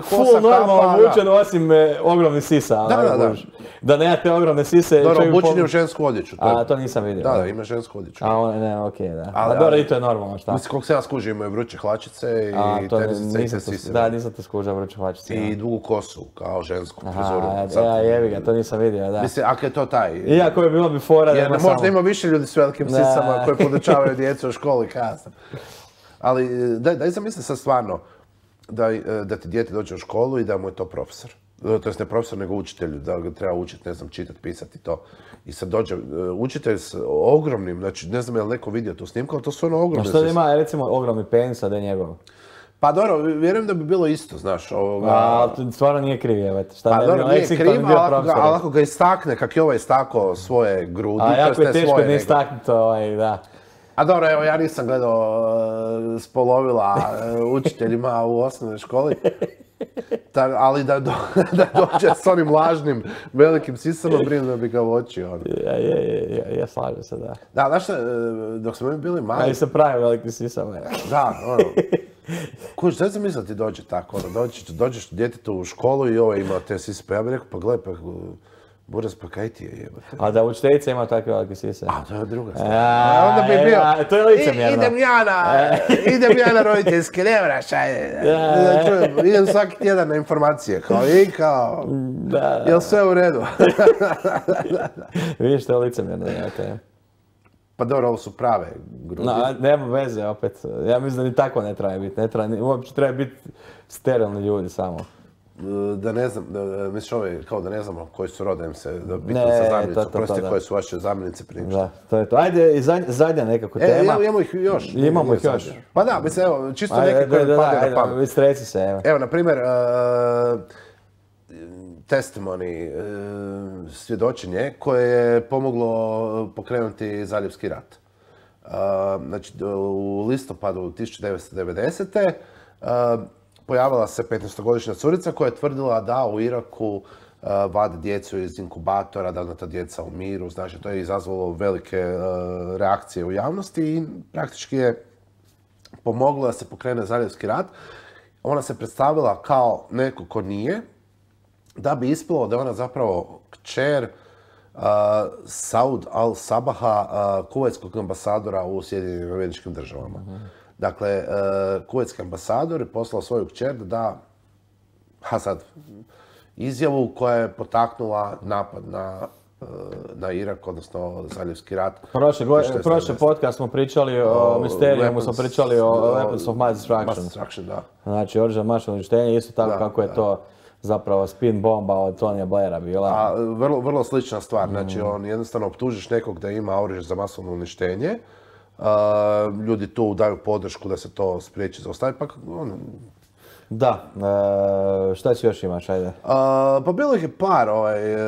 S2: full normalno obučen, osim ogromnih sisa.
S1: Da, da, da.
S2: Da nema te ogromne sise.
S1: Dobro, obučen je u žensku odjeću.
S2: A, to nisam vidio.
S1: Da, da, ima žensku odjeću.
S2: A, on, ne, okej, okay, da. Ali, dobro, i to je normalno, šta?
S1: Mislim, koliko se ja skužio, imaju vruće hlačice i tenisice i te sise.
S2: Da, nisam to skužio, vruće hlačice.
S1: I dugu kosu, kao žensku frizuru.
S2: Aha, ja, jebi ga, to nisam vidio, da.
S1: Mislim, ako je to taj...
S2: Iako je bilo bi fora da ima samo...
S1: Možda ima više ljudi s velikim sisama koji podučavaju djecu u školi, kasno. Ali, daj, daj zamisli sad stvarno da, da ti dijete dođe u školu i da mu je to profesor. To jest ne profesor, nego učitelj, da ga treba učiti, ne znam, čitati, pisati to. I sad dođe učitelj s ogromnim, znači ne znam je li neko vidio tu snimku, ali to su ono ogromne...
S2: A što da ima, recimo, ogromni penis, a da je njegov?
S1: Pa dobro, vjerujem da bi bilo isto, znaš, ovoga...
S2: A, stvarno nije kriv, evo, šta
S1: pa,
S2: ne
S1: dobro, nije kriv, ali ako ga istakne, kak je ovaj istakao svoje grudi,
S2: a jako je teško ne istaknuti ovaj, da.
S1: A dobro, evo, ja nisam gledao uh, spolovila uh, učiteljima u osnovnoj školi. Ta, ali da, do, da dođe s onim lažnim velikim sisama, brinu da bi ga uočio. Ono.
S2: Ja, ja, ja, ja slažem se, da.
S1: Da, znaš šta, dok smo mi bili mali...
S2: Ali se pravi velikim sisama.
S1: Da, ono. Kuć, šta sam mislio da ti dođe tako, ono, dođeš, dođeš djetetu u školu i ovo ima te sise, pa ja bih rekao, pa gledaj, pa Buraz, pa kaj ti je jebate?
S2: A da učiteljica ima takve velike sise?
S1: A, to je druga stvar. A, onda bi bio...
S2: A, to je licemjerno.
S1: Idem ja na, idem ja na roditeljske, ne vraš, ajde. Da čujem, idem svaki tjedan na informacije, kao i kao... Da. Jel sve u redu?
S2: Vidiš, to je licemjerno, jebate.
S1: Pa dobro, ovo su prave grudi.
S2: No, nema veze, opet. Ja mislim da ni tako ne treba biti. Ne treba, uopće treba biti sterilni ljudi samo.
S1: Da ne znam, da, misliš ove, kao da ne znamo koji su rodajem se, da pitam sa zamjenicu, prosti koje su vaše zamjenice prije
S2: Da, to je to. Ajde, zadnja nekako tema.
S1: E, imamo ih još.
S2: Imamo ih još.
S1: Pa da, mislim, evo, čisto neke koje mi padaju na pamet.
S2: Istreci se, evo.
S1: Evo, na primjer, uh, testimony, uh, svjedočenje koje je pomoglo pokrenuti Zaljevski rat. Uh, znači, u listopadu tisuću devetsto devedesete. Uh, pojavila se petnaestogodišnja curica koja je tvrdila da u Iraku uh, vade djecu iz inkubatora, da ona ta djeca umiru. Znači, to je izazvalo velike uh, reakcije u javnosti i praktički je pomoglo da se pokrene Zaljevski rat. Ona se predstavila kao neko ko nije, da bi ispalo da je ona zapravo kćer uh, Saud al-Sabaha, uh, kuvajtskog ambasadora u Sjedinjenim Američkim Državama. Uh-huh. Dakle, uh, kuvajtski ambasador je poslao svoju kćer da da, ha sad, izjavu koja je potaknula napad na, uh, na Irak, odnosno Zaljevski rat.
S2: Prošle, go, prošle podcast smo pričali o, o Mysteriumu, smo pričali o, o Weapons of Mass Destruction.
S1: Mass Destruction, da.
S2: Znači, oružje masovnog uništenja, isto tako da, kako je da. to zapravo spin bomba od Tonija Blaira bila.
S1: A, vrlo, vrlo slična stvar, znači mm. on jednostavno optužiš nekog da ima oružje za masovno uništenje. Uh, ljudi tu daju podršku da se to spriječi zaustavi, pa on...
S2: Da, e, šta će još imaš, ajde? Uh,
S1: pa bilo ih je par, ovaj, uh,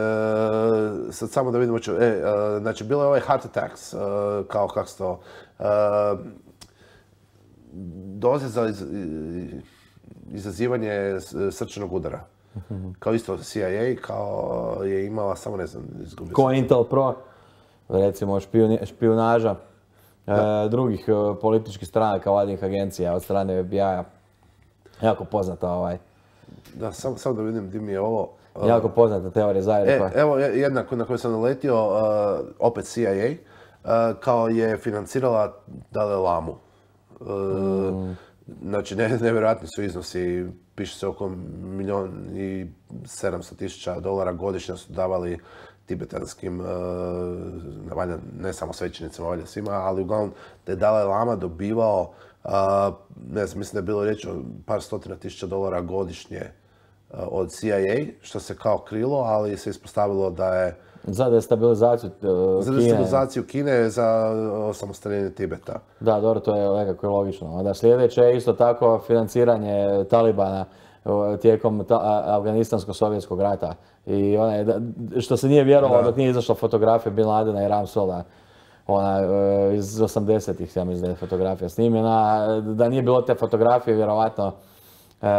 S1: sad samo da vidimo ću, e, uh, znači bilo je ovaj heart attacks, uh, kao kako se to, uh, doze za iz, izazivanje srčanog udara. Mm-hmm. Kao isto C I A, kao je imala, samo ne znam, izgubio
S2: Ko Intel Pro, recimo špijuni, špijunaža e, drugih e, političkih stranaka, vladnih agencija od strane F B I-a. Jako poznata ovaj.
S1: Da, samo sam da vidim di mi je ovo.
S2: Uh, jako poznata teorija zavjere.
S1: E, evo jedna na koju sam naletio, uh, opet C I A, uh, kao je financirala Dalaj Lamu. Uh, mm. Znači, ne, nevjerojatni su iznosi, piše se oko milijon i sedamsto tisuća dolara godišnje su davali tibetanskim, uh, valja, ne samo svećenicima, valja svima, ali uglavnom da je Dalaj Lama dobivao, uh, ne znam, mislim da je bilo riječ o par stotina tisuća dolara godišnje uh, od C I A, što se kao krilo, ali se ispostavilo da je
S2: za destabilizaciju uh, Kine.
S1: Za destabilizaciju Kine, za osamostaljenje Tibeta.
S2: Da, dobro, to je nekako logično. Onda sljedeće je isto tako financiranje Talibana tijekom Afganistansko-sovjetskog rata. I onaj, što se nije vjerovalo dok nije izašla fotografija Bin Ladena i Ramsola, ona iz osamdesetih, ja mislim da je fotografija snimljena, da nije bilo te fotografije, vjerovatno. Uh,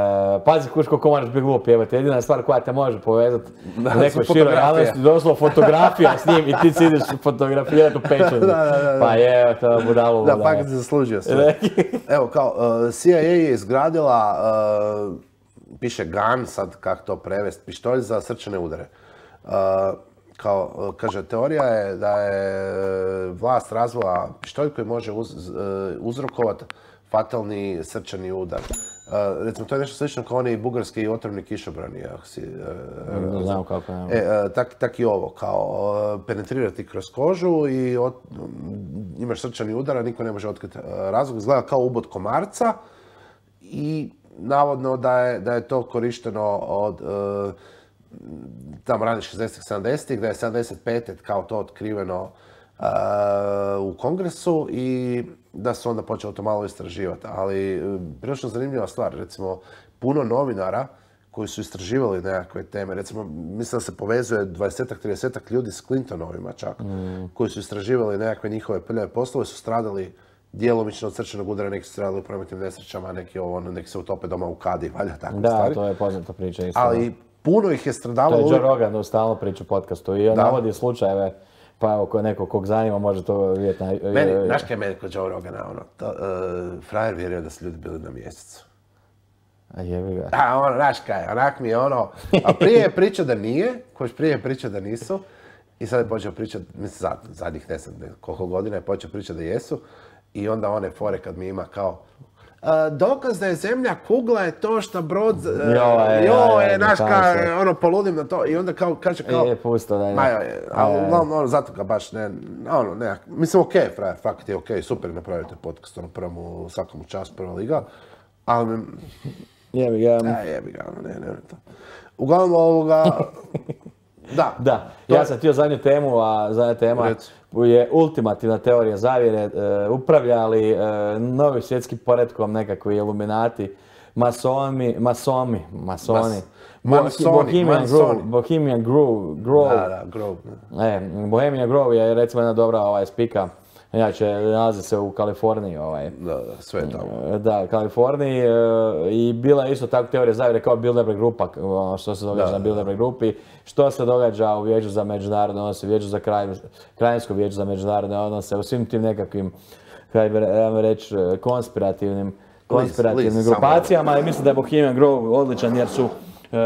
S2: pazi kuš koliko moraš biti glup pjevati, jedina stvar koja te može povezati da, nekoj široj javnosti, došlo fotografija s njim i ti si ideš fotografirati u pečenju. Da, da, da. Pa je, to budalu.
S1: Da, pa kad si zaslužio sve. Evo, kao, uh, C I A je izgradila, uh, piše gun, sad kako to prevesti, pištolj za srčane udare. Uh, kao, kaže, teorija je da je vlast razvila pištolj koji može uz, uh, uzrokovati fatalni srčani udar. Uh, recimo, to je nešto slično kao oni bugarski i otrovni kišobrani. Ako si, uh,
S2: ne znam kako je.
S1: E, uh, tak, tak i ovo, kao uh, penetrirati kroz kožu i ot, um, imaš srčani udar, a niko ne može otkriti uh, razlog. Izgleda kao ubod komarca i navodno da je, da je to korišteno od uh, tamo ranih šezdesetih sedamdesetih, da je sedamdeset pete kao to otkriveno uh, u Kongresu i da su onda počeli to malo istraživati. Ali prilično zanimljiva stvar, recimo puno novinara koji su istraživali nekakve teme, recimo mislim da se povezuje dvadesetak tridesetak ljudi s Clintonovima čak, mm. koji su istraživali nekakve njihove prljave poslove, su stradali djelomično od srčanog udara, neki su stradali u prometnim nesrećama, neki, ovo, neki se utope doma u kadi, valja takve
S2: da,
S1: stvari.
S2: Da, to je poznata priča isto.
S1: Ali puno ih je stradavalo...
S2: To je Joe Rogan stalno priča u podcastu i on navodi slučajeve. Pa evo, ko nekog kog zanima može to vidjeti na...
S1: Meni, znaš kaj je meni kod Joe Rogana, ono, to, uh, frajer vjerio da su ljudi bili na mjesecu.
S2: A jebi ga.
S1: A ono, znaš kaj, onak mi je ono, a prije je pričao da nije, koji prije je pričao da nisu, i sad je počeo pričati, mislim, zad, zadnjih ne znam koliko godina je počeo pričati da jesu, i onda one fore kad mi ima kao, Uh, dokaz da je zemlja kugla je to što brod, uh, jo je, znaš kaj, ono, poludim na to i onda kao, kaže kao...
S2: E, pusto, da je.
S1: Ma je, ali uglavnom, ono, zato ga baš ne, ono, ne, mislim, okej, okay, frajer, fakt je okej, okay, super napravite podcast, ono, prvom u svakom času, prva liga, ali...
S2: Jebi ga.
S1: A, jebi ga, ono, ne, ne, ne, to. Uglavnom, ovoga... Da.
S2: Da, ja sam htio zadnju temu, a zadnja tema je ultimativna teorija zavjere. E, upravljali e, novi svjetskim poretkom nekakvi iluminati, masoni, masomi, masoni.
S1: Mas,
S2: Bohemian Grove, Bohemian Grove, Grove.
S1: Da, da, Grove.
S2: E, Bohemian Grove je recimo jedna dobra ovaj, spika. Inače, nalazi se u Kaliforniji. Ovaj.
S1: Da, da, sve je tamo.
S2: Da, Kaliforniji. E, I bila je isto tako teorija zavjere kao Bilderberg grupa, ono što se događa da, na Bilderberg grupi, što se događa u Vijeću za međunarodne odnose, Vijeću za kraj, Krajinsko vijeće za međunarodne odnose, u svim tim nekakvim, kaj bi ja reći, konspirativnim, konspirativnim list, list, grupacijama. I mislim da je Bohemian Grove odličan jer su, e,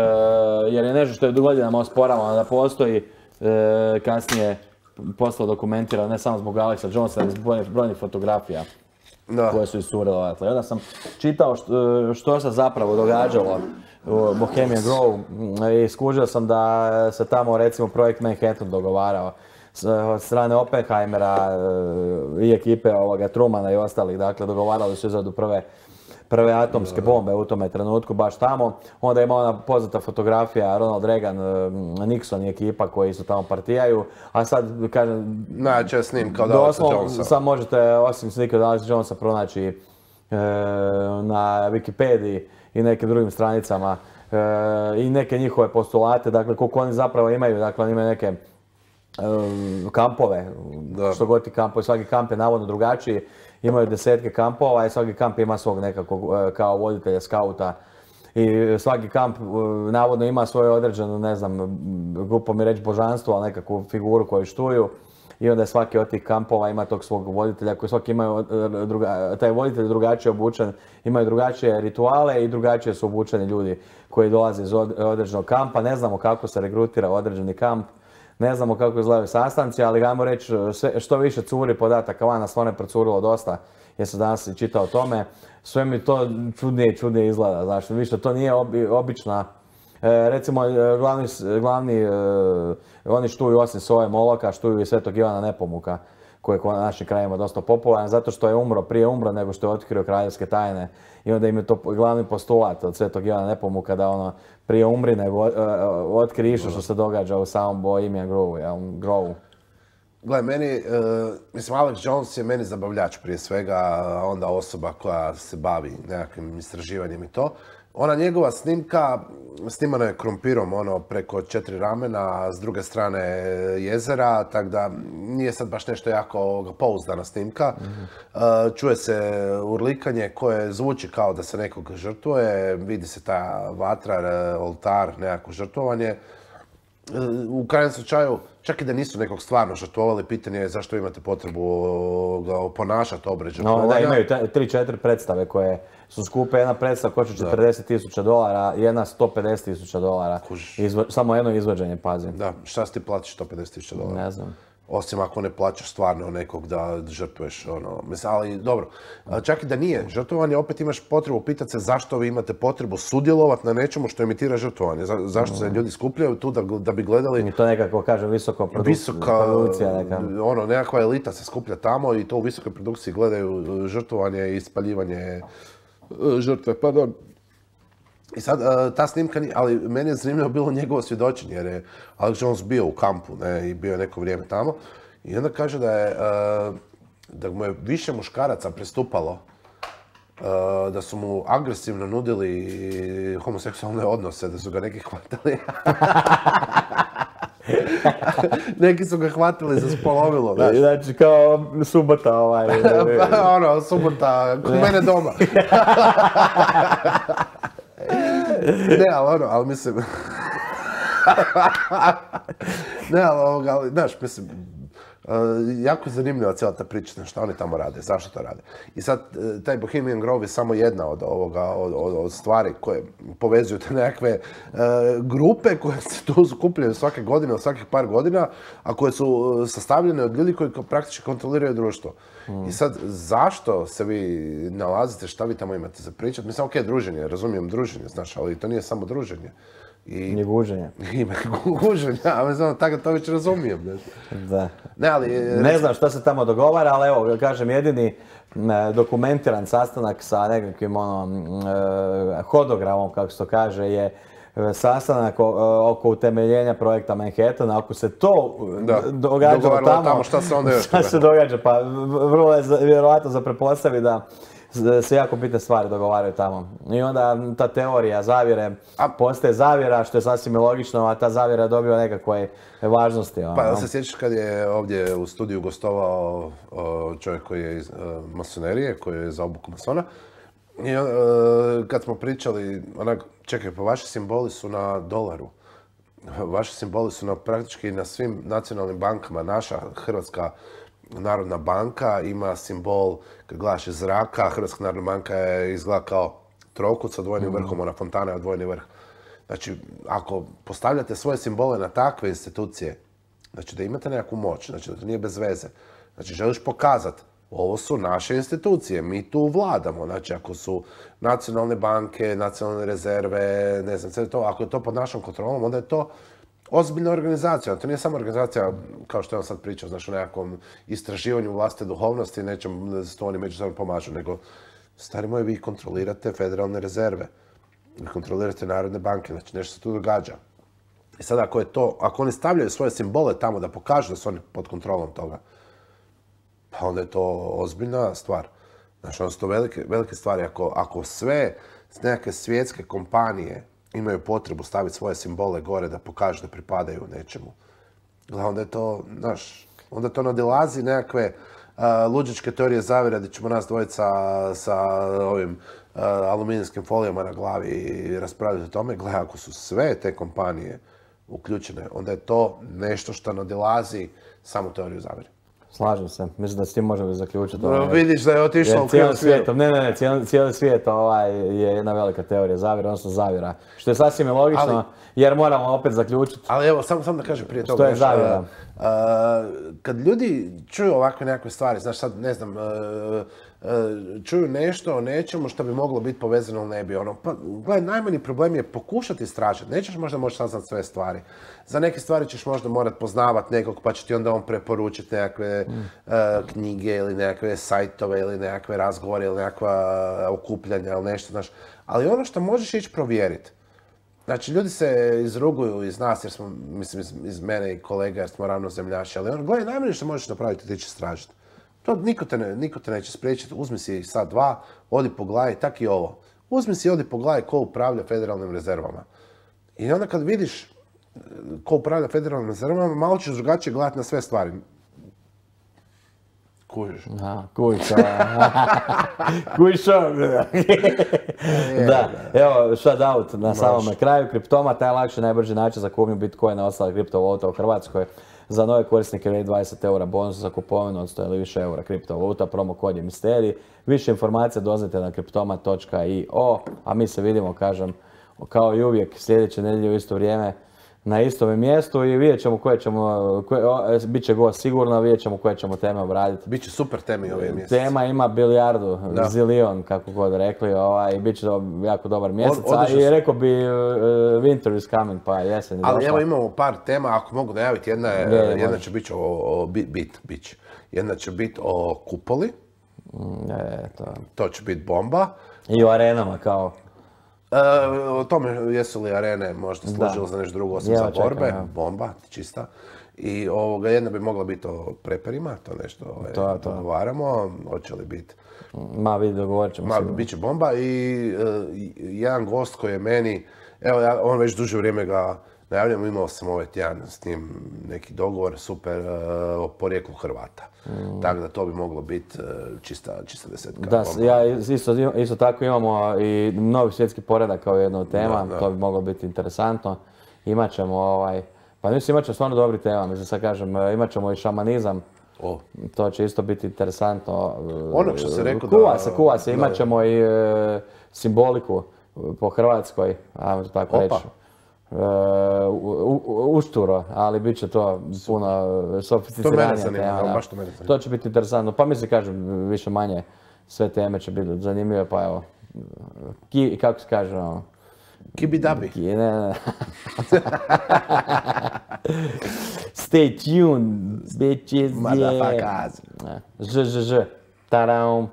S2: jer je nešto što je godinama osporavano da postoji, e, kasnije posle dokumentirano, ne samo zbog Alexa Jonesa, ali zbog brojnih fotografija da. Koje su iscurile odatle. Onda sam čitao što, što se zapravo događalo u Bohemian Grove i skužio sam da se tamo recimo projekt Manhattan dogovarao od strane Oppenheimera i ekipe ovoga Trumana i ostalih, dakle dogovarali su izradu prve prve atomske bombe u tome trenutku, baš tamo. Onda ima ona poznata fotografija Ronald Reagan, Nixon i ekipa koji su tamo partijaju. A sad, kažem...
S1: Najče snimka od Alexa Jonesa.
S2: Sad možete, osim snimka od Alexa Jonesa, pronaći e, na Wikipediji i nekim drugim stranicama e, i neke njihove postulate, dakle koliko oni zapravo imaju, dakle oni imaju neke e, kampove, da. Što god ti kampovi, svaki kamp je navodno drugačiji. Imaju desetke kampova i svaki kamp ima svog nekakvog kao voditelja, skauta. I svaki kamp navodno ima svoju određenu, ne znam, glupo mi reći božanstvo, ali nekakvu figuru koju štuju. I onda svaki od tih kampova ima tog svog voditelja koji svaki imaju, druga, taj voditelj drugačije obučen, imaju drugačije rituale i drugačije su obučeni ljudi koji dolaze iz određenog kampa. Ne znamo kako se regrutira određeni kamp. Ne znamo kako izgledaju sastanci, ali ajmo reći sve, što više curi podataka van, nas stvarno je procurilo dosta, jer sam danas i čitao o tome. Sve mi to čudnije i čudnije izgleda, znači više to nije obi, obična. E, recimo, glavni, glavni e, oni štuju osim Sove Moloka, štuju i Svetog Ivana Nepomuka, koji je na našim krajima dosta popularan, zato što je umro, prije umro nego što je otkrio kraljevske tajne. I onda im je to glavni postulat od Svetog Ivana Nepomuka da ono prije umri nego uh, otkrije što, što se događa u samom Bohemian Grove, ja, Grove.
S1: Gle, meni, uh, mislim, Alex Jones je meni zabavljač prije svega, onda osoba koja se bavi nekakvim istraživanjem i to. ona njegova snimka snimana je krompirom, ono, preko četiri ramena, s druge strane jezera, tako da nije sad baš nešto jako pouzdana snimka. Mm-hmm. Čuje se urlikanje koje zvuči kao da se nekog žrtvuje, vidi se ta vatra, oltar, nekako žrtvovanje. U krajnjem slučaju, čak i da nisu nekog stvarno žrtvovali, pitanje je zašto imate potrebu ga ponašati obred žrtvovanja.
S2: No, da, imaju tri četiri predstave koje su skupe. Jedna predstava košta četrdeset tisuća dolara, jedna sto pedeset tisuća dolara. Izvo, samo jedno izvođenje, pazim.
S1: Da, šta si ti platiš sto pedeset tisuća dolara?
S2: Ne znam.
S1: Osim ako ne plaćaš stvarno nekog da žrtvuješ, ono, mislim, ali dobro. Čak i da nije žrtvovanje, opet imaš potrebu pitati se zašto vi imate potrebu sudjelovati na nečemu što imitira žrtvovanje. Za, zašto se ljudi skupljaju tu da, da bi gledali...
S2: I to nekako, kažem, visoko produ...
S1: visoka,
S2: produkcija neka.
S1: Ono, nekakva elita se skuplja tamo i to u visokoj produkciji gledaju žrtvovanje i ispaljivanje žrtve, pardon. I sad, ta snimka, ali meni je zanimljivo bilo njegovo svjedočenje, jer je Alex Jones bio u kampu, ne, i bio je neko vrijeme tamo. I onda kaže da je, da mu je više muškaraca pristupalo, da su mu agresivno nudili homoseksualne odnose, da su ga neki hvatali. Neki su ga hvatili za spolovilo, znaš.
S2: Znači, kao subota ovaj.
S1: Ono, subota, kod mene doma. Ne, ali ono, ali mislim... ne, ali, ali, znaš, mislim, uh, jako je zanimljiva cijela ta priča, šta oni tamo rade, zašto to rade. I sad, taj Bohemian Grove je samo jedna od, ovoga, od, od, od stvari koje povezuju te nekakve uh, grupe koje se tu skupljaju svake godine, od svakih par godina, a koje su sastavljene od ljudi koji praktički kontroliraju društvo. Mm. I sad, zašto se vi nalazite, šta vi tamo imate za pričat? Mislim, okej, okay, druženje, razumijem druženje, znaš, ali to nije samo druženje.
S2: I guženje.
S1: Ima guženja, a mislim, tako to već razumijem. Znaš.
S2: Da.
S1: Ne, ali...
S2: Ne znam šta se tamo dogovara, ali evo, kažem, jedini dokumentiran sastanak sa nekakvim ono, hodogramom, kako se to kaže, je sastanak oko utemeljenja projekta Manhattana. Ako se to da, događalo tamo,
S1: tamo, šta se onda još
S2: šta se događa? Pa vrlo je vjerojatno za pretpostaviti da se jako bitne stvari dogovaraju tamo. I onda ta teorija zavjere a, postaje zavjera, što je sasvim logično, a ta zavjera dobila nekakve važnosti. Ono.
S1: Pa se sjećaš kad je ovdje u studiju gostovao čovjek koji je iz masonerije, koji je za obuku masona. I kad smo pričali, onak, čekaj, pa vaši simboli su na dolaru. Vaši simboli su na, praktički na svim nacionalnim bankama. Naša Hrvatska Narodna banka ima simbol, kad gledaš iz zraka, Hrvatska Narodna banka je izgleda kao trokut sa dvojnim vrhom, ona fontana je dvojni vrh. Znači, ako postavljate svoje simbole na takve institucije, znači da imate nekakvu moć, znači da to nije bez veze. Znači, želiš pokazati, ovo su naše institucije, mi tu vladamo. Znači, ako su nacionalne banke, nacionalne rezerve, ne znam, sve to, ako je to pod našom kontrolom, onda je to ozbiljna organizacija. To nije samo organizacija, kao što je on sad pričao, znaš, o nekakvom istraživanju vlastite duhovnosti, nečem da se to oni međusobno pomažu, nego, stari moji, vi kontrolirate federalne rezerve, vi kontrolirate narodne banke, znači nešto se tu događa. I sad ako je to, ako oni stavljaju svoje simbole tamo da pokažu da su oni pod kontrolom toga, pa onda je to ozbiljna stvar. Znači, onda su to velike, velike stvari. Ako, ako sve nekakve svjetske kompanije imaju potrebu staviti svoje simbole gore da pokažu da pripadaju nečemu, onda je to, znaš, onda to nadilazi nekakve uh, luđičke teorije zavjere da ćemo nas dvojiti sa, sa ovim uh, aluminijskim folijama na glavi i raspravljati o tome. Gle, ako su sve te kompanije uključene, onda je to nešto što nadilazi samu teoriju zavjere.
S2: Slažem se, mislim da s tim možemo zaključiti.
S1: No, vidiš da je otišao u krivom smjeru.
S2: Ne, ne, ne, cijeli, cijeli svijet ovaj, je jedna velika teorija zavjera, odnosno zavjera. Što je sasvim je logično, ali, jer moramo opet zaključiti.
S1: Ali evo, samo sam da kažem prije toga.
S2: Što je zavjera? Uh,
S1: uh, kad ljudi čuju ovakve nekakve stvari, znaš sad, ne znam, uh, uh, čuju nešto o nečemu što bi moglo biti povezano ili ne bi, ono, pa, gledaj, najmanji problem je pokušati istražiti. Nećeš možda moći saznati sve stvari. Za neke stvari ćeš možda morat poznavati nekog, pa će ti onda on preporučiti nekakve mm. uh, knjige ili nekakve sajtove ili nekakve razgovore ili nekakva okupljanja ili nešto, znaš. Ali ono što možeš ići provjeriti. Znači, ljudi se izruguju iz nas, jer smo, mislim, iz, iz mene i kolega, jer smo ravnozemljaši, ali ono, gledaj, najmanje što možeš napraviti, ti će istražiti. To niko te, ne, niko te neće spriječiti, uzmi si sad dva, odi pogledaj, tak i ovo. uzmi si ovdje pogledaj ko upravlja federalnim rezervama. I onda kad vidiš ko upravlja federalnim rezervama, malo ćeš drugačije gledati na sve stvari. Kužiš.
S2: Aha, kujiš. Kujiš. Da, evo, shout out na samome kraju. Kriptoma, taj lakši, najbrži način za kupnju Bitcoina i ostale kriptovaluta u Hrvatskoj. Za nove korisnike vrijedi dvadeset eura bonus za kupovinu od sto ili više eura kriptovaluta. Promo kod je Misterij. Više informacija doznajte na kriptoma točka i o. A mi se vidimo, kažem, kao i uvijek, sljedeće nedjelje u isto vrijeme na istome mjestu i vidjet ćemo koje ćemo, koje, o, bit će gost sigurno, vidjet ćemo koje ćemo teme obraditi.
S1: Biće super teme ove mjesece.
S2: Tema ima bilijardu, da. Zilion, kako god rekli, ovaj, bit će do, jako dobar mjesec, a i rekao bi uh, winter is coming, pa jesen je došla.
S1: Ali evo imamo par tema, ako mogu najaviti, jedna, je, je, jedna će biti o, o bit, bit, jedna će biti o kupoli,
S2: e, to.
S1: to će biti bomba.
S2: I u arenama kao.
S1: E, o tome jesu li arene možda služile za nešto drugo osim za borbe, čekam, bomba, čista. I ovoga, jedna bi mogla biti o preperima, to nešto ovaj, to, to. dogovaramo, hoće li biti.
S2: Ma vidi, dogovorit ćemo
S1: se. Bit će bomba i uh, jedan gost koji je meni, evo ja, on već duže vrijeme ga najavljam, imao sam ovaj tjedan s njim neki dogovor, super, uh, o porijeklu Hrvata. Mm. Tako da to bi moglo biti uh, čista, čista desetka.
S2: Da, bomba. Ja isto, isto tako imamo i novi svjetski poredak kao jedna od tema, da, da. To bi moglo biti interesantno. Imat ćemo ovaj, pa mislim imat ćemo stvarno dobri tema, mislim sad kažem, imat ćemo i šamanizam. Oh. To će isto biti interesantno.
S1: Ono što se rekao da...
S2: Kuva se, kuva se, imat ćemo i e, simboliku po Hrvatskoj, ajmo tako reći. Uh, ušturo, ali bit će to puno sofisticiranija tema.
S1: Da. Baš to, mene
S2: to će biti interesantno. Pa mislim, kažem, više manje sve teme će biti zanimljive, pa evo, ki, kako se kaže, ono...
S1: Kibidabi.
S2: Ki, ne, ne. Stay tuned, bitches,
S1: Motherfuckers.
S2: Ž, ž, ž. Tadam.